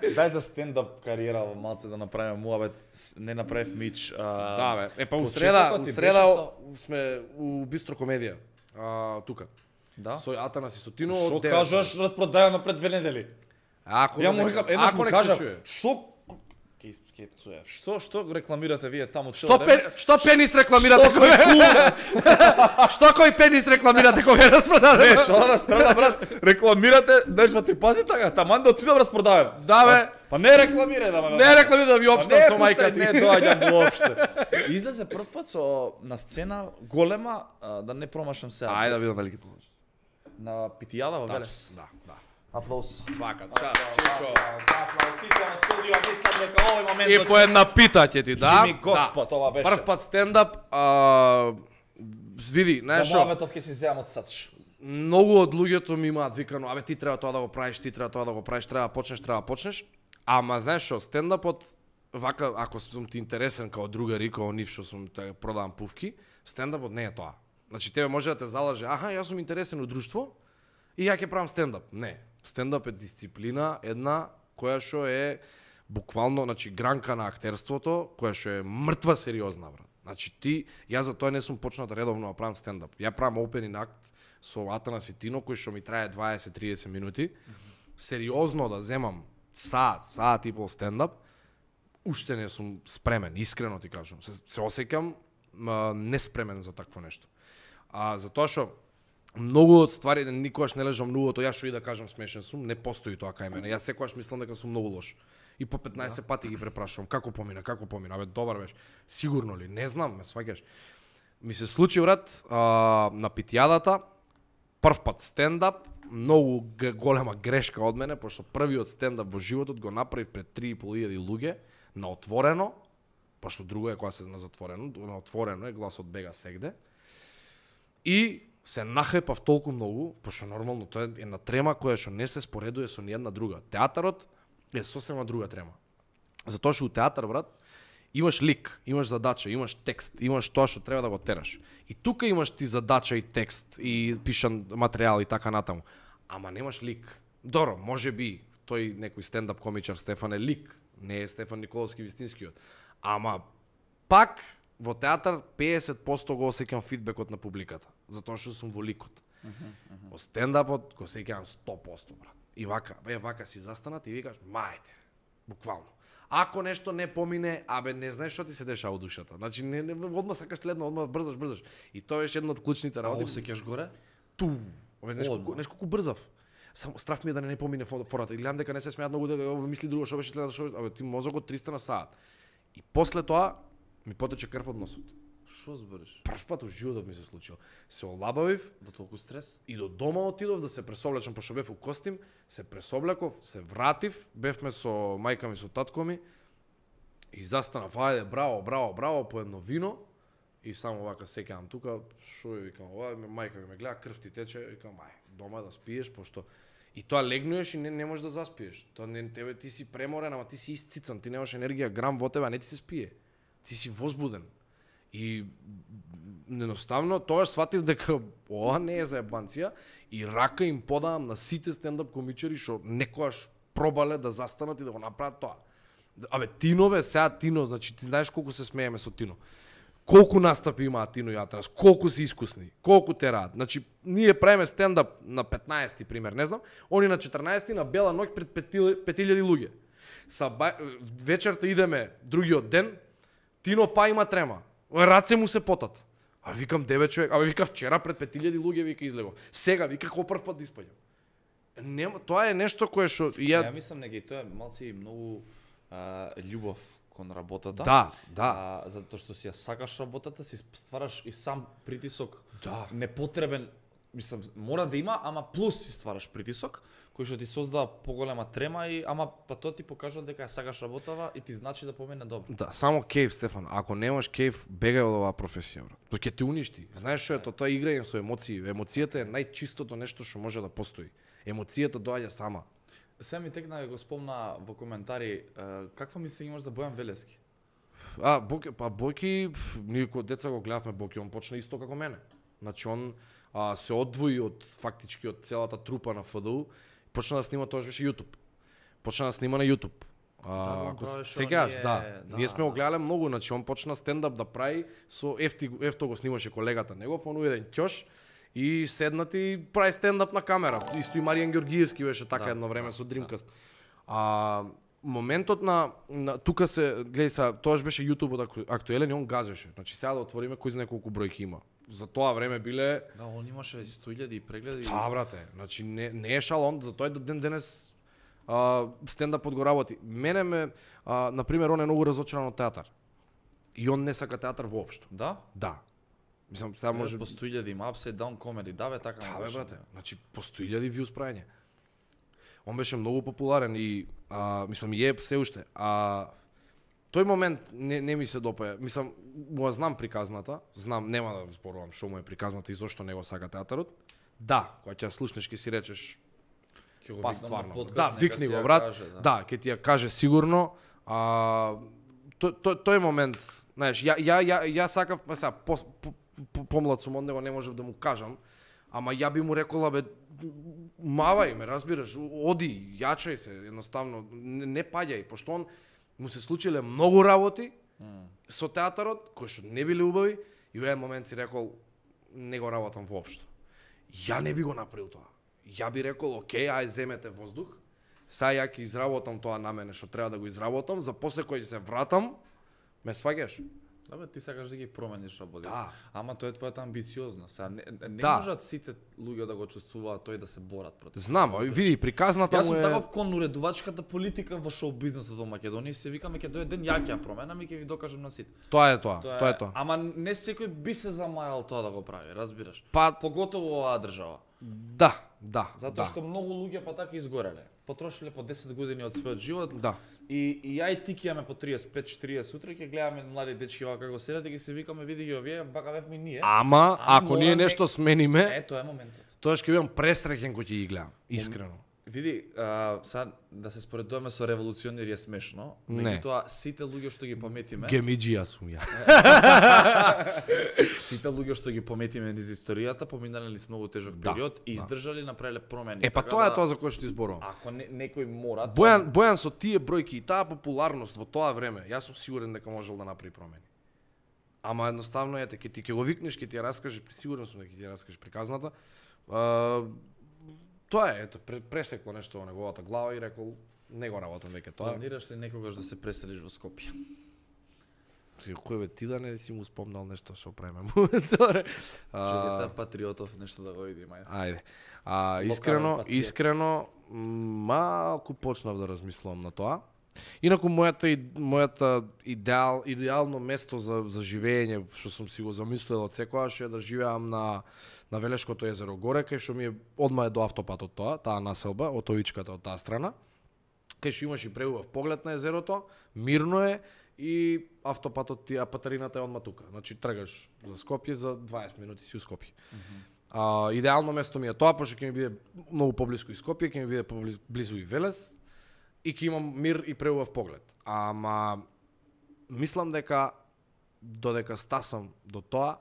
Дај за стендап кариера во малце да направиме муабет, не направив мич. А... Да бе. Е па у Почетокот среда, ти у беше среда со- сме у Бистро комедија. А, тука. Да. Со Атанас и Сотино. Што од девет. кажаш распродајано пред две недели? Ако Ја не- му викам, еднаш ако му не се кажам, чуе. што Ке ке пцуев. Што што рекламирате вие таму Што цело време? пен, што пенис рекламирате Што кога? Што кој пенис рекламирате кога е распродаден? Не, шала на страна брат. Рекламирате деш два три пати така, таман да отидам распродаден. Да бе. Па не рекламирај да ме. Не рекламирате да ви Па општам не, со мајка пуштай, ти. Не доаѓам воопште. Излезе прв пат со на сцена голема, а, да не промашам сега. Ајде да видам дали ќе поможе. На Питијада во Велес. Да, да. Аплауз. Свака част, Чичо. За аплаусите на студио, мислам дека овој момент И по една пита ќе ти да. Жими Господ, ова беше. Прв пат стендап, а, види, знаеш За што? мојаметов ќе си земам од сач. Многу од луѓето ми имаат викано, абе ти треба тоа да го правиш, ти треба тоа да го правиш, треба да почнеш, треба да почнеш. Ама знаеш што, стендапот вака ако сум ти интересен као другари, као нив што сум те продавам пувки, стендапот не е тоа. Значи тебе може да те залаже, аха, јас сум интересен од друштво и ја ќе правам стендап. Не, стендап е дисциплина една која што е буквално, значи гранка на актерството, која што е мртва сериозна, брат. Значи ти, јас за тоа не сум почнал редовно да правам стендап. Ја правам опенинг акт со Атанас и Тино, кој што ми трае дваесет до триесет минути. Сериозно да земам саат, саат и пол стендап, уште не сум спремен, искрено ти кажам. Се, се осеќам ма, неспремен за такво нешто. А затоа што многу од ствари никогаш не лежам лугото, јас што и да кажам смешен сум, не постои тоа кај мене. Јас секогаш мислам дека сум многу лош. И по петнаесет да. пати ги препрашувам како помина, како помина, абе добар беше. Сигурно ли? Не знам, ме сваќаш. Ми се случи брат а, на питјадата, прв пат стендап, многу голема грешка од мене, пошто првиот стендап во животот го направив пред три и пол илјади луѓе на отворено, пошто друго е кога се на затворено, на отворено е гласот бега сегде. И се нахепав толку многу, пошто нормално тоа е една трема која што не се споредува со ниједна друга. Театарот е сосема друга трема. Затоа што у театар, брат, имаш лик, имаш задача, имаш текст, имаш тоа што треба да го тераш. И тука имаш ти задача и текст и пишан материјал и така натаму. Ама немаш лик. Добро, може би тој некој стендап комичар Стефан е лик, не е Стефан Николовски вистинскиот. Ама пак во театар педесет проценти го осеќам фидбекот на публиката, затоа што сум во ликот. Uh -huh, uh -huh. Во стендапот го осеќам сто проценти, брат. И вака, бе вака си застанат и викаш, мајте, буквално. Ако нешто не помине, абе не знаеш што ти се дешава во душата. Значи не, не одма сакаш следно, одма брзаш, брзаш. И тоа беше една од клучните работи. А осеќаш горе? Ту. Абе нешко, нешко колку брзав. Само страф ми е да не, не помине фората. И гледам дека не се смеат многу, дека мисли друго, што беше следно, што беше, абе ти мозокот триста на саат. И после тоа ми потече крв од носот. Што збориш? Прв пат во животот ми се случило. Се олабавив до толку стрес и до дома отидов да се пресоблечам, пошто бев у костим, се пресоблаков, се вратив, бевме со мајка ми, со татко ми и застанав, ајде, браво, браво, браво, по едно вино и само вака сеќавам тука, шо ја викам, ова мајка ми ме гледа, крв ти тече, викам, ај, дома да спиеш, пошто и тоа легнуеш и не, не можеш да заспиеш. Тоа не тебе ти си преморен, ама ти си исцицан, ти немаш енергија грам во тебе, а не ти се спие. Ти си возбуден. И едноставно тоа сватив дека ова не е за ебанција и рака им подавам на сите стендап комичари што некојаш пробале да застанат и да го направат тоа. Абе Тинове, сега Тино, значи ти знаеш колку се смееме со Тино. Колку настапи имаат Тино и Атанас, колку се искусни, колку тераат. Значи ние правиме стендап на петнаесети пример, не знам, они на четрнаесети на бела ноќ пред пет илјади луѓе. Са ба... вечерта идеме другиот ден, Тино па има трема. Раце му се потат. А викам девет човек, а вика вчера пред пет илјади луѓе вика излегов. Сега вика кој прв пат да испаѓам. Нема, тоа е нешто кое што ја Ја мислам дека и тоа е малци многу а, љубов кон работата. Да, да. А, затоа што си ја сакаш работата, си ствараш и сам притисок. Да. Непотребен, мислам, мора да има, ама плюс си ствараш притисок кој што ти создава поголема трема и ама па тоа ти покажува дека ја сакаш работава и ти значи да помине добро. Да, само кејф, Стефан. Ако немаш кејф, бегај од оваа професија, брат. Тоа ќе те уништи. Знаеш што е тоа? Тоа е играње со емоции. Емоцијата е најчистото нешто што може да постои. Емоцијата доаѓа сама. Се ми текна го спомна во коментари, е, каква мисли имаш за Бојан Велески? А, Боки, па Боки, ние кога деца го гледавме Боки, он почна исто како мене. Значи он а, се одвои од фактички од целата трупа на ФДУ, почна да снима, тоа беше YouTube. Почна да снима на YouTube. А, Да, сегаш, ние... да. да. Ние сме го гледале многу, значи он почна стендап да прави со Ефти, Ефто го снимаше колегата негов, он еден ќош и седнати прави стендап на камера. Исто и Маријан Ѓоргиевски беше така Да, едно време да, со Dreamcast. А моментот на, на тука се гледај са, тоаш беше YouTube актуелен и он газеше. Значи сега да отвориме кој знае колку бројки има. За тоа време биле Да, он имаше сто илјади прегледи. Да, брате. Значи не не е шалон, за тој до ден денес а, стендапот го работи. Мене ме а, на пример он е многу разочаран од театар. И он не сака театар воопшто. Да? Да. Мислам, сега Може може по сто илјади има Upside Down Comedy, да бе, така. Да, бе, брате. Значи по сто илјади вјуз прајање. Он беше многу популарен и а, мислам и е се уште. А тој момент не, не ми се допаја. Мислам, му ја знам приказната, знам, нема да зборувам што му е приказната и зошто не го сака театарот. Да, кога ќе ја слушнеш ќе си речеш па стварно. Да, викни го брат. Каже, да. Да, ќе ти ја каже сигурно. А, тој то, тој момент, знаеш, ја ја ја ја сакав, па сега по, по, по, помлад сум од него, не можев да му кажам, ама ја би му рекола бе мавај ме, разбираш, оди, јачај се, едноставно, не, не паѓај, пошто он му се случиле многу работи mm. со театарот, кои што не били убави, и во еден момент си рекол, не го работам воопшто. Ја не би го направил тоа. Ја би рекол, окей, ај земете воздух, сега ја ќе изработам тоа на мене што треба да го изработам, за после кој се вратам, ме сваѓаш. Да бе, ти сакаш да ги промениш работите. Да. Ама тоа е твојата амбициозност. Сега не, не да. можат сите луѓе да го чувствуваат тој да се борат против. Знам, види, приказната му е... Јас сум таков кон уредувачката политика во шоу бизнисот во Македонија, се викаме ќе дојде ден ја ќе ја променам и ќе ви докажам на сите. Тоа е тоа, тоа, тоа е, е тоа. Ама не секој би се замајал тоа да го прави, разбираш? Па поготово оваа држава. Да, да. Затоа да. што многу луѓе па така изгореле. Потрошиле по десет години од својот живот. Да. И, и ја и ти ќе имаме по триесет пет четириесет утре, ќе гледаме млади дечки вака како седат и ќе се викаме, види ги овие, вака бевме и ние. Ама, а ако ние нешто смениме, е, тоа е моментот. Тоа ќе бидам пресреќен кога ќе ги гледам, искрено. Види, а, сад да се споредуваме со револуционери е смешно, меѓутоа сите луѓе што ги пометиме, гемиџија сум ја. сите луѓе што ги пометиме низ историјата, поминале низ многу тежок период да, и издржале, направиле промени. Е па така тоа да, е тоа за кој што ти зборувам. Ако не, некој мора, Бојан, тоа... Бојан со тие бројки и таа популарност во тоа време, јас сум сигурен дека можел да направи промени. Ама едноставно ете, ќе ти ќе го викнеш, ќе ти ја раскажеш, сигурен сум дека ќе ти ја раскажеш приказната. А, тоа е, ето, пресекло нешто во неговата глава и рекол, не го работам веќе тоа. Планираш ли некогаш да се преселиш во Скопје? Си кој бе ти да не си му спомнал нешто што преме. Човек се патриотов нешто да го види, мај. Ајде. А искрено, искрено малку почнав да размислувам на тоа. Инаку мојата мојата идеал идеално место за за живење што сум си го замислил од секогаш е да живеам на на Велешкото езеро горе, кај што ми е одма е до автопатот тоа, таа населба, отовичката од таа страна. Кај што имаш и преубав поглед на езерото, мирно е и автопатот ти, а патарината е одма тука. Значи тргаш за Скопје за дваесет минути си у Скопје. Mm -hmm. А, идеално место ми е тоа, пошто ќе ми биде многу поблиску и Скопје, ќе ми биде поблизу и Велес и ќе имам мир и преубав поглед. Ама мислам дека додека стасам до тоа,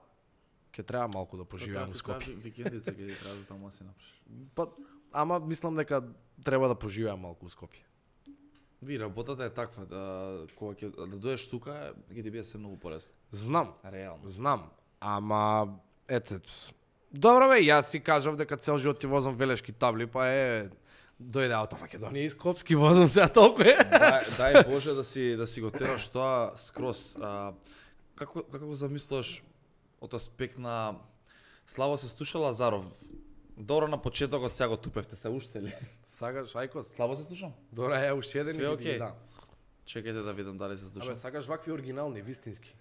ќе треба малку да поживеам во Скопје. Викендица ќе ти треба да таму си направиш. Па, ама мислам дека треба да поживеам малку во Скопје. Ви, работата е таква, да, кога ќе да доеш тука, ќе ти биде се многу полесно. Знам, реално. Знам, ама ете, добро бе, јас си кажав дека цел живот ти возам велешки табли, па е дојде ауто Македонија и Скопски возам сега толку е. Дај, дај Боже да си да си го тераш тоа скроз. А, како како го замислуваш од аспект на Славо се слуша Лазаров? Добро на почетокот сега го тупевте се уште ли? Сакаш ајкос? Слабо се слушам? Добро е уште еден и okay. Да. Чекајте да видам дали се слушам. Абе сакаш вакви оригинални, вистински.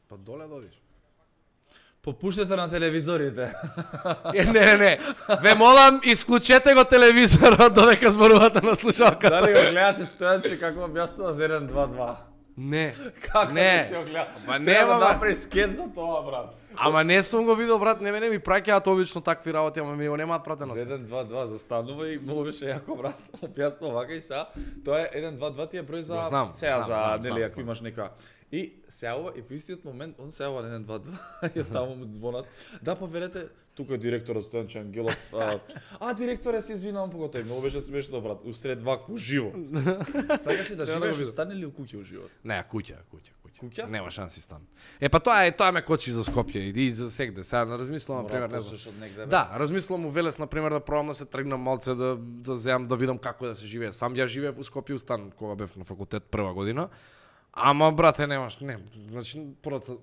Па доле додиш. Попуштете на телевизорите. Е, не, не, не. Ве молам, исклучете го телевизорот додека зборувате на слушалката. Дали го гледаше Стојанче како објаснува за еден два два? Не. Како не. не си го гледа? Ама треба нема, да направиш скеч за тоа, брат. Ама не сум го видел, брат, не мене ми праќаат обично такви работи, ама ми го немаат пратено. За еден два два застанува и многу беше јако, брат. Објаснува вака и сега. Тоа е еден два два ти е број за знам, сега знам, за знам, нели знам, ако имаш нека. И се јавува и во истиот момент он се јавува на еден два два и таму му звонат. Да, поверете, тука е директорот Стојанче Ангелов. А, а директоре, се извинувам поготој, многу беше смешно, брат. Усред вакво живо. Сакаш ли да живееш во стан или у куќа живот? Не, куќа, куќа, куќа. Куќа? Нема шанси стан. Е па тоа е, тоа ме кочи за Скопје и за сегде. Сега размислувам на пример, не знам. Да, размислувам у Велес на пример да пробам да се тргнам малце да да земам да видам како да се живее. Сам ја живеев во Скопје у стан кога бев на факултет прва година. Ама брате немаш, не, значи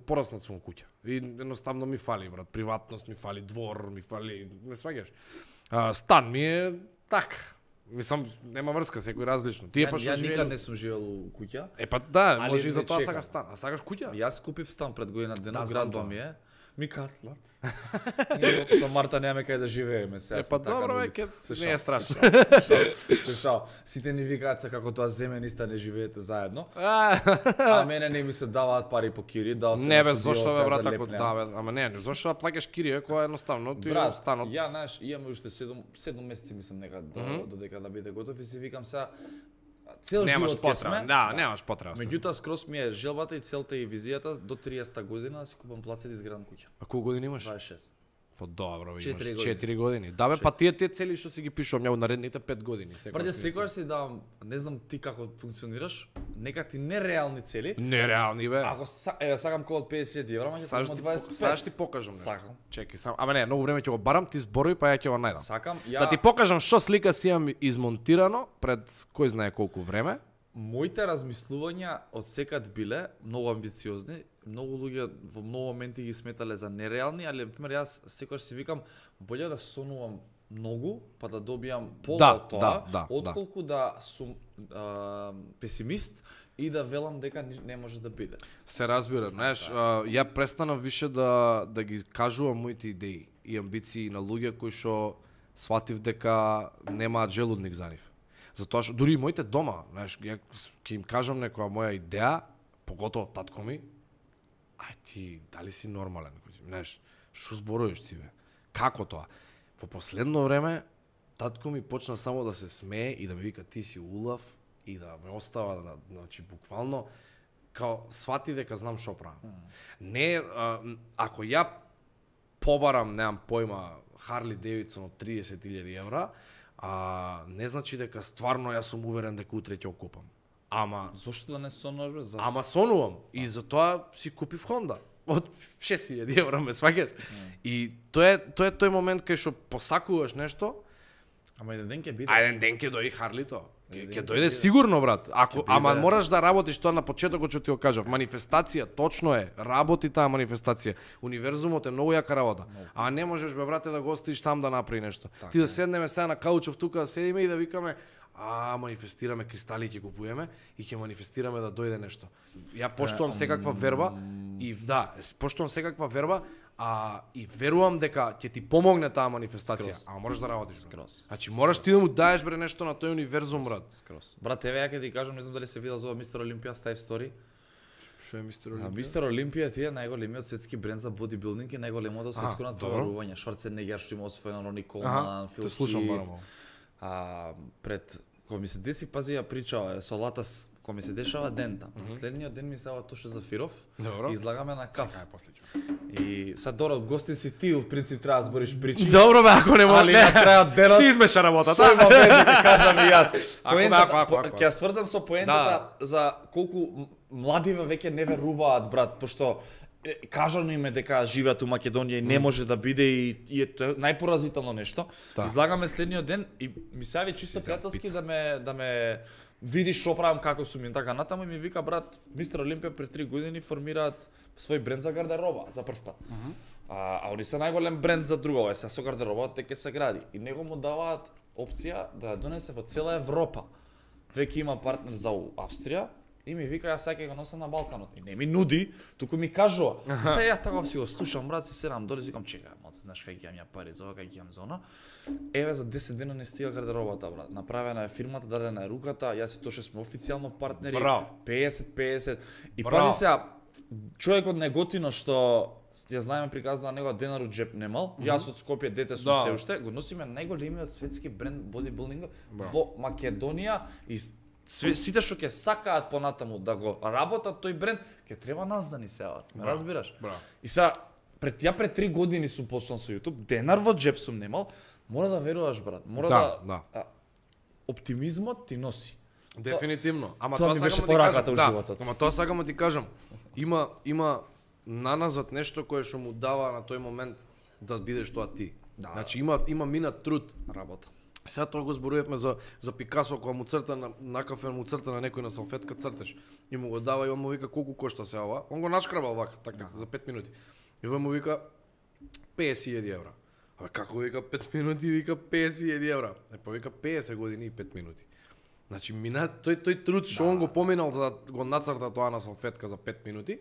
пораснат сум куќа. И едноставно ми фали, брат, приватност ми фали, двор ми фали, не сваѓаш. А, стан ми е така. Мислам, нема врска, секој различно. Тие па што ја живеел... никад не сум живеел у куќа. Е па да, али може и за тоа чекам. сакаш стан. А сакаш куќа? Јас купив стан пред година дена, Да, градба знам ми е. Ми каслат. Со Марта немаме кај да живееме сега. Е, па така добро, на веќе улица. не е страшно. Се шал. Сите ни викаат се како тоа земе ниста не живеете заедно. А, А мене не ми се даваат пари по кири, дал се Не бе, на студио, зошто бе сега брат за ако лепнеа. да бе, ама не, не зошто да плаќаш кирија која е едноставно ти Брат, станот. ја знаеш, имаме уште седум месеци мислам нека до, mm -hmm. додека да биде готов и си викам сега цел Немаш живот ќе потреба. сме. Да, немаш потреба. Меѓутоа скрос ми е желбата и целта и визијата до триесетта година да си купам плацет и изградам куќа. А колку години имаш? дваесет и шест. По добро, имаш Четири години. четири години. Да бе, па тие тие цели што си ги пишувам ја наредните пет години. Брате, секогаш си давам, не знам ти како функционираш, нека ти нереални цели. Нереални бе. Ако са, еве сакам кол од педесет евра, ма ќе Саш купам ти, дваесет и пет. саш ти покажам. нешто. Сакам. Чекај само. Ама не, многу време ќе го барам, ти зборови па ја ќе го најдам. Сакам, ја Да ти покажам што слика си имам измонтирано пред кој знае колку време. Моите размислувања од секад биле многу амбициозни. Многу луѓе во многу моменти ги сметале за нереални, али на пример јас секогаш си викам боле да сонувам многу па да добијам пола Да, од тоа, да, да, отколку да, да сум а, песимист и да велам дека ни- не може да биде. Се разбира, знаеш, а, ја престанав више да да ги кажувам моите идеи и амбиции на луѓе кои што сватив дека немаат желудник за нив. Затоа што дури и моите дома, знаеш, ја ќе им кажам некоја моја идеја, поготово татко ми, ај ти дали си нормален, знаеш, што зборуваш ти бе? Како тоа? Во последно време татко ми почна само да се смее и да ми вика ти си улав и да ме остава, да, значи буквално као свати дека знам што правам. Не, а, ако ја побарам, немам појма, Харли Девидсон од триесет илјади евра, а, не значи дека стварно јас сум уверен дека утре ќе окупам. Ама Зошто да не сонуваш бе? Зашто? Ама сонувам и затоа си купив Хонда од шест илјади евра, ме сваќаш. И тоа е тоа е тој момент кај што посакуваш нешто, Ама еден ден ќе биде. а еден ден ќе дојде Харлито. Ќе Еден ќе ден ќе дојде биде. сигурно брат. Ако Ќе ама биде. мораш да работиш тоа на почетокот што ти го кажав. Манифестација, точно е. Работи таа манифестација. Универзумот е многу јака работа. А не можеш бе брате да го оставиш там да направи нешто. Ти да седнеме сега на каучов тука да седиме и да викаме а манифестираме кристали ќе купуваме и ќе манифестираме да дојде нешто. Ја поштувам секаква верба и да, поштувам секаква верба, а и верувам дека ќе ти помогне таа манифестација. Скроз. А можеш да работиш. брат. Скроз. Значи мораш ти да му даеш бре нешто на тој универзум брат. Скрос. Брат, еве ја ќе ти кажам, не знам дали се видел за ова Мистер Олимпија Стајв Стори. Што е мистер А, Олимпија? Мистер Олимпија ти е најголемиот светски бренд за бодибилдинг и најголемото светско А, натпреварување. Шварценегер што има освоено, Рони Аха, Колман, Фил те слушам Хит. барамо. А пред кога ми се деси, пази ја причава со Латас, кога ми се дешава дента. Следниот ден ми се ава Тоше Зафиров. Добро. И излагаме на каф. Кај после ќе. И сад Доро, гостин си ти, в принцип треба да збориш причи. Добро бе, ако не може. Али на крајот денот Си измеша работата. Што има веќе да кажам и јас. Ако, Поентата, ако, ако, по- ако. ќе ја сврзам со поентата за колку м- младиве веќе не веруваат, брат, пошто е, кажано им е дека живеат у Македонија и не може да биде и, и е тоа најпоразително нешто. Да. Излагаме следниот ден и ми се јави чисто Си за пријателски пица. да ме да ме види што правам, како сум и така натаму и ми вика брат, Мистер Олимпија пред три години формираат свој бренд за гардероба за прв пат. А, а они се најголем бренд за друго, е, сега со гардеробата ќе се гради. И него му даваат опција да ја донесе во цела Европа. Веќе има партнер за у Австрија и ми вика јас сега ќе го носам на Балканот. И не ми нуди, туку ми кажува. И се ја така си го слушам, брат, си седам доле, викам чекај, малце, знаеш кај ќе имам ја пари за ова, кај ќе имам за она. Еве за десет дена не стига гардеробата, брат. Направена е фирмата, дадена е руката, јас и Тоше сме официјално партнери. Браво. песет песет. И Браво. пази сега, човекот неготино што ја знаеме приказна на него денар од джеп немал. Јас од Скопје дете сум Да. се уште, го носиме најголемиот светски бренд бодибилдинг во Македонија и све, сите што ќе сакаат понатаму да го работат тој бренд, ќе треба нас да ни се јават. Ме разбираш? Браво. И сега пред ја пред три години сум почнал со YouTube, денар во джеп сум немал, мора да веруваш брат, мора Да, да, да. а, оптимизмот ти носи. Дефинитивно. Ама тоа тоа ми сакам беше да ти пораката кажам. у Да, животот. ама тоа сакам да ти кажам. Има има наназад нешто кое што му дава на тој момент да бидеш тоа ти. Да. Значи има има минат труд. Работа. Сега тоа го зборувавме за за Пикасо кога му црта на на кафе му црта на некој на салфетка црташ и му го дава и он му вика колку кошта се ова. Он го нашкрабал вака така да. за пет минути. И он му вика песет илјади евра. А како вика пет минути вика песет илјади евра. Е па вика песет години и пет минути. Значи мина тој тој труд што он го поминал за да го нацрта тоа на салфетка за пет минути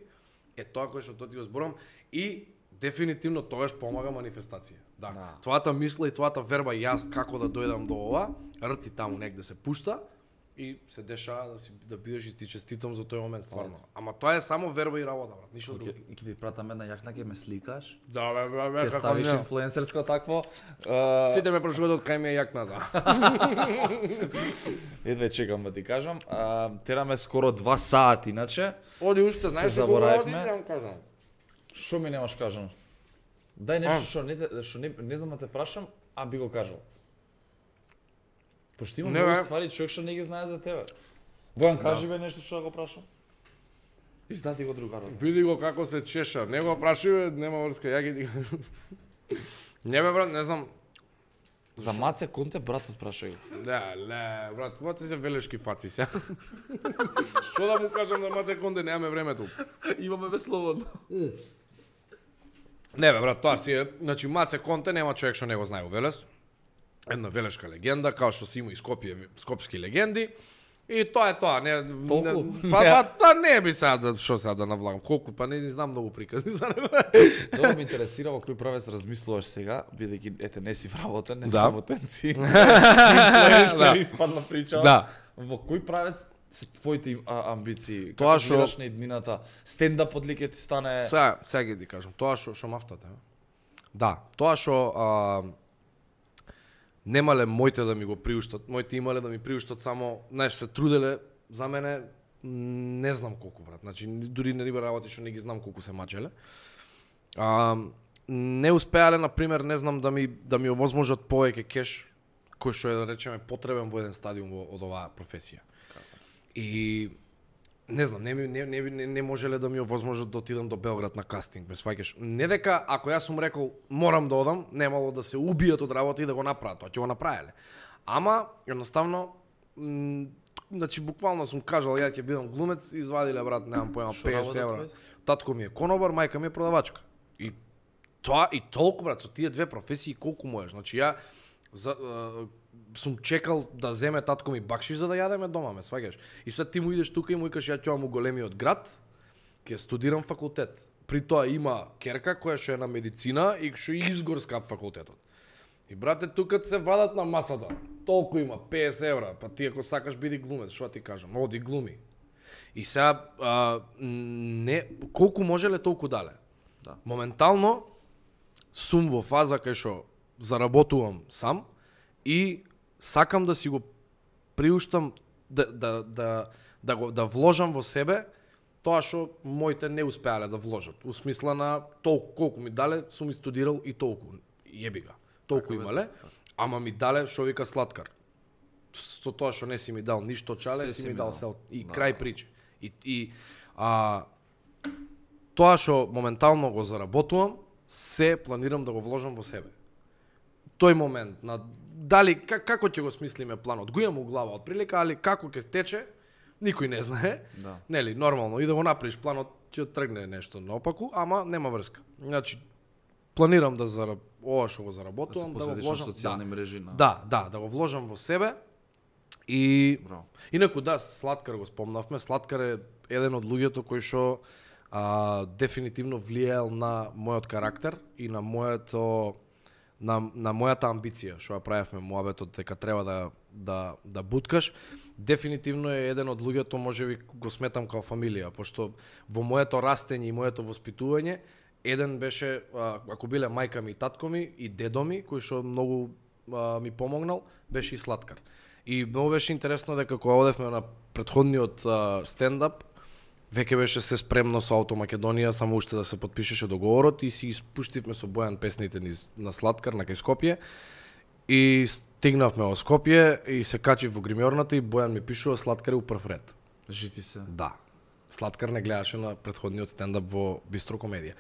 е тоа кое што тоа ти го зборам и дефинитивно тогаш помага манифестација. Да. Да. Твојата мисла и твојата верба јас како да дојдам до ова, рти таму негде се пушта и се дешава да си да бидеш и ти честитам за тој момент стварно. Ама тоа е само верба и работа, брат, ништо друго. И ќе ти пратам една јакна, ќе ме сликаш. Да, бе, бе, бе, Ќе како ставиш не. инфлуенсерско такво. Uh, Сите ме прашуваат од кај ми е јакната. Едве чекам да ти кажам. Uh, тераме скоро два сати, иначе. Оди уште, Се знаеш заборавивме. оди, да кажам. Што ми немаш кажано? Дај нешто што не, те- што не, не знам да те прашам, а би го кажал. Пошто има Не, многу бе. ствари човек што не ги знае за тебе. Бојан, кажи бе нешто што да го прашам. Издати го другарот. Види го како се чеша. Не го прашуве, нема врска, ја ги ти кажам. Не бе, брат, не знам. За Маце Конте братот праша го. Да, ле, брат, това се велешки фаци се. Што да му кажам на Маце Конде, немаме времето. Имаме бе слободно. Не бе, брат, тоа си е, значи Маце Конте нема човек што не го знае у Велес. Една велешка легенда, као што си има и Скопје, скопски легенди. И тоа е тоа, не, Толку? не па, па тоа не би сега да што сега да навлагам, колку па не, не знам многу приказни за него. Добро ме интересира во кој правец размислуваш сега, бидејќи ете не си вработен, не Да. вработен си. Да. Инфлуенсер испадна прича. Да. Во кој правец се твоите им- а, амбиции? Тоа Како што- гледаш на иднината? Стендап од лике ти стане. Сега, сега ги ти кажам, тоа што што мафтате. Да, тоа што а, немале моите да ми го приуштат, моите имале да ми приуштат само, знаеш, се труделе за мене, м, не знам колку, брат. Значи дури не риба работи што не ги знам колку се мачеле. А, не успеале, на пример, не знам да ми да ми овозможат повеќе кеш кој што е, да речеме, потребен во еден стадиум во, од оваа професија. И не знам, не, ми- не, не, не, не можеле да ми овозможат да отидам до Белград на кастинг, ме сваќаш. Не дека ако јас сум рекол морам да одам, немало да се убијат од работа и да го направат, тоа ќе го направеле. Ама едноставно м, значи буквално сум кажал ја ќе бидам глумец, извадиле брат, немам поема Што петдесет работат евра. твоите? Татко ми е конобар, мајка ми е продавачка. И тоа и толку брат, со тие две професии колку можеш. Значи ја за, а, сум чекал да земе татко ми бакшиш за да јадеме дома, ме сваќаш. И сад ти му идеш тука и му викаш ја ќе му големиот град, ќе студирам факултет. При тоа има керка која што е на медицина и што е изгорска факултетот. И брате тука се вадат на масата. Толку има петдесет евра, па ти ако сакаш биди глумец, што ти кажам, оди глуми. И сега а, не колку можеле толку дале. Да. Моментално сум во фаза кај што заработувам сам и сакам да си го приуштам да да да да го да вложам во себе тоа што моите не успеале да вложат. У смисла на толку колку ми дале, сум и студирал и толку. Јеби га. Толку Така бе, имале, ама ми дале што вика сладкар. Со тоа што не си ми дал ништо чале, Се си си ми ми дал дал. се и Да. крај приче. И и а тоа што моментално го заработувам, се планирам да го вложам во себе. Тој момент на дали как, како ќе го смислиме планот, го имам у глава од прилика, али како ќе тече, никој не знае. Да. Нели, нормално и да го направиш планот ќе тргне нешто наопаку, ама нема врска. Значи планирам да зараб... ова што го заработувам, да, да го посветиш на вложам социјални да. мрежи на. Да, да, да го вложам во себе. И Браво. инаку да, Сладкар го спомнавме, Сладкар е еден од луѓето кои што а, дефинитивно влијаел на мојот карактер и на моето на, на мојата амбиција, што ја правевме муабетот дека треба да да да буткаш. Дефинитивно е еден од луѓето, можеби го сметам као фамилија, пошто во моето растење и моето воспитување еден беше, а, ако биле мајка ми и татко ми и дедо ми, кој што многу а, ми помогнал, беше и Сладкар. И многу беше интересно дека кога одевме на претходниот а, стендап, веќе беше се спремно со Ауто Македонија, само уште да се потпишеше договорот и си испуштивме со Бојан песните низ на Сладкар на кај Скопје. И стигнавме во Скопје и се качив во гримьорната и Бојан ми пишува Сладкар е у прв ред. Жити се. Да. Сладкар не гледаше на претходниот стендап во Бистро комедија.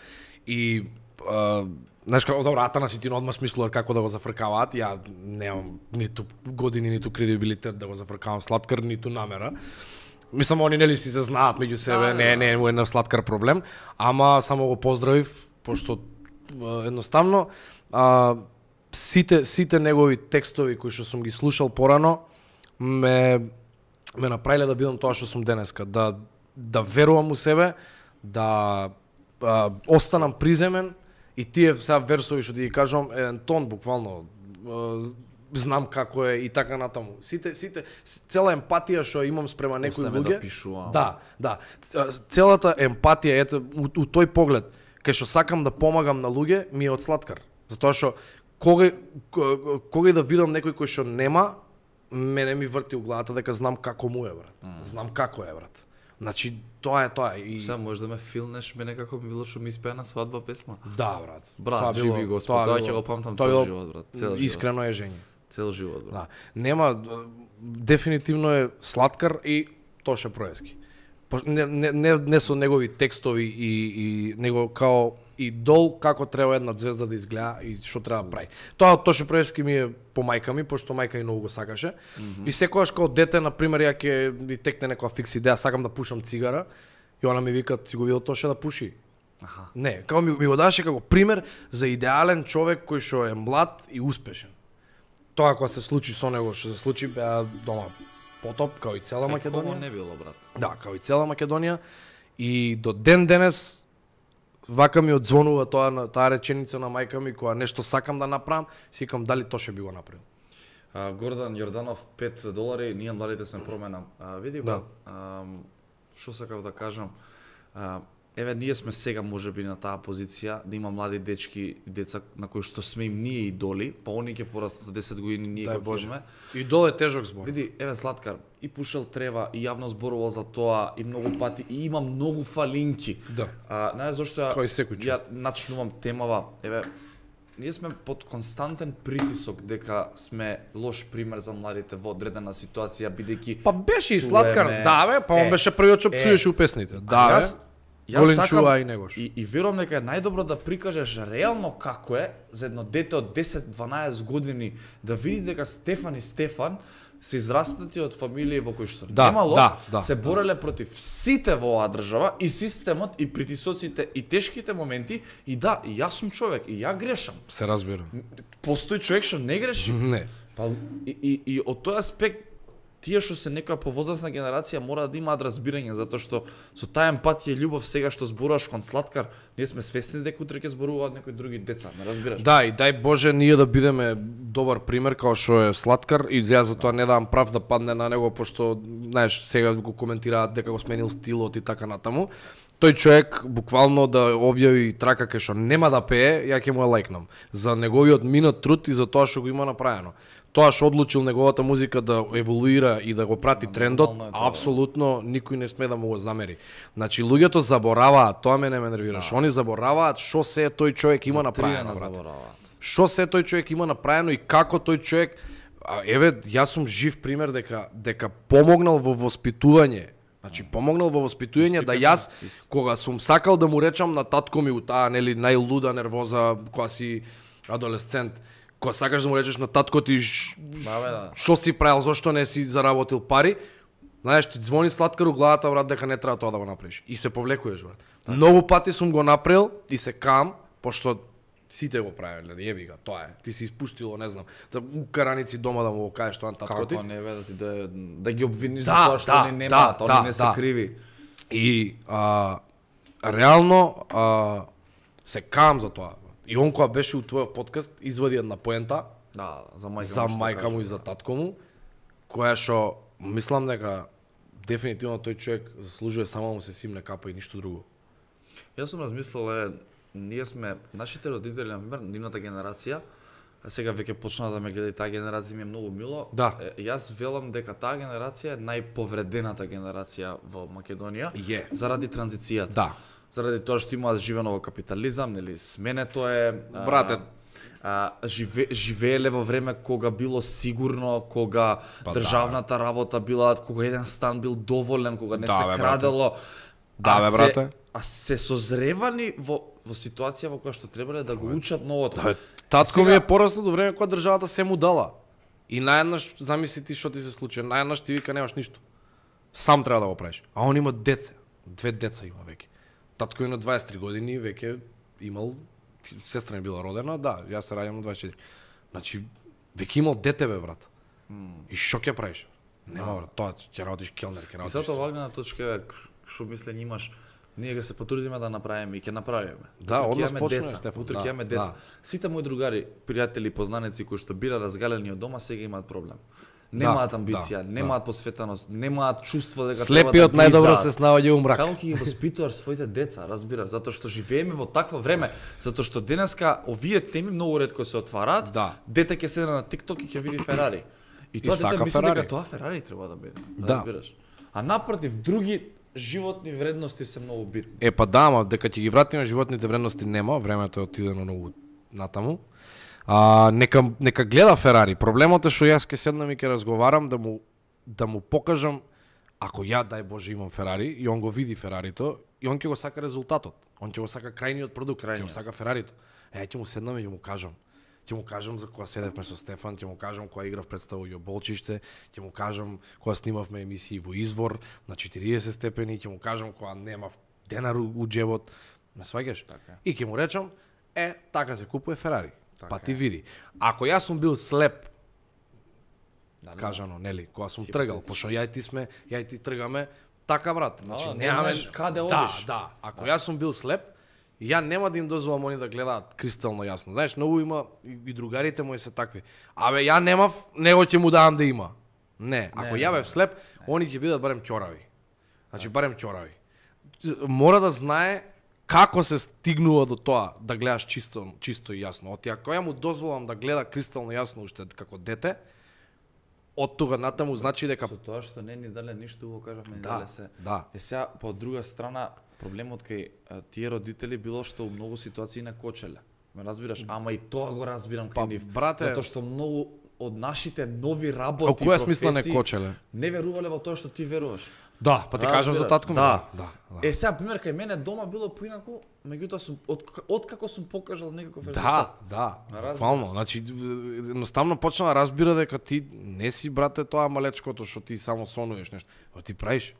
И а, знаеш како добро, Атана си ти одма смислуваат како да го зафркаваат. Ја немам ниту години, ниту кредибилитет да го зафркавам Сладкар, ниту намера. Мислам, они нели си се знаат меѓу себе, Да, не, да. не е еден Сладкар проблем, ама само го поздравив, пошто а, едноставно а, сите сите негови текстови кои што сум ги слушал порано ме ме направиле да бидам тоа што сум денеска, да да верувам у себе, да а, останам приземен И тие сега версови што ти ги кажам, еден тон буквално е, знам како е и така натаму. Сите сите цела емпатија што имам спрема некои луѓе. Да пишувам. Да, да. Целата емпатија ете у, у тој поглед кај што сакам да помагам на луѓе ми е од сладкар. Затоа што кога кога да видам некој кој што нема, мене ми врти у главата дека знам како му е, брат. Mm. Знам како е, брат. Значи тоа е тоа и сега може да ме филнеш мене како би било што ми испеа на свадба песна. Да, брат. Брат, живи Господ, тоа ќе го памтам цел живот, брат. Цел искрено е жење. Цел живот, брат. Да. Нема дефинитивно е сладкар и Тоше Проески. Не, не, не, не со негови текстови и, и него као идол како треба една звезда да изгледа и што треба да прави. Тоа Тоше Проески ми е по мајка ми, пошто мајка ми многу го сакаше. Mm -hmm. И секогаш као дете, на пример, ја ќе ми текне некоја фикс идеја, сакам да пушам цигара, и она ми вика, ти го видел Тоше да пуши? Аха. Не, као ми, ми го даше како пример за идеален човек кој што е млад и успешен. Тоа кога се случи со него, што се случи, беа дома потоп, као и цела Македонија. Не било, брат. Да, као и цела Македонија. И до ден денес вака ми одзвонува тоа таа реченица на мајка ми кога нешто сакам да направам, си викам дали Тоше би го направил. А, Гордан Јорданов пет долари, ние младите сме промена. А, види да. Што сакав да кажам? А, еве ние сме сега можеби на таа позиција да има млади дечки и деца на кои што сме им ние идоли, па они ќе порастат за десет години, ние Дај го ќе Идол е тежок збор. Види, еве Златкар, и пушел трева, и јавно зборувал за тоа, и многу пати, и има многу фалинки. Да. А, знаеш зашто ја, Кој секој ја начнувам темава, еве, ние сме под константен притисок дека сме лош пример за младите во одредена ситуација, бидејќи Па беше и Златкар, да бе, па он беше првиот што пцуеше у песните. Да бе. Јас сакам и, и, и верувам дека е најдобро да прикажеш реално како е за едно дете од десет-дванаесет години да види дека Стефан и Стефан се израстати од фамилии во кои што да, немало, да, да, се бореле против сите во оваа држава и системот и притисоците и тешките моменти и да, и јас сум човек и ја грешам. Се разбирам. Постои човек што не греши. Не. Па и, и, и од тој аспект тие што се некоја повозрасна генерација мора да имаат разбирање, затоа што со таа емпатија и љубов сега што зборуваш кон Сладкар, ние сме свесни дека утре ќе зборуваат некои други деца, ме разбираш? Да, и дај Боже ние да бидеме добар пример као што е Сладкар и ја за тоа не давам прав да падне на него пошто знаеш сега го коментираат дека го сменил стилот и така натаму. Тој човек буквално да објави трака кај што нема да пее, ја ќе му ја лајкнам за неговиот минат труд и за тоа што го има направено. Тоа што одлучил неговата музика да еволуира и да го прати трендот, апсолутно никој не сме да му го замери. Значи луѓето забораваат, тоа мене ме нервираш. Да. Они забораваат што се тој човек има направено, брате. Што се тој човек има направено и како тој човек, а, еве јас сум жив пример дека дека помогнал во воспитување. Значи помогнал во воспитување да јас кога сум сакал да му речам на татко ми у таа нели најлуда нервоза кога си адолесцент, кога сакаш да му речеш на татко ти што си правил, зошто не си заработил пари, знаеш, ти звони Сладкар у главата, брат, дека не треба тоа да го направиш. И се повлекуваш, брат. Так. Многу пати сум го направил и се кам, пошто сите го правеле, јеби га, тоа е. Ти си испуштило, не знам, да у караници дома да му го кажеш тоа на татко ти. Како не бе да ти да, да ги обвиниш да, за тоа што да, они немаат, да, они да, не се да. криви. И а, реално а, се кам за тоа. И он кога беше у твојот подкаст извади една поента. Да, за мајка, за мајка му и за татко му, која што мислам дека дефинитивно тој човек заслужува само да му се симне капа и ништо друго. Јас сум размислил е, ние сме нашите родители, на пример, нивната генерација, а сега веќе почна да ме гледа и таа генерација ми е многу мило. Да. Е, јас велам дека таа генерација е најповредената генерација во Македонија yeah. заради транзицијата. Да. Заради тоа што имаат живено во капитализам, нели, сменето е брате, а, живе, живееле во време кога било сигурно, кога па, државната да. работа била, кога еден стан бил доволен, кога не да, се бе, крадело. Да, бе, брате. Се, а се созревани во во ситуација во која што требале да го учат новото. Да, татко сега... ми е пораснал до време кога државата се му дала. И наеднаш замисли ти што ти се случи, наеднаш ти вика немаш ништо. Сам треба да го правиш. А он има деца, две деца има веќе. Татко е на дваесет и три години, веќе имал, сестра ми била родена, да, јас се раѓам на дваесет и четири. Значи, веќе имал дете, бе, брат. Mm. И што ќе правиш? Нема, брат, тоа ќе работиш келнер, ќе работиш. И затоа вагнена точка, што мислење имаш, Ние ќе се потрудиме да направиме и ќе направиме. Да, Утре ќе однос имаме почнува, деца. Стефан, Утре да, ќе имаме деца. да. Сите мои другари, пријатели, познаници кои што бира разгалени од дома, сега имаат проблем. Немаат Да, амбиција, да, немаат посветеност, немаат чувство дека Слепиот треба да најдобро близаат. се снаоѓа у мрак. Како ќе ги воспитуваш своите деца, разбираш, затоа што живееме во такво време, затоа што денеска овие теми многу ретко се отвараат. Да. Дете ќе седне на TikTok и ќе види Ферари. И тоа сака дете мисли Ферари. дека тоа Ферари треба да биде, Да. разбираш. А напротив, други животни вредности се многу битни. Е па да, ама дека ќе ги вратиме животните вредности нема, времето е отидено многу натаму. А, нека нека гледа Ферари. Проблемот е што јас ќе седнам и ќе разговарам да му да му покажам ако ја дај Боже имам Ферари и он го види Ферарито и он ќе го сака резултатот. Он ќе го сака крајниот продукт, ќе го Крајниот. сака Ферарито. Е, ќе му седнам и ќе му кажам. Ќе му кажам за кога седевме со Стефан, ќе му кажам кога играв представа во Болчиште, ќе му кажам кога снимавме емисии во Извор на четириесет степени, ќе му кажам кога немав денар у у џебот. Ме сваѓаш? Така. И ќе му речам, е, така се купува Ферари. Така Па ти е. види. Ако јас сум бил слеп, Да, кажано, нели, кога сум Ти тргал, бидеш. пошто ја и ти сме, ја и ти тргаме, така брат. Значи не немаме знаеш каде да, одиш. Да, ако јас сум бил слеп, ја нема да им дозволам они да гледаат кристално јасно. Знаеш, многу има и, и другарите мои се такви. Абе, ја немав, него ќе му давам да има. Не, ако не, ја не, бев слеп, они ќе бидат барем ќорави. Значи барем ќорави. Мора да знае како се стигнува до тоа да гледаш чисто, чисто и јасно. Оти ако ја му дозволам да гледа кристално јасно уште како дете, од тога натаму значи дека Со тоа што не ни дале ништо убаво кажавме, ни Да, дале се. да. Е сега по друга страна проблемот кај а, тие родители било што у многу ситуации не кочеле. Ме разбираш? Ама и тоа го разбирам Па, кај нив. брате- Затоа што многу од нашите нови Во работи, која смисла не професии, кочеле? не верувале во тоа што ти веруваш. Да, па ти кажам за татко ми. Да. да, да. Е сега пример кај мене дома било поинаку, меѓутоа сум од откако сум покажал некаков Да, резултат. да, Разбирам. буквално. Значи, едноставно почна да разбира дека ти не си, брате, тоа малечкото што ти само сонуваш нешто. Ја ти правиш.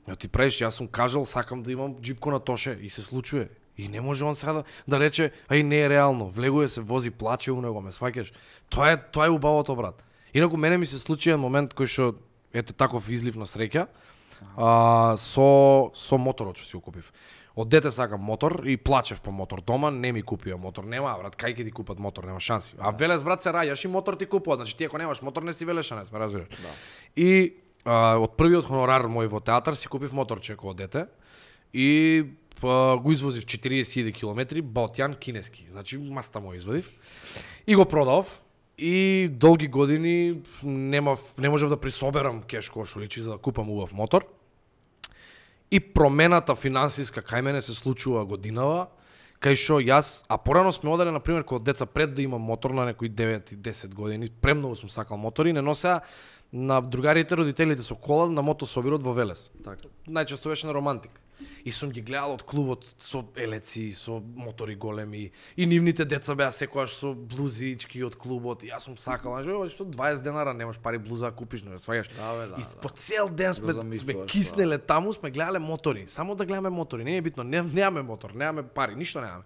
Ја ти правиш, јас сум кажал, сакам да имам џипко на тоше и се случува. И не може он сега да, да рече, ај не е реално, влегува се, вози, плаче у него, ме сваќаш. Тоа е, тоа е убавото, брат. Инаку мене ми се случи еден момент кој што, ете таков излив на среќа, а, со, со моторот што си го купив. Од дете сакам мотор и плачев по мотор дома, не ми купија мотор. Нема, брат, кај ќе ти купат мотор, нема шанси. А велес, брат, се раѓаш и мотор ти купуваат. Значи ти ако немаш мотор не си велешанец, ме разбираш. Да. И а, од првиот хонорар мој во театар си купив моторче кога дете и па, го извозив четириесет илјади километри, Балтјан кинески. Значи маста мој извадив и го продав. И долги години немав, не можев да присоберам кеш кој што личи за да купам убав мотор. И промената финансиска кај мене се случува годинава, кај што јас, а порано сме оделе на пример кога деца пред да имам мотор на некои девет и десет години, премногу сум сакал мотори, не носеа на другарите, родителите со кола на мотособирот во Велес. Така. Најчесто беше на Романтик. И сум ги гледал од клубот со елеци, со мотори големи. И нивните деца беа секогаш со блузички од клубот. И јас сум сакал, знаеш, што дваесет денара немаш пари блуза да купиш, не сваѓаш. Да, бе, да, и да. по цел ден сме, Го сме замислуваш, киснеле таму, сме гледале мотори. Само да гледаме мотори, не е битно, не, немаме мотор, немаме пари, ништо немаме.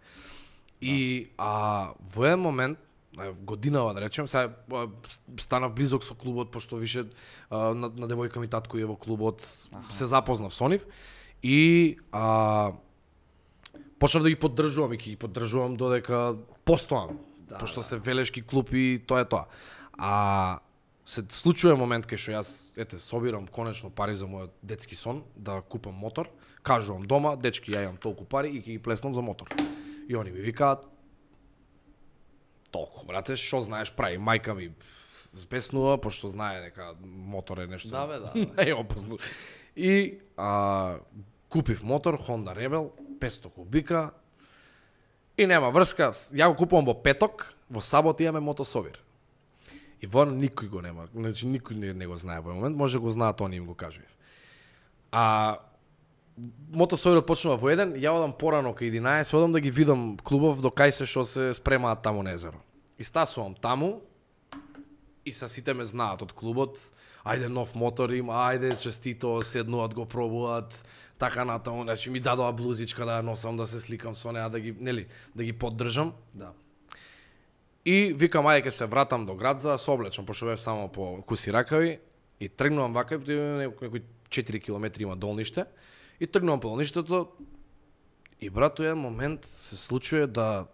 И а, во еден момент, а, годинава да речем, сега а, станав близок со клубот, пошто више а, на, на девојка ми татко е во клубот, аха, се запознав со нив и а, почнав да ги поддржувам и ќе ги поддржувам додека постоам, Да, пошто да. се велешки клуб и тоа е тоа. А се случува момент кај што јас ете собирам конечно пари за мојот детски сон да купам мотор, кажувам дома, дечки ја имам толку пари и ќе ги плеснам за мотор. И они ми викаат толку, брате, што знаеш прави, мајка ми збеснува пошто знае дека мотор е нешто. Да, бе, да, Не е опасно. И а, купив мотор Honda Rebel петстотини кубика и нема врска, ја го купувам во петок, во сабот имаме мотособир. И во никој го нема, значи никој не, не го знае во момент, може го знаат они им го кажував. А мотособирот почнува во еден, ја одам порано кај единаесет, одам да ги видам клубов до кај се што се спремаат таму на езеро. И стасувам таму и са сите ме знаат од клубот, ајде нов мотор има, ајде честито, седнуваат го пробуваат, така натаму, значи ми дадоа блузичка да ја носам, да се сликам со неа, да ги, нели, да ги поддржам. Да. И викам ајде ќе се вратам до град за да се облечам, пошто бев само по куси ракави и тргнувам вака, некои четири километри има долниште и тргнувам по долништето, И брат, тој еден момент се случува да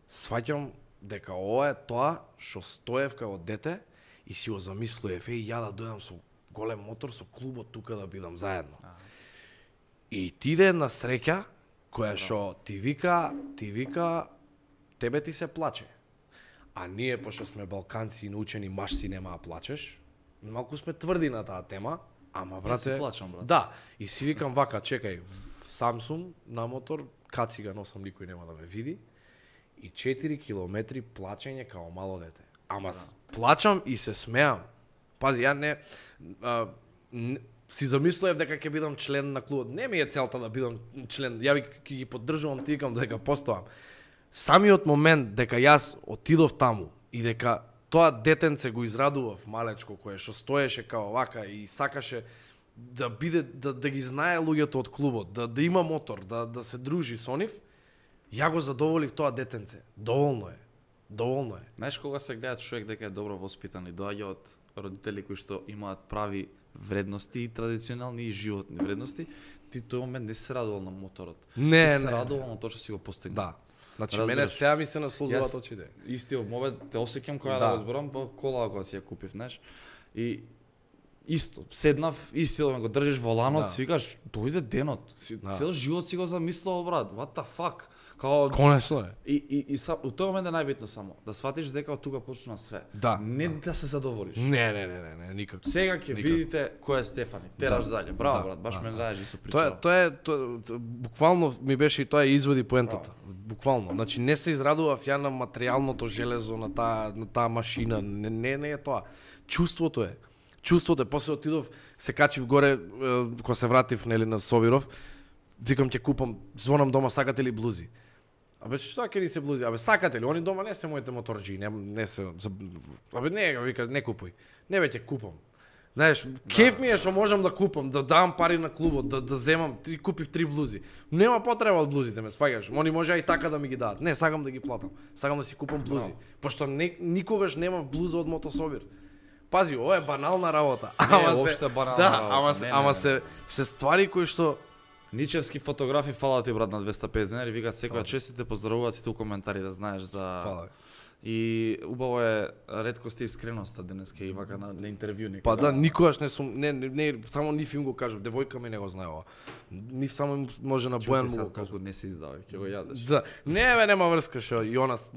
сваќам дека ова е тоа што стоев како дете и си го замислував, еј, ја да дојдам со голем мотор, со клубот тука да бидам заедно. Ага. И ти иде една среќа која што ти вика, ти вика, тебе ти се плаче. А ние, пошто сме балканци и научени машци, нема да плачеш, малку сме тврди на таа тема, ама брате... Ја си плачам, брат. Да, и си викам вака, чекај, сам сум на мотор, каци носам, никој нема да ме види, и четири километри плачење као мало дете. Ама да. Плачам и се смеам. Пази, ја не, а, не си замислував дека ќе бидам член на клубот. Не ми е целта да бидам член, ја ви ќе ги поддржувам, ти викам дека постоам. Самиот момент дека јас отидов таму и дека тоа детенце го израдував малечко кое што стоеше као вака и сакаше да биде да, да ги знае луѓето од клубот, да да има мотор, да да се дружи со нив, ја го задоволив тоа детенце. Доволно е. Доволно е. Знаеш кога се гледа човек дека е добро воспитан и доаѓа од родители кои што имаат прави вредности и традиционални и животни вредности, ти тој момент не се радувал на моторот. Не, ти не. се радувал на тоа што си го постигнал. Да. Значи Разбираш, мене сега ми се наслузуваат очите. Истиот момент те осеќам кога Да. да го зборам, по кола кога си ја купив, знаеш. И исто, седнав, истиот го држиш воланот, Да. си викаш, дојде денот. Си, Да. цел живот си го замислувал, брат. What the fuck? Као Конечно е. И, и, и са, у тој момент е најбитно само да сватиш дека од тука почна све. Да, Не да. да се задоволиш. Не, не, не, не, не, никако. Сега ќе Никако. видите кој е Стефани. Тераш Да. дале. Браво, Да, брат, баш да, ме да. знаеш и со Тоа е, причава. тоа е, тоа, тоа, буквално ми беше и тоа изводи поентата. Буквално. Значи не се израдував ја на материјалното железо, на таа на таа машина, не, не не е тоа. Чувството е. Чувството е. После отидов, се качив горе, е, кога се вратив нели на Собиров, викам ќе купам, звонам дома, сакате ли блузи? Абе што ќе ни се блузи? Абе сакате ли? Они дома не се моите моторџи, не не се за... Абе не, вика, не купуј. Не бе ќе купам. Знаеш, кеф ми е што можам да купам, да дам пари на клубот, да да земам, ти купив три блузи. Нема потреба од блузите, ме сваѓаш. Они може и така да ми ги дадат. Не, сакам да ги платам. Сакам да си купам блузи, пошто не, никогаш немав блуза од Мотособир. Пази, ова е банална работа. Не, уопште банална да, работа. ама Не, се, не, ама не. се се ствари кои што Ничевски фотографи, фала ти брат на двеста и педесет денари, вика секоја чест те поздравуваат сите у коментари да знаеш за Фала. И убаво е реткост и искреноста денеска и вака на, на интервју некога. Па да, никогаш не сум, не, не, не само нив им го кажав, девојка ми не го знае ова. Нив само им може на Бојан му го кажав. Колку не се издава, ќе го јадеш. Да, не бе, нема врска шо, и она с-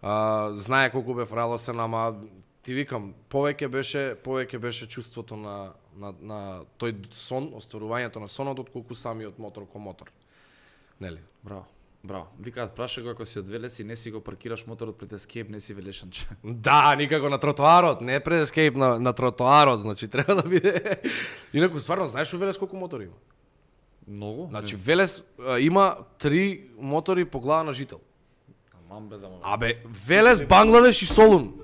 а, знае колку бев радосен, ама ти викам, повеќе беше, повеќе беше чувството на, на, на тој сон, остварувањето на сонот, отколку самиот мотор ко мотор. Нели? Браво. Браво. Викаат праша го ако си од Велес и не си го паркираш моторот пред Escape, не си велешанче. Да, никако на тротоарот, не пред Escape, на, на тротоарот, значи треба да биде. Инаку стварно, знаеш у Велес колку мотори има? Многу? Значи Велес а, има три мотори по глава на жител. Мам бе да му. Абе, Велес, Бангладеш и Солун.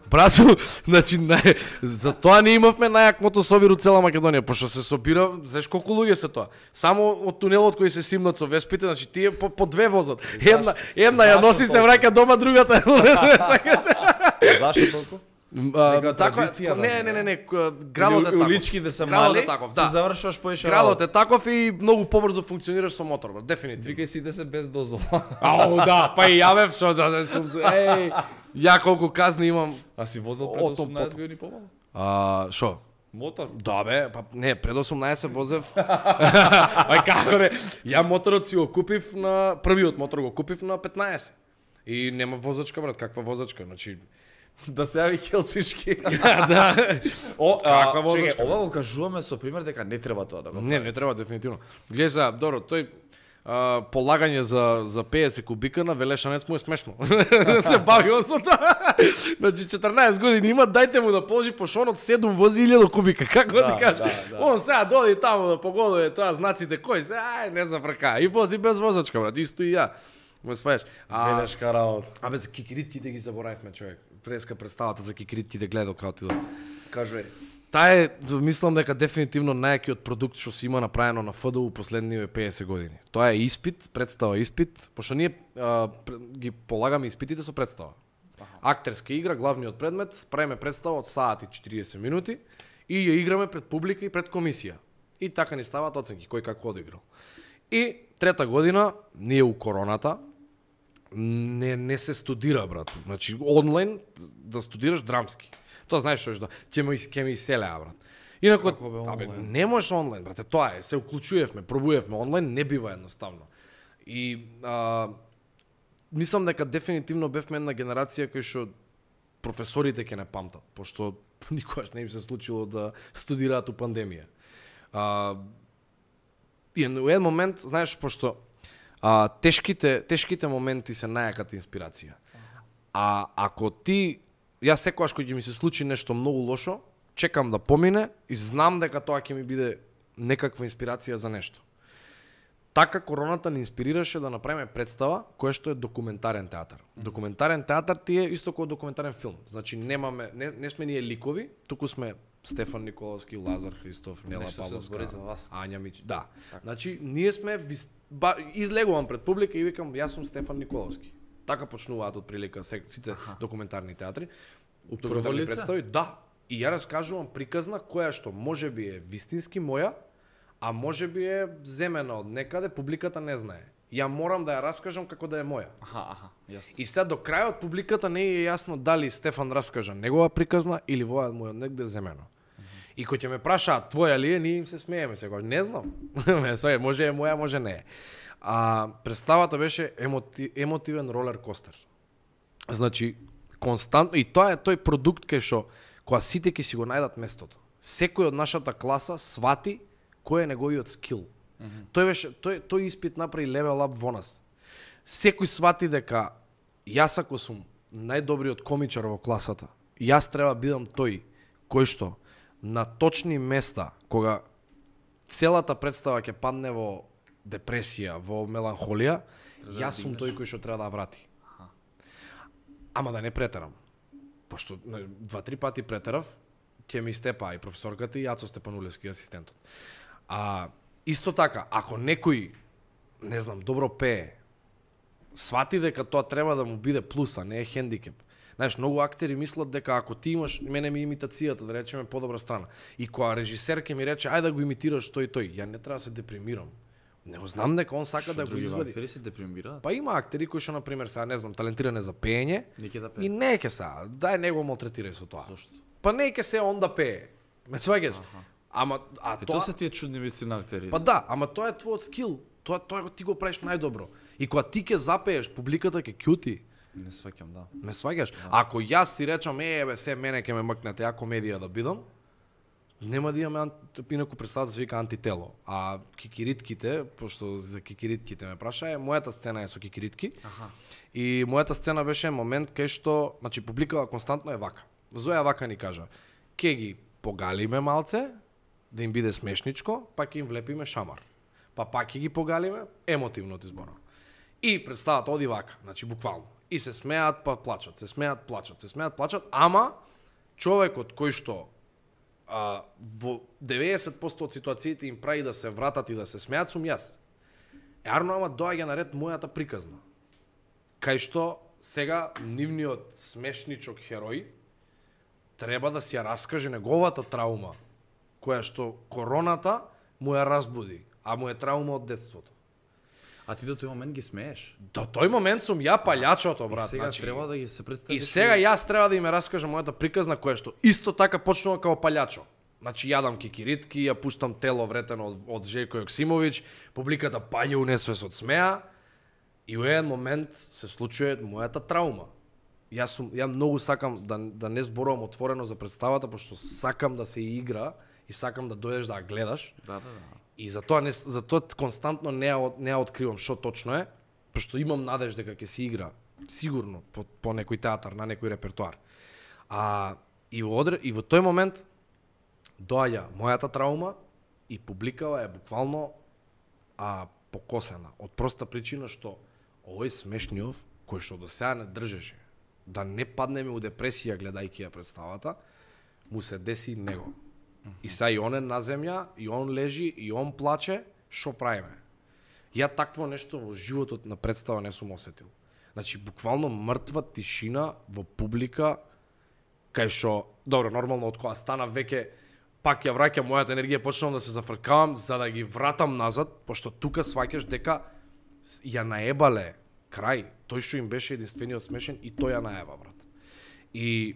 Брату, значи нај, за тоа не имавме најак мотособир у цела Македонија, пошто се собира, знаеш колку луѓе се тоа. Само од тунелот кој се симнат со веспите, значи тие по, по две возат. Една, една ја Зашто носи се толку? враќа дома, другата не сакаш. Зашто толку? А, Нека Така, традиција, не, да, не, не, не, градот е таков. Улички да се Градот мали, е таков, се да. завршуваш поише. Градот е таков и многу побрзо функционираш со мотор, брат, дефинитивно. Викај си да се без дозвола. Ау, да, па и ја бев што да, да сум, еј, ја колку казни имам. А си возел пред Ото, осумнаесет пото. години помалку? А, шо? Мотор? Да бе, па не, пред осумнаесет возев. Ај како не? Ја моторот си го купив на првиот мотор го купив на петнаесет. И нема возачка, брат, каква возачка? Значи Да се јави Хелсиншки. да. О, Каква а, возачка? чекај, ова го кажуваме со пример дека не треба тоа да го. Не, не треба дефинитивно. Гледај за, добро, тој а, полагање за за педесет кубика на Велешанец му е смешно. се бави он со тоа. Значи четрнаесет години има, дајте му да положи пошонот седум вози илјада кубика, како Да, ти кажеш? да, да. Он сега доди таму да погодува тоа знаците кои се, ај не зафрка. И вози без возачка, брат, исто и ја. Ме сваеш. А, Велешка работа. абе за кикирити да ги заборавивме, човек. Преска представата за кикирити да гледал како ти до. Кажувај. Таа е, мислам дека дефинитивно најакиот продукт што се има направено на Ф Д У последниве педесет години. Тоа е испит, представа испит, пошто ние а, ги полагаме испитите со представа. Актерска игра, главниот предмет, правиме представа од саат и четириесет минути и ја играме пред публика и пред комисија. И така ни ставаат оценки, кој како одиграл. И трета година, ние у короната, не не се студира, брат. Значи онлайн да студираш драмски. Тоа знаеш што е, ќе ме ќе ме иселеа, брат. Инаку, абе, не можеш онлайн, брате, тоа е, се уклучувавме, пробувавме, онлайн не бива едноставно. И а, мислам дека дефинитивно бевме една генерација кој што професорите ќе не памтат, пошто никогаш не им се случило да студираат у пандемија. А, и во еден момент, знаеш, пошто а, тешките тешките моменти се најаката инспирација. А ако ти, јас секогаш кога ќе ми се случи нешто многу лошо, чекам да помине и знам дека тоа ќе ми биде некаква инспирација за нешто. Така короната ни инспирираше да направиме представа која што е документарен театар. Документарен театар ти е исто како документарен филм. Значи немаме не, не сме ние ликови, туку сме Стефан Николовски, Лазар Христов, Нела Павловска, Ања Мич. Да. Так. Значи ние сме ба, излегувам пред публика и викам јас сум Стефан Николовски. Така почнуваат од прилика сите Аха. документарни театри. Документарни представи, да. И ја раскажувам приказна која што можеби е вистински моја, а можеби е земена од некаде, публиката не знае. Ја морам да ја раскажам како да е моја. Аха, аха, јасно. И сега до крајот публиката не е јасно дали Стефан раскажа негова приказна или воја моја негде земено. Mm-hmm. И кој ќе ме прашаат твоја ли е, ние им се смееме сега. Не знам. Може е моја, може не е. А представата беше емоти, емотивен ролер костер. Значи константно и тоа е тој продукт кај што кога сите ќе си го најдат местото. Секој од нашата класа свати кој е неговиот скил. Mm-hmm. Тој беше тој тој испит направи левел ап во нас. Секој свати дека јас ако сум најдобриот комичар во класата, јас треба бидам тој кој што на точни места кога целата представа ќе падне во депресија, во меланхолија, јас сум тој кој што треба да врати. Аха. Ама да не претерам. Пошто два-три пати претерав, ќе ми степа и професорката и Јацо Степанулевски асистентот. А исто така, ако некој, не знам, добро пее, свати дека тоа треба да му биде плюс, а не е хендикеп. Знаеш, многу актери мислат дека ако ти имаш, мене ми имитацијата, да речеме, подобра страна. И кога режисер ќе ми рече, ајде да го имитираш тој тој, ја не треба да се депримирам. Не го знам дека он сака Шо да го извади. Актери се депримираат? Па има актери кои што на пример сега не знам талентиране за пеење да пее. И не ќе сега, дај него малтретирај со тоа. Зошто? Па не ќе се он да пее. Ме сваѓаш? Ама а е, тоа тоа се тие чудни мисли на актери. Па да, ама тоа е твојот скил. Тоа тоа ти го правиш најдобро. И кога ти ќе запееш, публиката ќе кјути. Не сваќам, да. Ме сваѓаш? Да. Ако јас ти речам, е, бе, се мене ќе ме мкнете, ја комедија да бидам, нема да имаме инаку представа се вика антитело. А кикиритките, пошто за кикиритките ме праша, е мојата сцена е со кикиритки. Аха. И мојата сцена беше момент кај што, значи публикава константно е вака. Зоја вака ни кажа: "Ке ги погалиме малце, да им биде смешничко, па ќе им влепиме шамар. Па пак ќе ги погалиме, емотивно ти зборам." И представата оди вака, значи буквално. И се смеат, па плачат, се смеат, плачат, се смеат, плачат, ама човекот кој што а, во деветдесет проценти од ситуациите им прави да се вратат и да се смеат сум јас. Ерно, ама доаѓа на ред мојата приказна. Кај што сега нивниот смешничок херој треба да си ја раскаже неговата траума, која што короната му ја разбуди, а му е траума од детството. А ти до тој момент ги смееш? До тој момент сум ја палјачото, брат. И сега значи, треба да ги се представиш. И сега јас треба да им раскажам мојата приказна која што исто така почнува како палјачо. Значи јадам кикиритки, ја пуштам тело вретено од, од Желјко Јоксимовиќ, публиката паѓа у несвес од смеа и во еден момент се случува мојата траума. Јас сум ја многу сакам да да не зборувам отворено за представата, пошто сакам да се игра и сакам да дојдеш да ја гледаш. Да, да, да. И затоа не затоа константно не ја не ја откривам што точно е, пошто имам надеж дека ќе се игра сигурно по, по некој театар, на некој репертоар. А и во одре, и во тој момент доаѓа мојата траума и публикава е буквално а покосена од проста причина што овој смешниов кој што до сега не држеше да не паднеме у депресија гледајќи ја представата, му се деси него. И сега и он е на земја, и он лежи, и он плаче, шо правиме? Ја такво нешто во животот на представа не сум осетил. Значи, буквално мртва тишина во публика, кај шо, добро, нормално од кога стана веќе пак ја враќам мојата енергија, почнувам да се зафркавам за да ги вратам назад, пошто тука сваќаш дека ја наебале крај, тој што им беше единствениот смешен и тој ја наеба, брат. И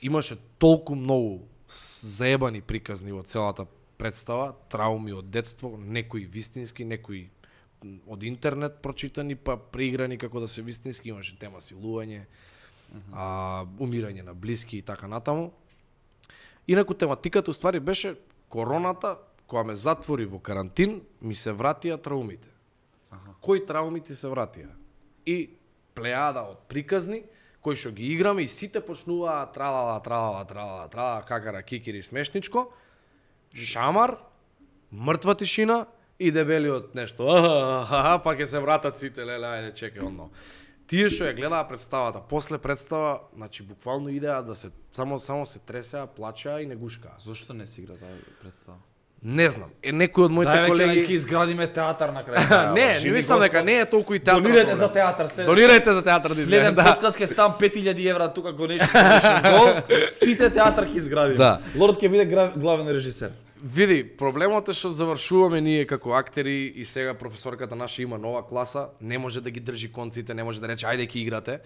имаше толку многу заебани приказни во целата представа, трауми од детство, некои вистински, некои од интернет прочитани, па преиграни како да се вистински, имаше тема силување, uh-huh. а, умирање на блиски и така натаму. Инаку тематиката уствари беше короната, која ме затвори во карантин, ми се вратија траумите. Аха. Кои трауми ти се вратија? И плејада од приказни, кои што ги играме и сите почнуваа тралала, тралала, тралала, тралала, какара, кикири, смешничко, шамар, мртва тишина и дебелиот нешто. Аха, па ќе се вратат сите, леле, ајде, чекај, онно. Тие што ја гледаа представата, после представа, значи буквално идеа да се само само се тресеа, плачеа и не гушкаа. Зошто не си игра таа представа? Не знам. Е некој од моите Дај, колеги ќе изградиме театар на крај. Не, не мислам дека не е толку и театар. Донирайте за театар, следен. Донирайте за театар. Следен да. подкаст ќе стам пет илјади евра тука го неши гол. Сите театар ќе изградиме. Да. Лорд ќе биде главен режисер. Види, проблемот е што завршуваме ние како актери и сега професорката наша има нова класа, не може да ги држи конците, не може да рече ајде ќе играте.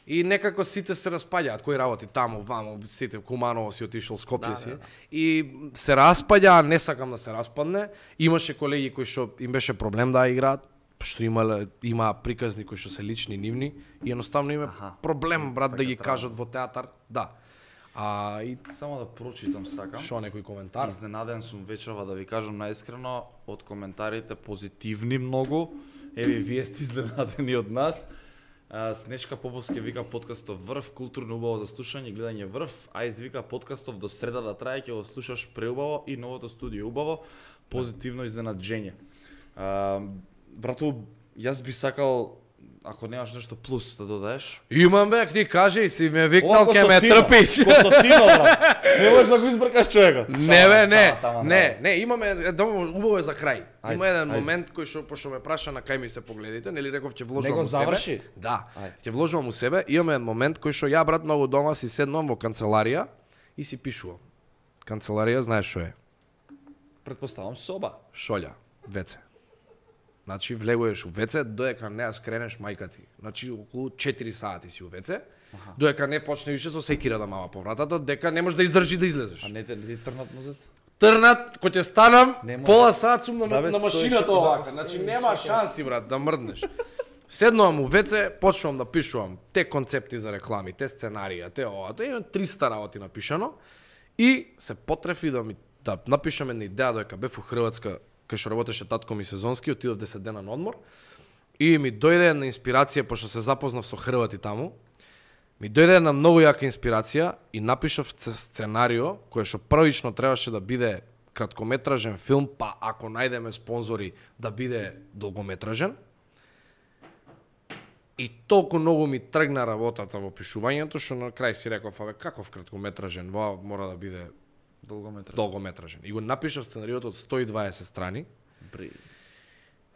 И некако сите се распаѓаат, кои работи таму, ваму, сите, Куманово си отишол, Скопје да, си. Да, да. И се распаѓа, не сакам да се распадне. Имаше колеги кои што им беше проблем да играат, што имале има приказни кои што се лични нивни и едноставно има Аха. проблем брат да ги трава. кажат во театар. Да. А и само да прочитам сакам. Шо некој коментар? Изненаден сум вечерва да ви кажам наискрено од коментарите позитивни многу. Еве вие сте изненадени од нас. Снежка Поповски вика подкастов врв, културно убаво за слушање и гледање врв, а извика подкастов до среда да трае, ќе го слушаш преубаво и новото студио убаво, позитивно изненаджење. А, брату, јас би сакал, ако немаш нешто плюс да додаеш. Имам бе, ти кажи, си ме викнал, ке ме трпиш. Косотино, брат. Не можеш да го избркаш човекот. Не бе, не, не, не, имаме, убаво е за крај. Ајде, Има еден ајде. момент кој што пошто ме праша на кај ми се погледите, нели реков ќе вложувам Него у себе. заврши? Да, Ајде. ќе вложувам у себе. Имаме еден момент кој што ја брат многу дома си седнувам во канцеларија и си пишувам. Канцеларија знаеш што е? Предпоставам соба. Шолја, веце. Значи влегуваш у веце, доека не ја скренеш мајка ти. Значи околу четири сати си у веце. Аха. Доека не почне више со секира да мава по вратата, дека не можеш да издржи да излезеш. А не те, не ти трнат назад? Трнат, кој ќе станам, Нема. пола сат сум на, Да, бе, на машината стоиш, овака. да, Значи стоиш, нема чекай. шанси брат да мрднеш. Седнувам у веце, почнувам да пишувам те концепти за реклами, те сценарија, те ова, тоа имам триста работи напишано и се потрефи да ми да напишам една идеја доека бев у Хрватска, кај што работеше татко ми сезонски, отидов десет дена на одмор и ми дојде една инспирација пошто се запознав со хрвати таму. Ми дојде една многу јака инспирација и напишав сценарио кое што првично требаше да биде краткометражен филм, па ако најдеме спонзори да биде долгометражен. И толку многу ми тргна работата во пишувањето што на крај си реков, абе каков краткометражен, во мора да биде Долгометражен. долгометражен. И го напишав сценариото од сто и дваесет страни. Бри.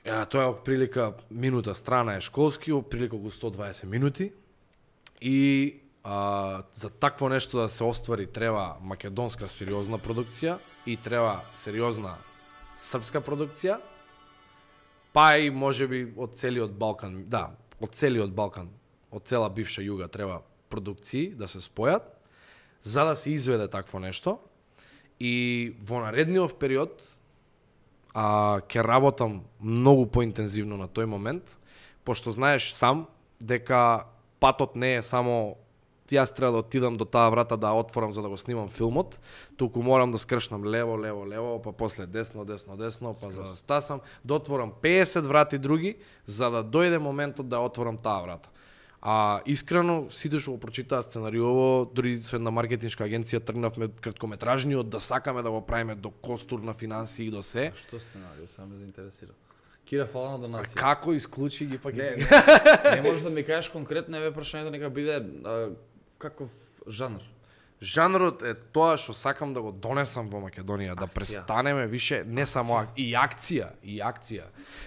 Ја, тоа е прилика минута страна е школски, прилика го сто и дваесет минути. И а, за такво нешто да се оствари треба македонска сериозна продукција и треба сериозна српска продукција, па и можеби од целиот Балкан, да, од целиот Балкан, од цела бивша југа треба продукции да се спојат за да се изведе такво нешто. И во наредниот период а, ќе работам многу поинтензивно на тој момент, пошто знаеш сам дека патот не е само јас треба да отидам до таа врата да отворам за да го снимам филмот, туку морам да скршнам лево, лево, лево, па после десно, десно, десно, па за да стасам, да отворам пеесет врати други, за да дојде моментот да отворам таа врата. А искрено, сите што го прочитаа сценариово, дури со една маркетиншка агенција тргнавме краткометражниот да сакаме да го правиме до костур на финанси и до се. А што сценарио, само ме заинтересира. Кира, фала на донација. Како исклучи ги пак Не, ги... не можеш да ми кажеш конкретно еве прашањето нека биде а, каков жанр. жанрот е тоа што сакам да го донесам во Македонија, да престанеме више не само ак... и акција, и акција.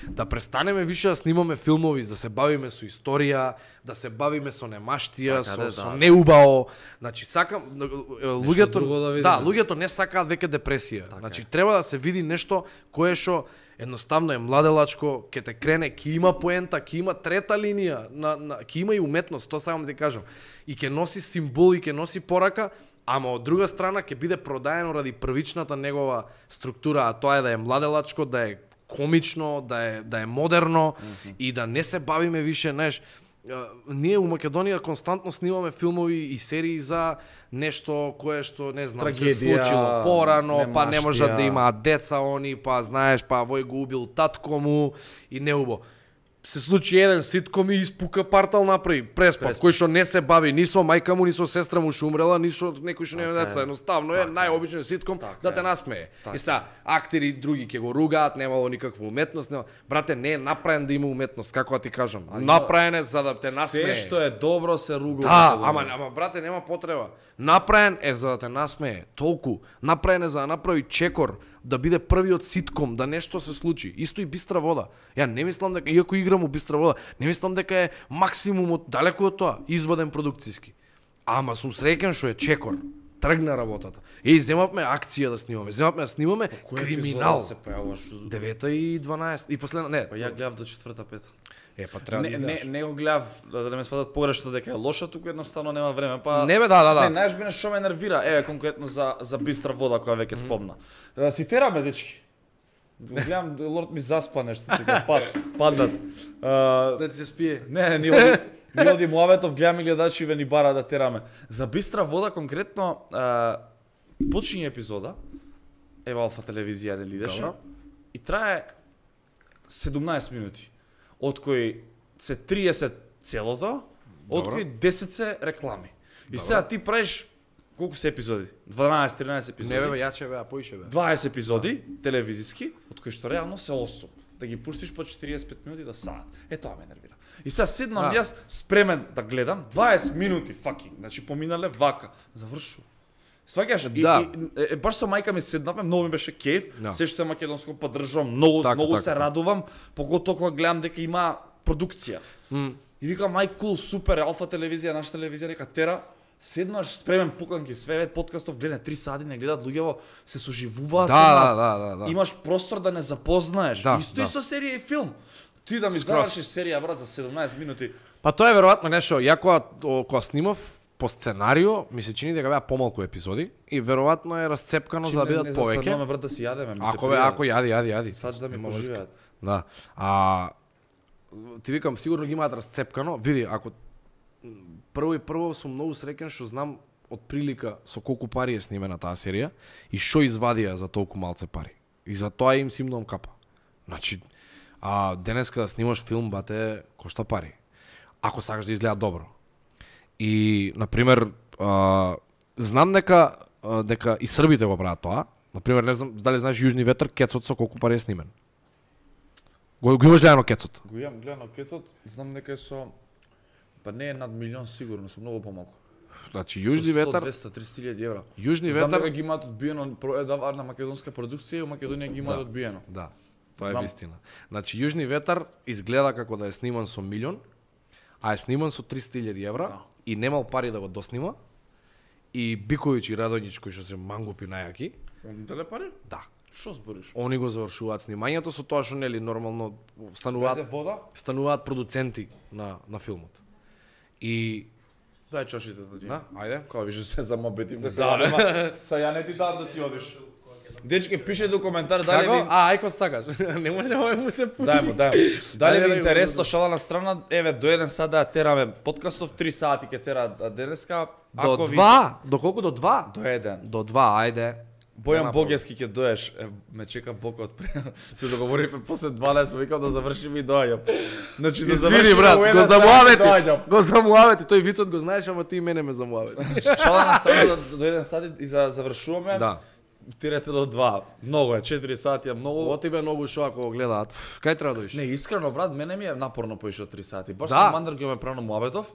Да престанеме више да снимаме филмови, да се бавиме со историја, да се бавиме со немаштија, така, со, да, со да. неубаво. Значи сакам луѓето да, да, луѓето не сакаат веќе депресија. Така значи е. треба да се види нешто кое што едноставно е младелачко, ќе те крене, ќе има поента, ќе има трета линија, на, на ќе има и уметност, тоа сакам да ти кажам. И ќе носи символ и ќе носи порака, ама од друга страна ќе биде продаено ради првичната негова структура, а тоа е да е младелачко, да е комично, да е да е модерно mm-hmm. и да не се бавиме више, знаеш, ние у Македонија константно снимаме филмови и серии за нешто кое што не знам трагедија, се случило порано, па не можат да немаштија. имаат деца они, па знаеш, па вој го убил татко му и неубо. Се случи еден ситком и испука портал направи преспав, Преспав. кој што не се бави ни со мајка му, ни со сестра му што умрела, ни со некој што нема Така е. деца. Едноставно е Така е. најобичен ситком Така да те е. насмее. Така И са актери други ќе го ругаат, немало никаква уметност, нема. Брате, не е направен да има уметност, како да ти кажам. Направен е за да те насмее. Се што е добро се руга. Да, ама ама брате нема потреба. Направен е за да те насмее, толку. Направен е за да направи чекор, да биде првиот ситком, да нешто се случи. Исто и Бистра вода. Ја не мислам дека иако играм у Бистра вода, не мислам дека е максимумот далеку од тоа, изваден продукциски. Ама сум среќен што е чекор. Тргна работата. Еј, земавме акција да снимаме, земавме да снимаме криминал. се појавуваш? девета и дванаесет и последна не. Па ја гледав до четврта пета. Е, па треба да Не, не, изгледаш. не го гледав да не ме сватат погрешно дека е лоша, туку едноставно нема време, па Не бе, да, да, да. Не, знаеш мене што ме нервира, еве конкретно за за Бистра вода која веќе спомна. Да си тераме дечки. Гледам лорд ми заспа нешто тука, пад паднат. А, Да ти се спие. Не, ни оди, ни оди Муаветов, гледам и гледачи ве ни бара да тераме. За Бистра вода конкретно а, почиње епизода, ева Алфа телевизија нели идеше. Добро. И трае седумнаесет минути, од кои се триесет целото, од Добро. кои десет се реклами. И сега ти правиш колку се епизоди? дванаесет тринаесет епизоди. Не бе, бе, јаче бе, а поише бе. дваесет епизоди телевизиски, од кои што реално се осум. Да ги пуштиш по четириесет и пет минути до саат. Е тоа ме нервира. И сега седнам Да. јас спремен да гледам дваесет минути факинг, значи поминале вака, завршува. Сваќаш? И, Да. и, е, баш со мајка ми седнавме, многу ми беше кеф, Да. се што е македонско поддржувам, многу Така, многу така, се така. радувам, поготоа кога гледам дека има продукција. М. И викам мај кул, супер, Алфа телевизија, наша телевизија нека тера. Седнаш спремен пуканки све подкастов, гледа три сати, не гледат луѓево, се соживуваат Да, со нас. да, да, да, да. Имаш простор да не запознаеш. Да, Исто да. и со серија и филм. Ти да ми Скроз. завршиш серија брат за седумнаесет минути. Па тоа е веројатно нешто, ја кога о, кога снимав по сценарио, ми се чини дека беа помалку епизоди и веројатно е расцепкано за да бидат не повеќе. застануваме брат да си јадеме, ми се Ако бе, ако јади, јади, јади. Сач да ми Нема врска. поживеат. Да. А ти викам сигурно ги имаат расцепкано. Види, ако прво и прво сум многу среќен што знам од прилика со колку пари е снимена таа серија и што извадија за толку малце пари. И за тоа им симнувам капа. Значи, а денеска да снимаш филм, бате, кошта пари. Ако сакаш да изгледа добро. И, например, а, знам дека а, дека и србите го прават тоа. Например, не знам дали знаеш Јужни ветер, кецот со колку пари е снимен. Го, го имаш гледано кецот? Го имам гледано кецот, знам дека е со па не е над милион сигурно, со многу помалку. Значи Јужни ветер, двеста триста илјади евра. Јужни Знам дека ветер, ги имаат одбиено проедава на македонска продукција и у Македонија ги имаат Да. одбиено. да. Тоа е Знам. вистина. Значи Јужни ветер изгледа како да е сниман со милион, а е сниман со триста илјади евра Да. и немал пари да го доснима. И Биковиќ и Радоњич кои што се мангупи најаки, Дале пари? да. Што збориш? Они го завршуваат снимањето со тоа што нели нормално Дајте стануваат вода? стануваат продуценти на на филмот. И Дај чашите да ти. да, ајде. Кога више се замобетим да се Да, вадима. Са ја не ти дам да си одиш. Дечки, пише до коментар дали Како? ви А, ајко сакаш. Не може овој му се пуши. Дај му, дај му. Дали Ајде, ви бе, интересно го- шала на страна, еве до еден сат да ја тераме подкастов, три сати ќе тера денеска. До Ако ви- два, до колку до два? До еден. До два, ајде. Бојан Нема Богески ќе доеш, е, ме чека Бока од пре. Се договоривме после дванаесет, викам да завршиме и доаѓам. Значи да Извини завршиме брат, у го еден сат и замуавети. доаѓам. Го замуавети, тој вицот го знаеш, ама ти и мене ме замуавети. Шала на страна до, до еден сат и за завршуваме. Да. Тирете до два. Многу е, четири сати е многу. Ово тебе многу шо ако го гледаат. Кај треба да доиш? Не, искрено брат, мене ми е напорно поише од три сати. Баш Да. со Мандр ги ме прано Муабетов.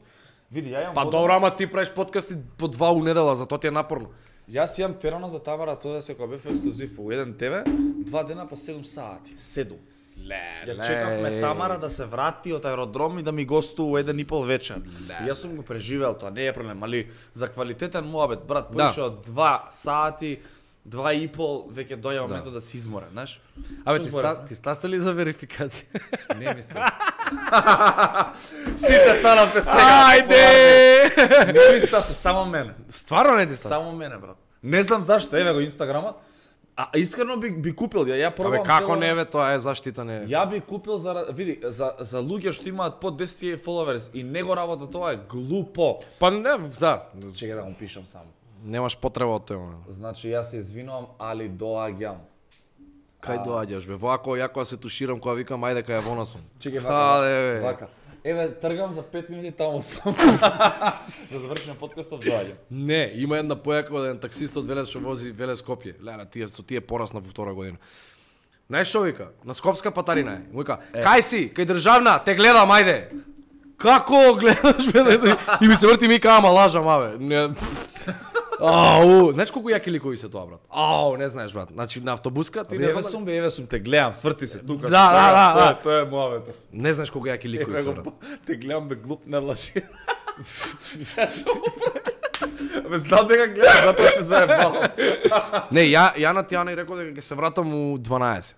Види, ја имам Па водено- добро, ама ти правиш подкасти по два у недела, затоа ти е напорно. Јас имам терано за Тамара, тоа да се кога бев ексклузив у еден Т В, два дена по седум сати. седум. Ле, Ја чекавме Тамара да се врати од аеродром и да ми гостува у еден и пол вечер. И јас сум го преживел тоа, не е проблем, али за квалитетен муабет, брат, Да. поише од два сати, два и пол, веќе доја моментот да се изморен, знаеш? Абе, Што ти, зборев? ста, ти стаса ли за верификација? Не мислам. Сите станавте сега. Ајде! Не ми стаса, само мене. Стварно не ти стаса? Само мене, брат. Не знам зашто, еве го инстаграмот. А искрено би би купил ја, ја Абе, пробам како цело- не бе, тоа е заштита не. Ја би купил за види за за луѓе што имаат под десет илјади followers и не го работа тоа е глупо. Па не, да. Чекај да го пишам само. Немаш потреба од тоа. Значи јас се извинувам, али доаѓам. Кај доаѓаш бе? Вако ја кога се туширам, кога викам ајде кај ја вонасум. Чекај Аде, бе. вака. Еве тргам за пет минути таму сум. Да завршиме подкастот доаѓам. Не, има една појака од еден таксист од Велес што вози Велес Скопје. Леле, тие со тие порасна во втора година. Знаеш што вика? На Скопска патарина е. Му вика, кај си? Кај државна, те гледам, ајде. Како гледаш бе? И ми се врти ми ама лажам, абе. Не. Ау, знаеш колку јаки ликови се тоа, брат? Ау, не знаеш, брат. Значи на автобуска ти не Еве знам. сум бе, еве сум те гледам, сврти се тука. Да, да, да, Тоа е- да. Тоа е мојавето. Не знаеш колку јаки ликови се, брат. Те гледам бе глуп не лажи. Зашо му прави? Бе знам дека гледаш, затоа се заебавам. Не, ја ја на Тијана и рекол дека ќе се вратам у дванаесет.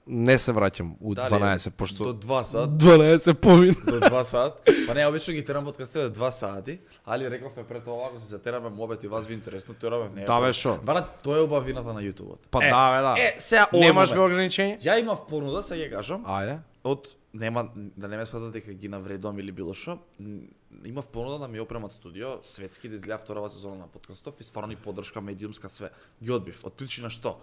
Не се враќам у Дали, дванаесет, пошто До два сат. дванаесет помин. До два сат. Па не, обично ги терам подкастите два сати, али рековме пред тоа ако се затераме мобет и вас ви интересно, тераме не. е Да, бе, проблем. шо? Брат, тоа е убавината на YouTube-от. Па е, да, бе, да. Е, сега овој Немаш бе момент. ограничење? Ја имав понуда, сега ќе кажам, Ајде. од нема да не ме сватат дека ги навредувам или било што. м, Имав понуда да ми опремат студио, светски да излеа вторава сезона на подкастов и стварно ни поддршка медиумска све. Ги одбив, од причина што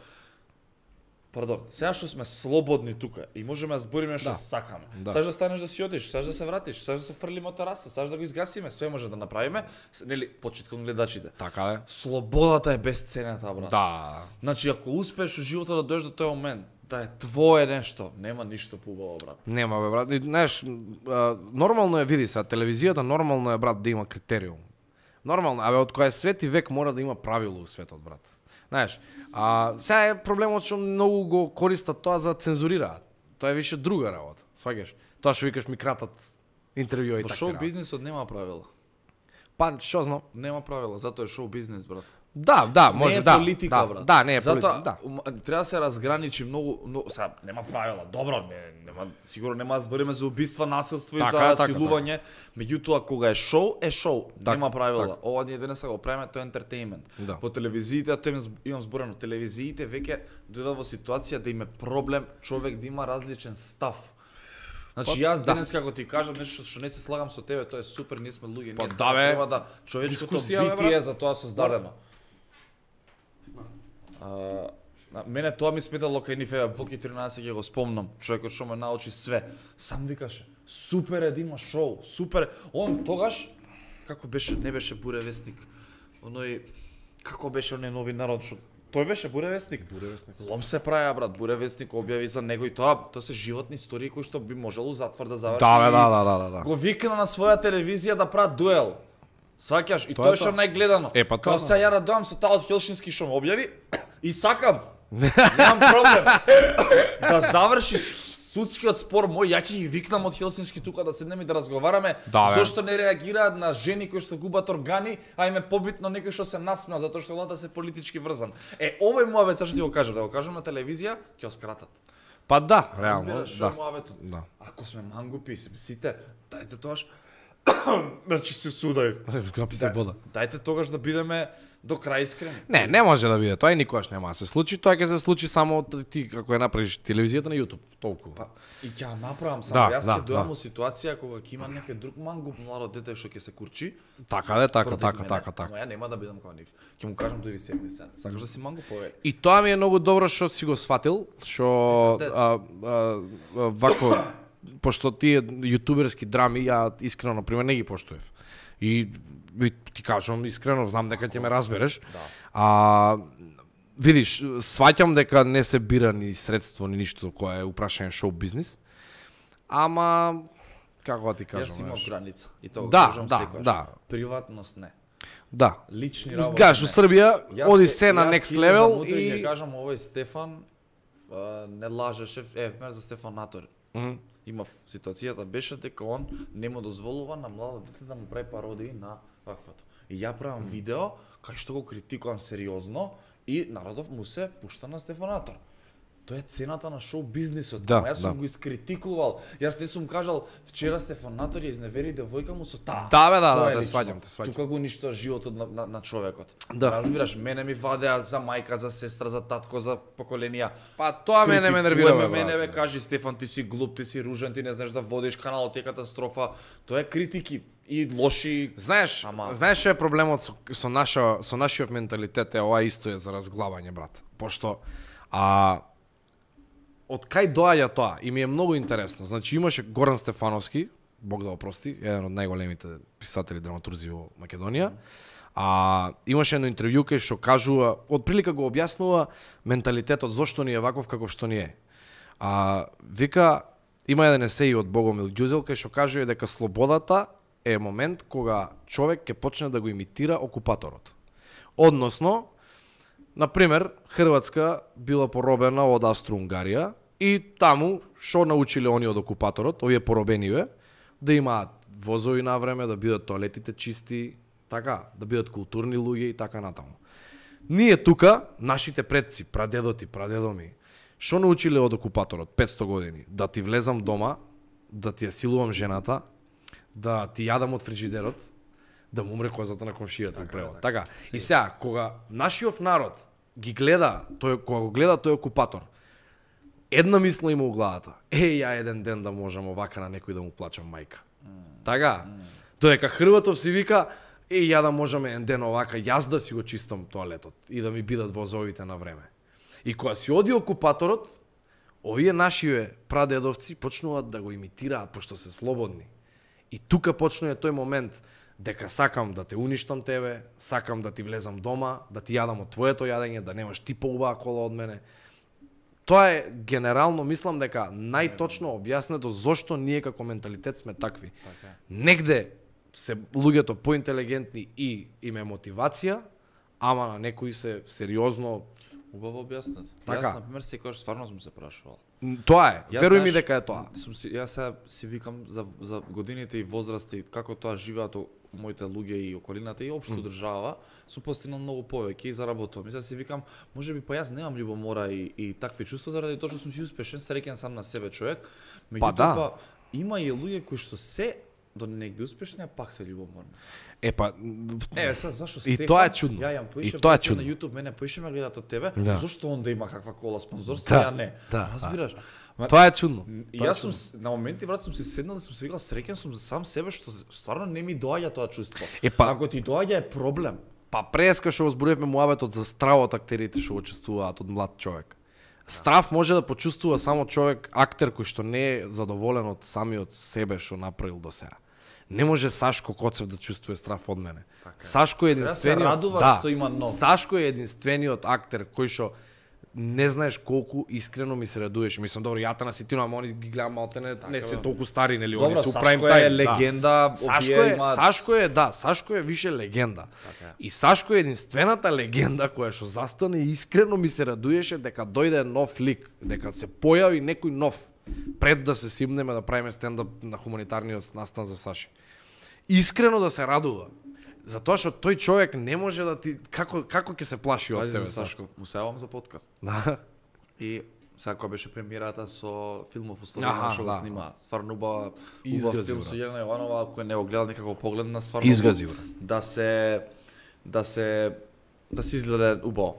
Пардон, сега што сме слободни тука и можеме да збориме што Да. сакаме. Да. Саш да станеш да си одиш, саш да се вратиш, саш да се фрлиме од тераса, саш да го изгасиме, све може да направиме, С- нели, почит кон гледачите. Така е. Слободата е безценета, брат. Да. Значи, ако успееш во животот да дојдеш до тој момент, да е твое нешто, нема ништо поубаво, брат. Нема бе, брат. И, знаеш, а, нормално е, види се, телевизијата нормално е, брат, да има критериум. Нормално, абе, од кој е свет и век мора да има правило у светот, брат. Знаеш, а сега е проблемот што многу го користат тоа за цензурираат. Тоа е више друга работа, сваѓаш? Тоа што викаш ми кратат интервјуа и Во така. шоу бизнисот нема правила. Па, што знам? Нема правила, затоа е шоу бизнис, брат. Да, да, може не е да. политика, да, брат. Да, не е Затоа, политика, да. ум- треба да се разграничи многу, но сега нема правила. Добро, не, нема сигурно нема да збориме за убиства, насилство и Така за е, така, силување. Меѓутоа кога е шоу, е шоу. Така, нема правила. така. Ова ние денеска го правиме, тоа е ентертејмент. Да. По телевизиите, тоа имам зб- имам зборено, телевизиите веќе дојдат во ситуација да им е проблем човек да има различен став. Значи Па, јас да. денес како ти кажам нешто што не се слагам со тебе, тоа е супер, ние сме луѓе, Па, ние да, бе. треба да човечкото Дискусија, бе, битие брат. за тоа создадено. А, на мене тоа ми сметало кај нив, еве, Боки тринаесет ќе го спомнам, човекот што ме научи све. Сам викаше, супер е да има шоу, супер. Он тогаш, како беше, не беше буревестник, оној, како беше оној новинарот што тој беше буревестник. Буревестник. Лом се праја, брат, буревестник објави за него и тоа, тоа се животни истории кои што би можело у затвор да заврши. Да, бе, и да, да, да, да, да. Го викна на своја телевизија да прават дуел. Сваќаш, и Тоа е тоа што тоа. најгледано. Е, па тоа, Као се ја радувам со таа од Хелшински што ме објави и сакам. Немам проблем. Да заврши судскиот спор мој, ја ќе ги викнам од Хелсински тука да седнеме и да разговараме. Да, бе. Зошто не реагираат на жени кои што губат органи, а им е побитно некој што се насмеа затоа што лата се политички врзан. Е, овој муабет сашто ти го кажам, да го кажам на телевизија, ќе го скратат. Па да, реално, Разбираш, што е да. муабетот? Да. Ако сме мангупи, сите, дајте тоаш значи се судај. Капи се вода. Дајте тогаш да бидеме до крај искрени. Не, не може да биде. Тоа и никогаш нема да се случи. Тоа ќе се случи само од ти како ја направиш телевизијата на YouTube, толку. Па, и ќе ја направам само, Да, јас да, ќе дојам да. во ситуација кога ќе има некој друг мангуп младо дете што ќе се курчи. Така да, така, против така, мене, така, така. Ама ја нема да бидам како нив. Ќе му кажам дури седни се. Сакаш да си мангуп повели. И тоа ми е многу добро што си го сватил, што Дете, а, а, а, вако пошто тие јутуберски драми ја искрено на пример не ги поштуев. И, и ти кажам искрено, знам дека ќе ме разбереш. Да. А видиш, сваќам дека не се бира ни средство ни ништо кое е упрашање шоу бизнис. Ама Како ти кажам? Јас имам знаеш. граница и тоа го Да, кажам да, секогаш. да. Приватност не. Да. Лични работи. Гаш, у не. Србија Јас оди ке- се на јас next ќе level излезам утре и ќе кажам овој Стефан а, не лажеше, е, пример за Стефан Натор. Мгм. Има ситуацијата беше дека он не му дозволува на младо дете да му прави пародии на ваквото. И ја правам видео кај што го критикувам сериозно и народов му се пушта на Стефан Натор. Тоа е цената на шоу бизнисот. Да, Ама јас сум да. го искритикувал. Јас не сум кажал вчера Стефан Натор ја изневери девојка му со таа. Да, бе, да, Тоа да, е те лично. сваќам, те сваќам. Тука го уништува животот на, на, на човекот. Да. Разбираш, мене ми вадеа за мајка, за сестра, за татко, за поколенија. Па тоа мене ме нервира, Критикуваме бе, мене, бе, брате. кажи Стефан, ти си глуп, ти си ружен, ти не знаеш да водиш каналот, ти е катастрофа. Тоа е критики и лоши. Знаеш, Ама- знаеш што е проблемот со, со наша со нашиот менталитет, е ова исто е за разглавање, брат. Пошто а од кај доаѓа тоа? И ми е многу интересно. Значи имаше Горан Стефановски, Бог да опрости, еден од најголемите писатели драматурзи во Македонија. А имаше едно интервју кај што кажува, од прилика го објаснува менталитетот зошто ни е ваков каков што ни е. А вика има еден есеј од Богомил Ѓузел кај што кажува дека слободата е момент кога човек ќе почне да го имитира окупаторот. Односно, на пример, Хрватска била поробена од Австро-Унгарија и таму што научиле они од окупаторот, овие поробениве, да имаат возови на време, да бидат тоалетите чисти, така, да бидат културни луѓе и така натаму. Ние тука, нашите предци, прадедоти, прадедоми, што научиле од окупаторот петсто години? Да ти влезам дома, да ти ја силувам жената, да ти јадам од фриџидерот, да му умре козата на комшијата, така, превод. Така. И сега, кога нашиот народ ги гледа, тој кога го гледа тој окупатор, една мисла има у главата. Е, ја еден ден да можам овака на некој да му плачам мајка. Mm. Така. Mm. Додека Хрватов си вика, е, ја да можам еден ден овака, јас да си го чистам тоалетот и да ми бидат возовите на време. И кога си оди окупаторот, овие нашиве прадедовци почнуваат да го имитираат, пошто се слободни. И тука почнува тој момент дека сакам да те уништам тебе, сакам да ти влезам дома, да ти јадам од твоето јадење, да немаш ти поубава кола од мене. Тоа е генерално, мислам дека најточно објаснето зошто ние како менталитет сме такви. Така. Негде се луѓето поинтелигентни и име мотивација, ама на некои се сериозно. Убаво објаснет. Така. Јас, например, секогаш стварно сум се прашувал. Тоа е, Јас, веруј ми знаеш, дека е тоа. Сум си, јас сега си викам за, за годините и возраста и како тоа живеат о- моите луѓе и околината и општо mm. држава, сум постигнал многу повеќе и заработувам. И сега си викам, можеби па јас немам љубомора и, и такви чувства заради тоа што сум си успешен, среќен сам на себе човек. Меѓутоа, да. па, има и луѓе кои што се до негде успешни, а пак се љубоморни. Е па Е, сега зашо И Стефан? тоа е чудно. Ја јам И поише тоа е на чудно. YouTube, мене поише ме гледат од тебе. Да. Зошто он да има каква кола спонзорство, Да, ја не? да, Разбираш? Ма, тоа е чудно. И Тоа е јас сум чудно. с- на моменти брат сум се седнал и сум се викал среќен сум за сам себе што стварно не ми доаѓа тоа чувство. Е, па- Ако ти доаѓа е проблем. Па преска што го зборувавме муабетот за стравот актерите што го чувствуваат од млад човек. Страв може да почувствува само човек, актер кој што не е задоволен од самиот себе што направил до сега. Не може Сашко Коцев да чувствува страв од мене. Сашко е Треба да се единствениот, радува што има нов. Сашко е единствениот актер кој што не знаеш колку искрено ми се радуваш. Мислам, добро, ја на ситина, ама они ги гледам малтене, не се толку стари, нели, они Добро, се у Сашко прайм е тајм. легенда, Да. Сашко овие е, имаат- Сашко е, да, Сашко е више легенда. Така е. И Сашко е единствената легенда која што застане и искрено ми се радуеше дека дојде нов лик, дека се појави некој нов пред да се симнеме да правиме стендап на хуманитарниот настан за Саши. Искрено да се радува. Затоа што тој човек не може да ти како како ќе се плаши од Пази тебе, за Сашко, му се јавам за подкаст. Да. И сега кога беше премиерата со филмов Аха, Устовина што го да. снима. Стварно убава, убав Изгази, филм брат. со Јелена Јованова, кој не го гледа некако погледна стварно. Изгази, убав. брат. Да се да се да се изгледа убаво.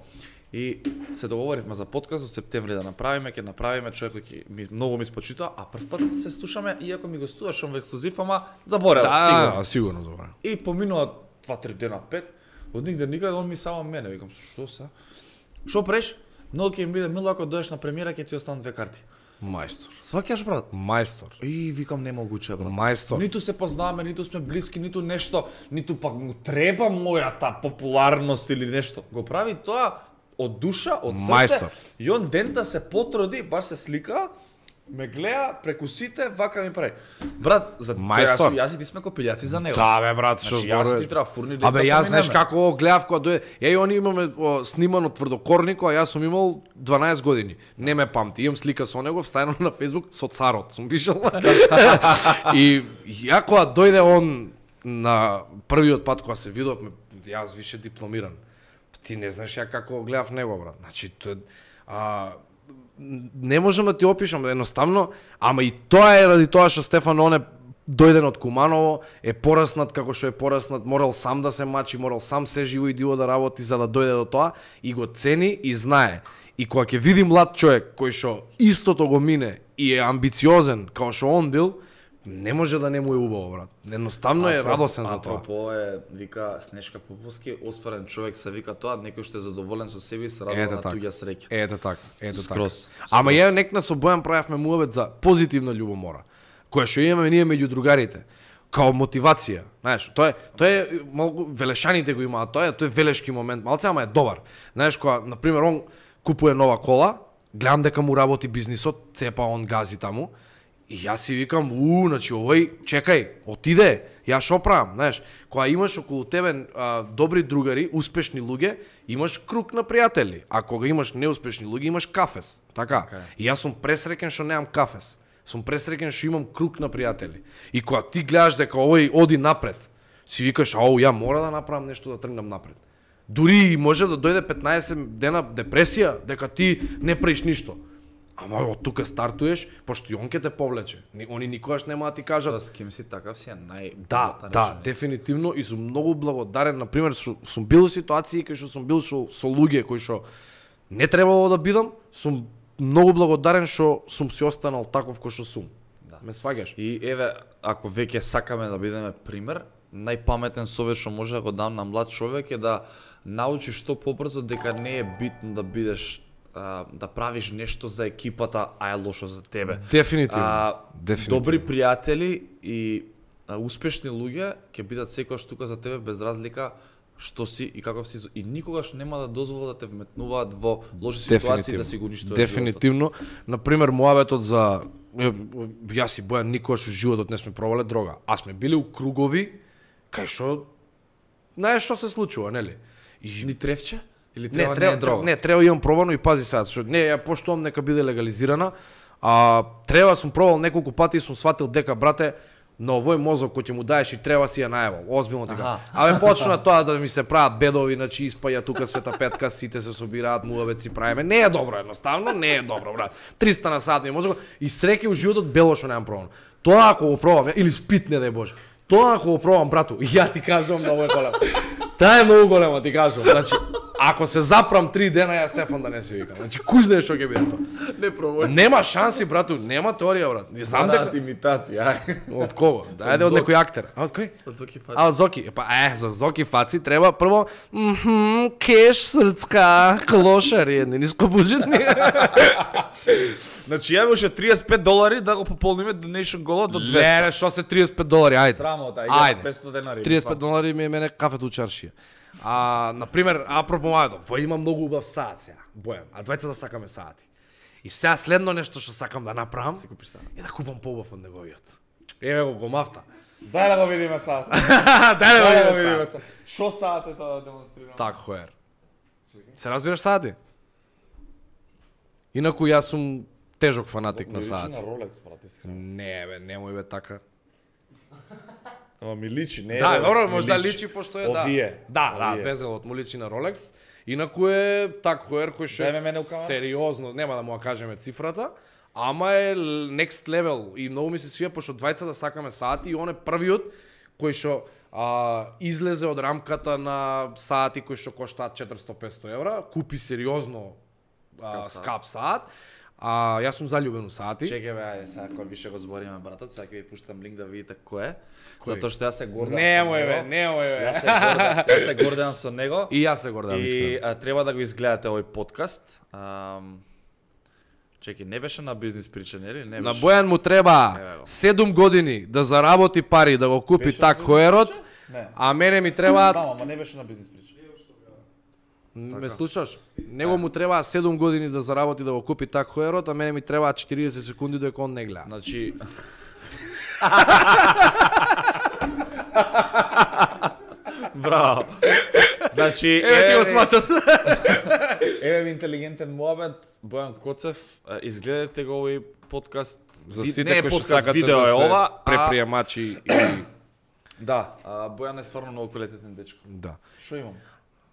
И се договоривме за подкаст од септември да направиме, ќе направиме, човекот ќе ми многу ми спочитува, а прв пат се слушаме иако ми гостуваш он во ексклузив, ама заборел, Да, сигурно. да, сигурно добро. И поминува два-три дена, пет, од нигде никаде, он ми само мене, викам, што се? Што преш? Многу ќе ми биде мило ако доеш на премиера, ќе ти останат две карти. Мајстор. Сваќаш, брат? Мајстор. И викам немогуче, брат. Мајстор. Ниту се познаваме, ниту сме блиски, ниту нешто, ниту пак му треба мојата популарност или нешто. Го прави тоа од душа, од срце. Мајстор. И он дента се потруди, баш се слика, ме гледа преку сите, вака ми прави. Брат, за Мајстор. Јас, јас и ти сме копилјаци за него. Да, бе, брат, што Значи, јас зборуваш? ти треба фурни да Абе, да јас знаеш поминеме. како го гледав кога дојде. Ја и они имаме о, снимано тврдокорнико, а јас сум имал дванаесет години. Не ме памти. Имам слика со него, вставено на Facebook со царот. Сум пишал. И ја кога дојде он на првиот пат кога се видовме, јас више дипломиран. Ти не знаеш ја како го гледав него, брат. Значи, тоа а не можам да ти опишам, едноставно, ама и тоа е ради тоа што Стефан Оне дојден од Куманово, е пораснат како што е пораснат, морал сам да се мачи, морал сам се живо и диво да работи за да дојде до тоа и го цени и знае. И кога ќе види млад човек кој што истото го мине и е амбициозен како што он бил, не може да не му е убаво, брат. Едноставно е радосен за тоа. Апропо е, вика Снежка Поповски, осварен човек се вика тоа, некој што е задоволен со себе и се радува Ете на така. туѓа среќа. Ете така, ете така. Скроз. Ама ја некна со Бојан правевме муабет за позитивна љубомора, која што имаме ние меѓу другарите, као мотивација. Знаеш, тоа е, тоа е малку велешаните го имаат, тоа е, тоа е велешки момент, малце ама е добар. Знаеш, кога на пример он купува нова кола, гледам дека му работи бизнисот, цепа он гази таму. И јас си викам, у, значи овој, чекај, отиде, ја шо правам, знаеш, кога имаш околу тебе а, добри другари, успешни луѓе, имаш круг на пријатели, а кога имаш неуспешни луѓе, имаш кафес, така? Така е. И јас сум пресреќен што немам кафес, сум пресреќен што имам круг на пријатели. И кога ти гледаш дека овој оди напред, си викаш, ау, ја мора да направам нешто да тргнам напред. Дури може да дојде петнаесет дена депресија, дека ти не правиш ништо. Ама од тука стартуеш, пошто и он ке те повлече. Ни- Они никогаш нема да ти кажат. Да, с ким си такав си е нај... Да, да, дефинитивно и сум многу благодарен, на пример, што сум бил во ситуации кај што сум бил со, со луѓе кои што не требало да бидам, сум многу благодарен што сум си останал таков кој што сум. Да. Ме сваѓаш? И еве, ако веќе сакаме да бидеме пример, најпаметен совет што може да го дам на млад човек е да научиш што побрзо дека не е битно да бидеш а, да правиш нешто за екипата, а е лошо за тебе. Дефинитивно. А, Дефинитивно. добри пријатели и а, успешни луѓе ќе бидат секогаш тука за тебе без разлика што си и каков си и никогаш нема да дозволат да те вметнуваат во лоши ситуации да си го уништуваш. Дефинитивно. На пример, муабетот за е, јас и Бојан никогаш во животот не сме пробале дрога, а сме били у кругови кај што знаеш што се случува, нели? И Ни тревче? Или не, треба не, треба, е дрога? не, треба имам пробано и пази сега, што не, ја поштувам нека биде легализирана, а треба сум пробал неколку пати и сум сватил дека брате на овој мозок кој ќе му даеш и треба си ја најавал. Озбилно ти кажам. Абе почна тоа да ми се прават бедови, значи испаја тука света петка, сите се собираат, муабет си правиме. Не е добро едноставно, не е добро, брат. триста на сат ми е мозок и среќа у животот бело што немам пробано. Тоа ако го пробам, или спит не дај Боже. Тоа ако го пробам, брату, и ја ти кажувам да ovo е големо. Таа е многу голема, ти кажувам. Значи, ако се запрам три дена, ја Стефан да не се викам. Значи, кој знае што ќе биде тоа? Не пробај. Нема шанси, брату, нема теорија, брат. Не знам дека имитација, ај. од кого? Дајде од Зоки. некој актер. А од кој? Од Зоки Фати. А од Зоки. Па е, за Зоки Фаци треба прво мхм, кеш срцка, клошари, едни нискобуџетни. Значи ја имаше триесет и пет долари да го пополниме donation голот до двесте. Леле, што се триесет и пет долари, ајде. Срамота, Ајде. петстотини денари. триесет и пет долари ми е мене кафето у чаршија. А, на пример, апропо мајдо, во има многу убав саат сега, Бојан, а двајца да сакаме саати. И сега следно нешто што сакам да направам, Си купиш саат. е да купам поубав од неговиот. Еве го гомавта. Дај да го видиме саат. Дај да го видиме саат. Шо саат е тоа да демонстрирам? Так, хоер. Се разбираш саати? Инаку јас сум тежок фанатик на саати. на Rolex, брат, искрено. Не бе, немој бе така. Ама ми личи, не е Да, Rolex, добро, ми може да личи пошто е да. Овие. Да, да, Овие. безелот му личи на Rolex. Инаку е так хоер кој што Дај ме е мене у камера. сериозно, нема да му ја кажеме цифрата, ама е л- next level и многу ми се свија пошто двајца да сакаме саати и он е првиот кој што а, излезе од рамката на саати кои што коштаат четиристотини до петстотини евра, купи сериозно а, Скап саат. скап саат. А јас сум заљубен у саати. Чекај бе, ајде, сега кога више го збориме, братот, сега ќе ви пуштам линк да видите кој е. Кој? Затоа што јас се гордам. Немој бе, немој бе. Јас се гордам, јас се гордам со него. И јас се гордам И искрено. а, треба да го изгледате овој подкаст. Ам, Чеки, не беше на бизнис прича, нели? Не На беше. Бојан му треба Еве го. седум години да заработи пари да го купи Беше так на хоерот, бизнис прича? Не. а мене ми требаат Знам, ама не беше на бизнис прича. Ме слушаш? Него му требаа седум години да заработи да го купи так хоерот, а мене ми требаа четириесет секунди додека он не гледа. Значи Браво. Значи, еве ти го смачат. Еве ви интелигентен муабет, Бојан Коцев, изгледате го овој подкаст. За Ви- сите не е кои што подкаст, сакате видео да е се ова, а преприемачи и да, а, Бојан е стварно многу квалитетен дечко. да. Што имам?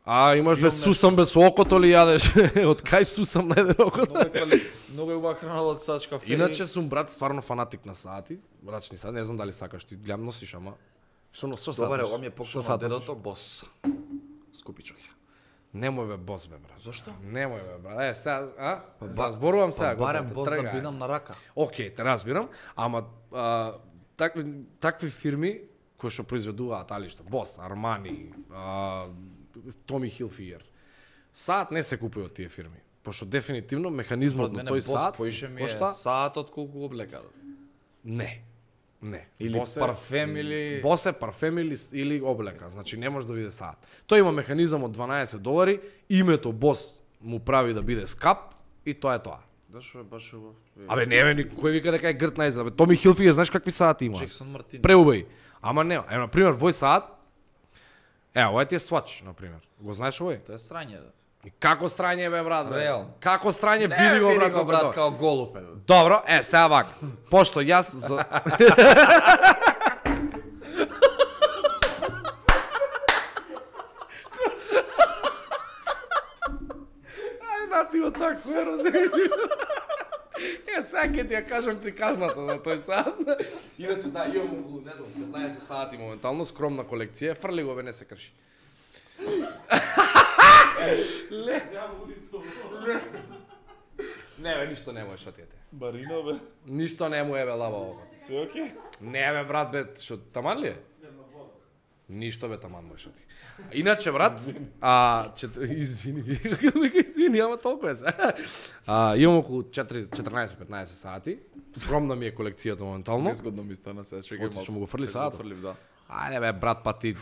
А имаш бе сусам без окото ли јадеш? Од кај сусам на еден окото? Многу е квали... многу е убава храна од сачка фери. Иначе сум брат стварно фанатик на саати, брачни саати, не знам дали сакаш ти, гледам носиш, ама што но што Добаре, сакаш? ова ми е Што покшо на сакаш? дедото бос. Скупичок ја. Немој бе бос бе брат. Зошто? Немој бе брат. Е сега, а? ба- Да зборувам сега. Па барем готово, бос да тргај. бидам на рака. Океј, те разбирам, ама а, такви такви фирми кои што произведуваат алишта, Бос, Армани, а, Томи Хилфиер. Саат не се купува од тие фирми, пошто дефинитивно механизмот Од на мене тој бос саат поише ми е кошта саатот колку облека. не. Не. Или Бос е- парфем или Бос е парфем или, или облека, значи не може да биде саат. Тој има механизам од дванаесет долари, името Бос му прави да биде скап и тоа е тоа. Зашо е баш убав? Абе не бе, кој вика дека е грт најзад, бе Томи Хилфиер, знаеш какви саати има? Джексон Мартинес. Преубави. Ама нема. Е, на пример, вој саат, е, овој ти е Swatch, на пример. Го знаеш овој? Тоа е срање. Да. И како страње бе, брат, бе? Реално. Како страње, Не, види го, види брат, го, брат. брат, као голуб е. Добро, е, сега вака. Пошто јас за... Ај, нати го так, хуеро, се Е, сега ќе ти ја кажам приказната за тој саат. Иначе, да, имам околу, не знам, петнаесет сати моментално, скромна колекција, фрли го бе, не се крши. Ле. Ле. Не бе, ништо не му е, шо ти е те. Барино бе. Ништо не му е бе, лава ово. Све окей? Не бе, брат, бе, шо, таман ли е? Ништо бе, таман му е, шо ти. Иначе, брат, а, чет... извини, вика, извини, ама толку е се. А, имам околу четрнаесет-петнаесет сати. Скромна ми е колекцијата моментално. Незгодно ми стана сега, чекај Отиш, малку. му го фрли Ќе саатот? фрлив, да. Ајде бе, брат, па ти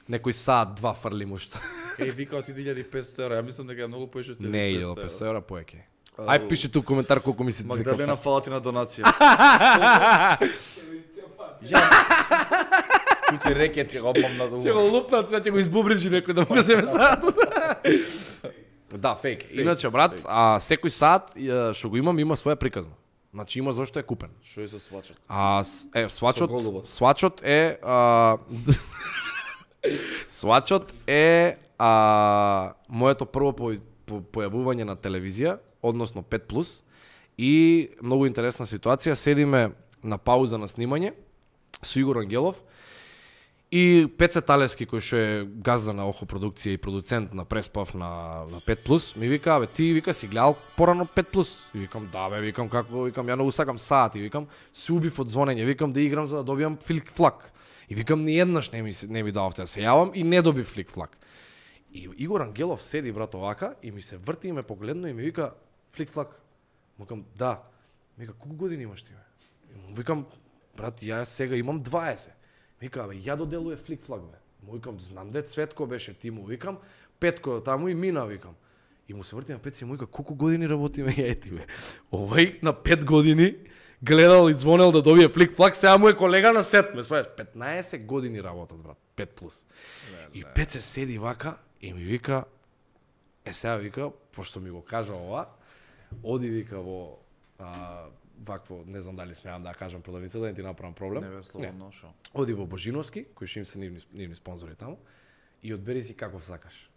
некој саат два фрли му што. Еј, вика од илјада и петстотини евра, ја мислам дека е многу поише од илјада Не и е петстотини илјада и петстотини евра. евра поеќе. Ај пиши ту коментар колку мислите дека Магдалена, фала ти на донација. Чути рекет ќе го обмам на Ќе го лупнат, сега ќе го избубрижи некој да му го земе саатот. Да, фейк. Иначе, брат, а секој саат ја, што го имам има своја приказна. Значи има зошто е купен. Што е со свачат? А с- е свачот, Со голубот. свачот е а, свачот е а, моето прво по, по, појавување на телевизија, односно пет плюс, и многу интересна ситуација, седиме на пауза на снимање со Игор Ангелов и Пеце Талески, кој што е газда на Охо продукција и продуцент на Преспав на, на пет плюс, ми вика, бе, ти вика си гледал порано пет плюс? И викам, да бе, викам, како, викам, ја многу сакам саат, и викам, се убив од звонење, викам да играм за да добијам флик флак. И викам, ни еднаш не ми, се- не ми дававте да се јавам и не добив флик флак. И Игор Ангелов седи, брат, овака, и ми се врти и ме погледна и ми вика, флик флак. Му викам, да. Ми вика, колку години имаш ти, бе? И му викам, брат, ја сега имам дваесет. Вика, бе, ја доделуе флик флак, бе. Му викам, знам де Цветко беше ти, му викам, Петко таму и мина, викам. И му се врти на Петко и му вика, колку години работиме ја и ти, бе? Овој на пет години гледал и звонел да добие флик флак, сега му е колега на сет, ме свајаш. петнаесет години работат, брат, пет плюс. И Пет се седи вака и ми вика, е сега вика, пошто ми го кажа ова, оди вика во а, вакво, не знам дали смеам да ја кажам продавница, да не ти направам проблем. Не бе, слободно, шо. Оди во Божиновски, кои што им се нивни, нивни спонзори таму, и одбери си каков сакаш.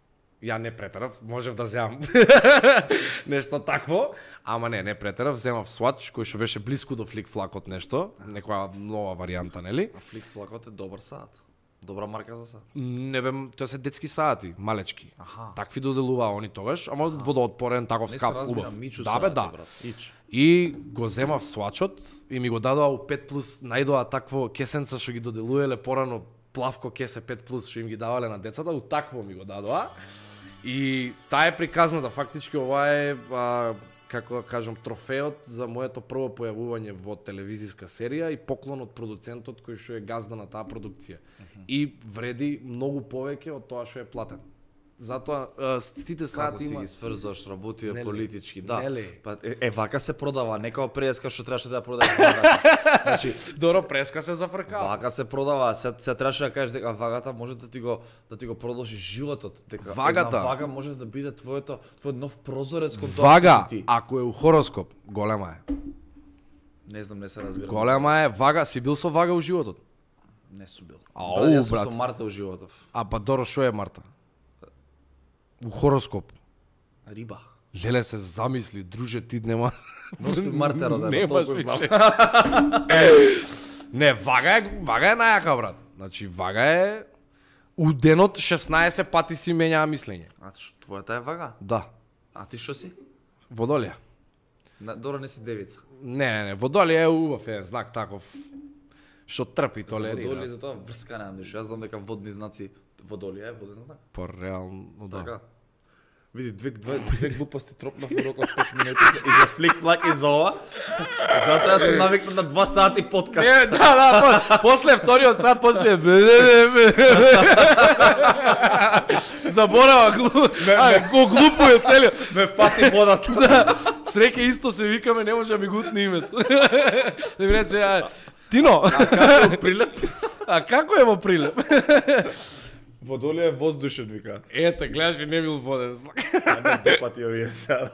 Ја не претерав, можев да земам нешто такво, ама не, не претерав, земав Swatch, кој што беше блиску до флик флакот нешто, некоја нова варијанта, нели? А флик флакот е добар саат. Добра марка за саат. Не бе, тоа се детски саати, малечки. Аха. Такви доделуваа они тогаш, ама водоотпорен, таков Не се скап, разбира, убав. Мичу Да бе, саат, да. брат. Ич. И го земав Swatchот и ми го дадоа у пет плюс, најдоа такво кесенца што ги доделуеле порано, плавко кесе пет плюс што им ги давале на децата, у такво ми го дадоа. И таа е приказната, фактички ова е, а, како да кажам, трофеот за моето прво појавување во телевизиска серија и поклон од продуцентот кој што е газда на таа продукција. И вреди многу повеќе од тоа што е платен. Затоа а, сите Како сати си има ги сврзаш, работи Нели? политички, да. Нели? Па е, е вака се продава, не као преска што требаше да ја продаеш вагата. Значи, Доро преска се зафркава. вака се продава, се се требаше да кажеш дека вагата може да ти го да ти го продолжи животот, дека Вагата. една вага може да биде твоето твој нов прозорец кон тоа Вага, што си ти. ако е у хороскоп, голема е. Не знам, не се разбирам. Голема е, вага, си бил со вага у животот. Не сум бил. Ау, Брат, јас сум брат. со Марта у животов. А па Доро, шо е Марта? У хороскоп. Риба. Леле се замисли, друже, ти нема... Господ Марта родена, Немаш толку знам. више. Не, вага е, вага е најака, брат. Значи, вага е... У денот шеснаесет пати си менјаа мислење. А што, твојата е вага? Да. А ти што си? Водолија. На, Дора не си девица. Не, не, не, Водолија е убав е знак таков. Што трпи, За водолија толерира. за тоа врска немам ништо. Јас знам дека водни знаци водолија е воден знак. Па реално, да. Така. Види, две, две, две глупости тропнав во рокот пет минути и за флик плак и за ова. Затоа јас сум навикнат на два сати подкаст. Не, да, да, по, после вториот сат почне. Заборава, глу... а, го глупуе целиот. Ме фати водата. Да, среќа исто се викаме, не може да ми гутне името. Да ми рече, а, Тино, Како е прилеп? а како е во прилеп? Водолија е воздушен, вика. Ете, гледаш ли, не бил воден знак. А не допати овие сега.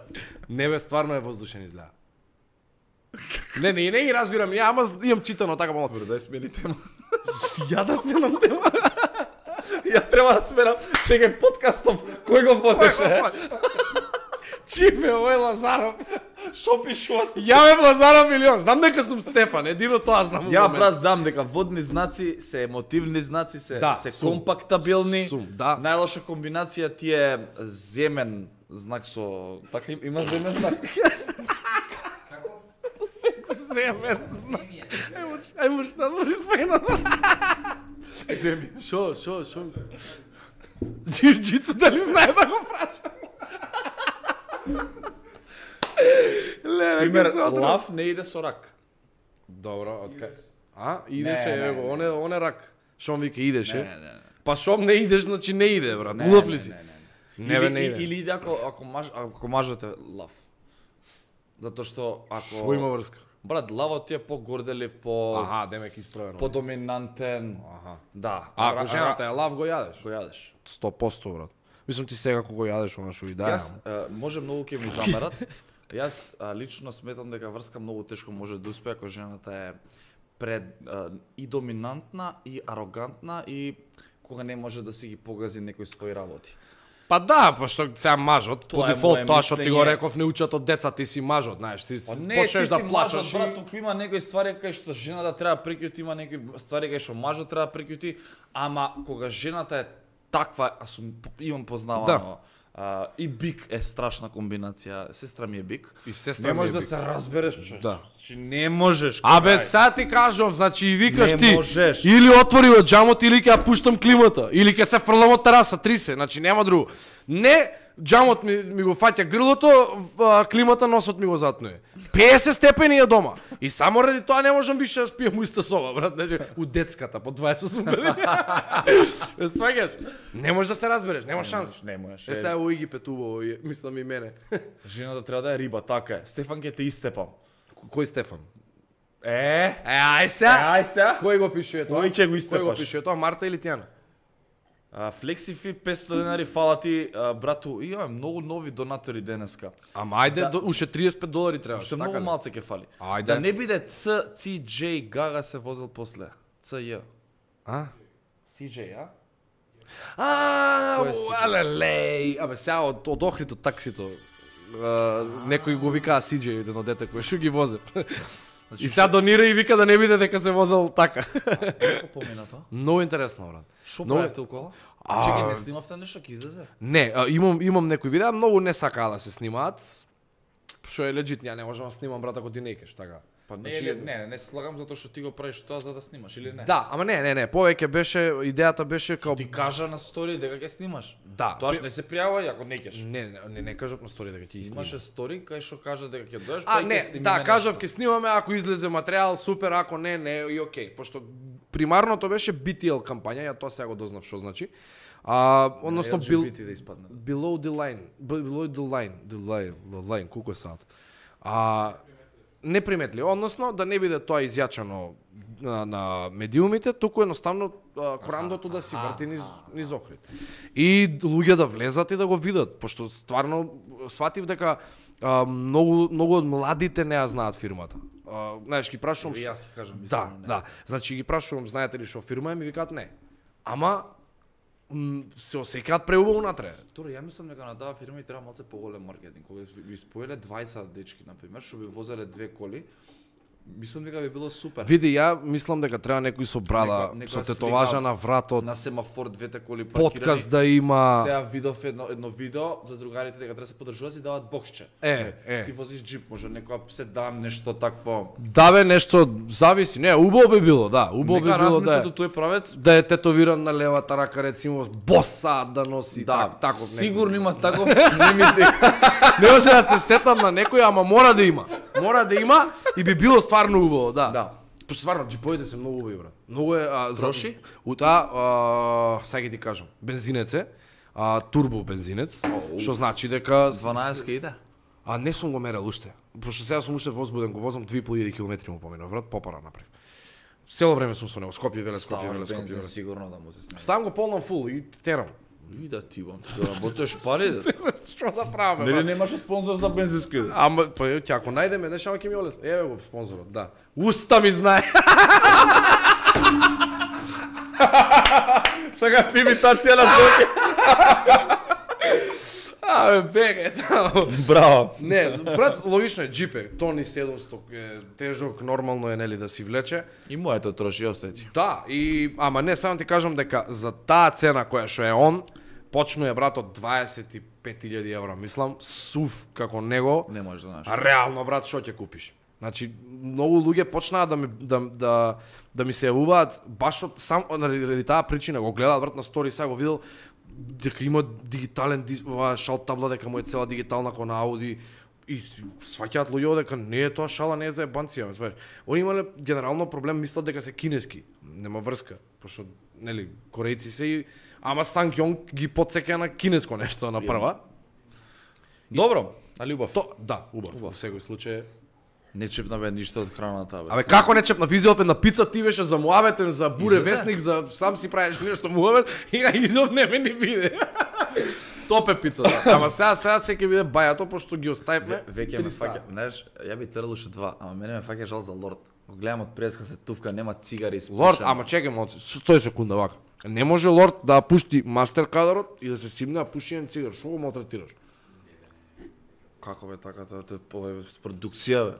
Не бе, стварно е воздушен изгледа. Не, не, не ги разбирам, ја, ама имам читано така помалку. Добро, дај смени тема. Ја да сменам тема. Ја треба да сменам. Чекај, подкастов, кој го водеше? Чифе, овој Лазаров. Што пишуват? Ја бе Лазаров милион. Знам дека сум Стефан, едино тоа знам. Ја брат знам дека водни знаци се емотивни знаци, се Да, се сум. компактабилни. Сум, да. Најлоша комбинација ти е земен знак со така им- има земен знак. Земен знак. Ајмо што да спојна. Земи. Шо, шо, шо? Джиу-джитсу дали знае да го прача? Леле, Пример, ке се отров. лав не иде со рак. Добро, откај? А, идеше, Не, не, ево, не, оне, оне рак. Шом вика идеше? Не, не, не. Па шом не идеш, значи не иде, брат. Не, Улав не, ли си? не, не, Не, бе, Или, не и- иде. или иде ако ако маж ако мажот е лав. Затоа што ако Што има врска? брат, лавот ти е по-горделив, по Аха, демек исправено. подоминантен. Аха. Да. А ако ра- жената е лав, го јадеш? го јадеш. сто проценти, брат. Мислам ти сега кога јадеш она што и да Јас е, може многу ќе ми замерат. Јас а, лично сметам дека врска многу тешко може да успее ако жената е пред а, и доминантна и арогантна и кога не може да си ги погази некои своји работи. Па да, па што сега мажот, по Тоа е дефолт моје тоа што ти го мислење. реков не учат од деца, ти си мажот, знаеш, ти Па не, почнеш ти да си плачеш мажот, брат, и... туку има некои ствари кај што жената треба да прикјути, има некои ствари кај што мажот треба да прикјути, ама кога жената е таква, а сум имам познавано, Да. а, и бик е страшна комбинација, сестра ми е бик. И сестра не ми е можеш да бик. се разбереш, човек. Да. Значи не можеш. Абе, крај. сега ти кажувам, значи и викаш Не ти, можеш. или отвори од джамот, или ќе ја пуштам климата, или ќе се фрлам од тераса, трисе, значи нема друго. Не, джамот ми, ми го фаќа грлото, а, климата носот ми го затнуе. песет степени е дома. И само ради тоа не можам више да спијам у иста соба, брат, значи, у детската, по дваесет и осум години. Сваќаш? Не можеш да се разбереш, нема шанс. Не можеш. Е, сега у Египет убаво, е, мислам и мене. Жената треба да е риба, така е. Стефан ќе те истепам. Кој Стефан? Е, Е, ај сега. ај сега. Кој го пишува тоа? Кој ќе го Кој го истепаш? пишува тоа? Марта или Тијана? А, Флексифи петстотини денари, фала ти, а, брату. Имаме многу нови донатори денеска. Ама ајде, до, уште триесет и пет долари требаш, Што така многу ли? малце ќе фали. Ајде. Да не биде Ц, Си Џеј Гага се возел после. Ц Ј. А? Си Џеј, а? А, Кој е Си Џеј? алелеј. Абе, сега од, од Охрид од таксито. Uh, некој го викаа Си Џеј, едно дете кој што ги возе. И сега донира и вика да не биде дека се возел така. Како помина тоа? Многу интересно, брат. Што Многу- правевте укола? А- Чекај, не снимавте нешто, ќе излезе? Не, а, имам имам некои видеа, многу не сакаа да се снимаат. Што е легит, ја не можам да снимам, брат, ако ти не кеш, така. Па не, Значи, не, не, не се слагам затоа што ти го правиш тоа за да снимаш или не? Да, ама не, не, не, повеќе беше идејата беше као Ти кажа на стори дека ќе снимаш. Да. Тоа што не се пријавува ако не кеш. Не, не, не, не кажав на стори дека ќе снимам. Имаше стори кај што кажа дека ќе дојдеш, А, па не, ќе снимиме да, нешто. кажав ќе снимаме, ако излезе материјал, супер, ако не, не, и окей, пошто примарното беше би ти ел кампања, ја тоа сега го дознав што значи. А, односно бил да испадне. below the line, below the line, the line, the line, колку е саат. А неприметли, односно да не биде тоа изјачано на, на медиумите, туку едноставно а, корандото да си врти низ, низ охрид. И луѓе да влезат и да го видат, пошто стварно сватив дека а, многу многу од младите не ја знаат фирмата. А, знаеш, ги прашувам, И јас ќе кажам, да, мислам, не. да. Значи ги прашувам, знаете ли што фирма е, ми викаат не. Ама м, се осеќаат преубаво натре. Торе, ја мислам дека на таа фирма и треба малце поголем маркетинг. Кога би споеле дваесет дечки, например, што би возеле две коли, мислам дека би било супер. Види, ја мислам дека треба некој со брада, Нека- нека со слика тетоважа на вратот, На семафор двете коли паркирани. подкаст да има. Сега видов едно едно видео за другарите дека треба да се подржуваат и даваат боксче. Е, е. Ти возиш джип, може некоја седан, нешто такво. Да бе, нешто зависи. Не, убаво би било, да. Убаво би Нека било да размислат е, од тој правец. да е тетовиран на левата рака, рецимо, боса да носи, Да, так, таков некој. сигурно има таков, не ми те. Не може да се сетам на некој, ама мора да има. Мора да има и би било стварно убаво, да. Да. Пошто стварно джиповите се многу убави, брат. Многу е а, за Троши? Ута, а, сега ќе ти кажам, бензинец е, а, турбо бензинец, што значи дека дванаесет иде. А не сум го мерел уште. Пошто сега сум уште возбуден, го возам две и пол илјади километри му поминав, брат, попара направив. Цело време сум со него, Скопје веле, Скопје Ставаш веле, Скопје бензин веле. сигурно да му се снајде. Ставам го полнам фул и терам. И да ти бам, ти заработуваш пари. Да. Што да правиме, Нели брат? немаш спонзор за бензински? Ама па ќе ако најдеме нешто ќе ми олесни. Еве го спонзорот, да. Уста ми знае. Сега ти имитација на Соки. Абе беге таму. Браво. Не, брат, логично е джипе, тони седумстотини е тежок, нормално е нели да си влече. И моето троши остети. Да, и ама не, само ти кажам дека за таа цена која што е он, почнува брат од дваесет и пет илјади евра, мислам, сув како него. Не можеш да знаеш. А реално брат, што ќе купиш? Значи, многу луѓе почнаа да ми да да да ми се јавуваат баш од сам ради таа причина, го гледаат брат на стори, сега го видел дека има дигитален дис, ова шал табла, дека му е цела дигитална кон Ауди и сваќаат луѓе дека не е тоа шала, не е за ебанција, ме сваќаш. Они имале генерално проблем, мислат дека се кинески, нема врска, пошто нели корејци се и ама Сангјонг ги потсеќа на кинеско нешто на прва. Добро, али убав. То, да, убав, во секој случај. Не чепна бе ништо од храната, бе. Абе како не чепна визиов на пица, ти беше за муабетен, за буре Изеде? вестник, за сам си правиш нешто муабет и на изов не ме ни виде. Топе пица, да. Ама сега сега се ќе биде бајато пошто ги оставивме. Веќе ме фаќа, знаеш, ја би трел уште два, ама мене ме фаќа жал за Лорд. Го гледам од преска се тувка, нема цигари испушан. Лорд, ама чекај моци, стој секунда вака. Не може Лорд да пушти мастер кадарот и да се симне а пуши еден цигар. Што го малтретираш? Како бе така, тоа тоа е с продукција, бе.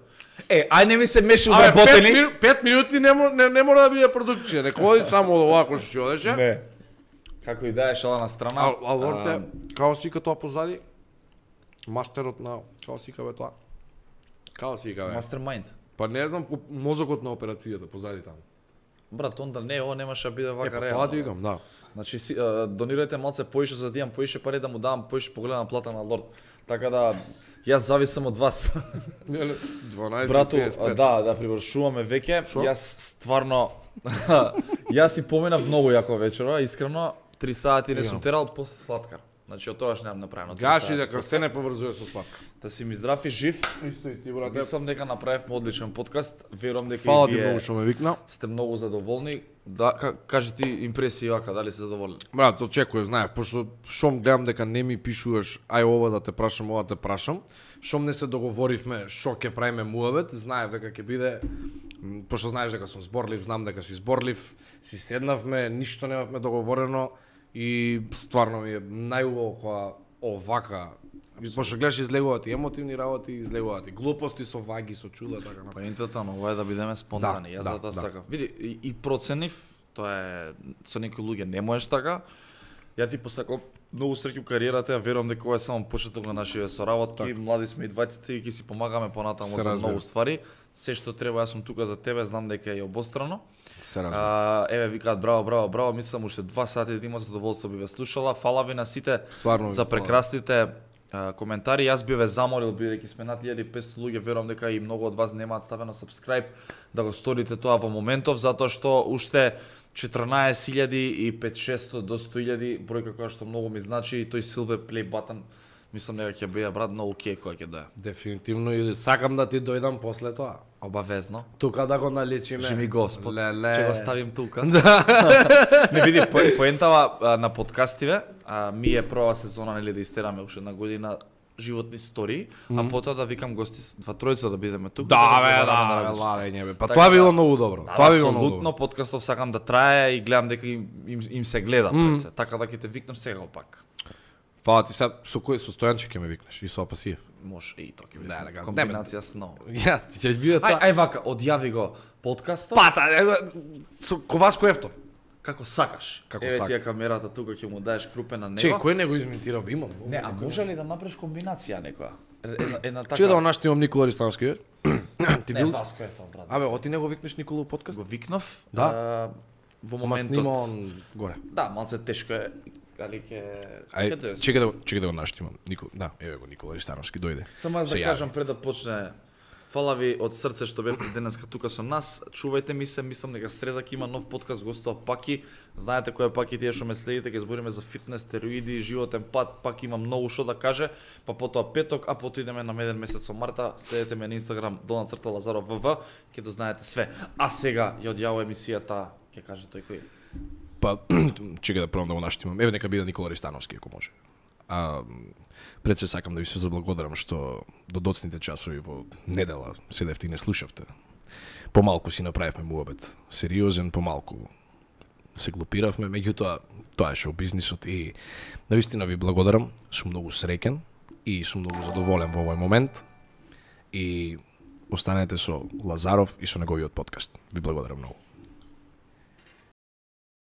Е, ај не ми се меши Абе, пет, вработени. мину, пет минути не, мо- не, не мора да биде продукција, не ходи само овако што си одеше. Не. Како и да е шала на страна. А, а Лорд е, као си тоа позади, мастерот на, као си бе тоа? Као си бе? Мастермайнд. Па не знам, ко- мозокот на операцијата позади таму. Брат, онда не, ова немаше да биде Е, вака па тоа реално. ти викам, да. Значи, си, а, донирајте малце поише за да имам поише пари да му давам поише погледна плата на Лорд. Така да, јас зависам од вас. дванаесет Брату, петдесет и пет. да, да привршуваме веќе. Јас стварно јас си поминав многу јако вечера, искрено, три сати не сум терал после сладкар. Значи од тогаш немам направено. три Гаши сати. дека се не поврзува со сладка. Да си ми здрав и жив. Исто и ти, брате. Мислам дека направивме одличен подкаст. Верувам дека Фала и ти вие многу што ме викна. сте многу задоволни. Да, ка, кажи ти импресии вака, дали се задоволни? Брат, очекував, знаев, пошто шом гледам дека не ми пишуваш, ај ова да те прашам, ова те прашам. Шом не се договоривме што ќе правиме муабет, знаев дека ќе биде, м, пошто знаеш дека сум зборлив, знам дека си зборлив, си седнавме, ништо немавме договорено и стварно ми е најубаво кога овака, пошто гледаш излегуваат и емотивни работи, излегуваат и глупости со ваги, со чуда, така напред. Поентата на ова е да бидеме спонтани. Да, Јас да, затоа да. сакав. Види, и, и проценив, тоа е со некои луѓе не можеш така. Ја ти посакав многу среќу у кариерата, ја верувам дека ова е само почеток на нашите соработки. Млади сме и двајците и ќе си помагаме понатаму Се за разбира. многу ствари. Се што треба, јас сум тука за тебе, знам дека е обострано. Се разбира. А, еве викаат браво, браво, браво, мислам уште два сати да има задоволство би ве слушала. Фала ви на сите Стварно ви за фала. прекрасните а, коментари. Јас би ве замолил, бидејќи сме над илјада и петстотини луѓе, верувам дека и многу од вас немаат ставено subscribe, да го сторите тоа во моментов, затоа што уште четрнаесет илјади и петстотини до сто илјади, бројка која што многу ми значи, и тој silver play button, мислам дека ќе биде брат многу окей кој ќе дое. Дефинитивно, и сакам да ти дојдам после тоа. Обавезно. Тука да го налечиме. Жи ми Господ. Леле. Ќе го ставим тука. Не види по, поентава а, на подкастиве, а, ми е прва сезона, нели, да истераме уште една година животни истории, mm -hmm. а потоа да викам гости, два тројца да бидеме тука. Да, да бе, да, ладење бе. Па така, тоа било многу добро. Да, тоа било многу абсолютно, добро. подкастов сакам да трае и гледам дека им, им, им се гледа Mm. пред се. Така да ќе те викнам сега пак. Фала ти сега, со кој со Стојанче ќе ме викнеш и со Апасиев. Може и тоа ќе биде. Да, елегантно. Комбинација сно. Ја, ти ќе биде Ај, тоа. ај вака, одјави го подкастот. Пата, со Коваско Ефтов. Како сакаш. Како Еве сакам. ти е камерата тука, ќе му даеш крупе на него. Чеј, кој не го изментирал? Имам. Не, а може ли да направиш комбинација некоја? Една, една така. Чуј да онаштимам Никола Ристановски. Ти Не, бил? Васко Ефтов, брат. Абе, оти не го викнеш Никола у подкаст? Го викнав. Да. А, во Ама моментот. снима он горе. Да, малце тешко е. Али ќе Ај, ќе дојде. чекај да го- чекај да го наштимам. Никола, да, еве го Никола Ристановски дојде. Само јас Се да јави. кажам пред да почне. Фала ви од срце што бевте денеска тука со нас. Чувајте ми се, мислам дека среда ќе има нов подкаст гостува Паки. Знаете кој е Паки, тие што ме следите, ќе збориме за фитнес, стероиди, животен пат, пак има многу што да каже. Па потоа петок, а потоа идеме на меден месец со Марта. Следете ме на Инстаграм долна црта Лазаров ВВ, ќе дознаете све. А сега ја одјава емисијата, ќе каже тој кој. Па, чекај да пробам да го наштимам. Еве нека биде Никола Ристановски, ако може. А, пред се сакам да ви се заблагодарам што до доцните часови во недела седевте и не слушавте. Помалку си направивме муабет сериозен, помалку се глупиравме, меѓутоа тоа е шоу бизнисот и навистина ви благодарам, сум многу среќен и сум многу задоволен во овој момент и останете со Лазаров и со неговиот подкаст. Ви благодарам многу.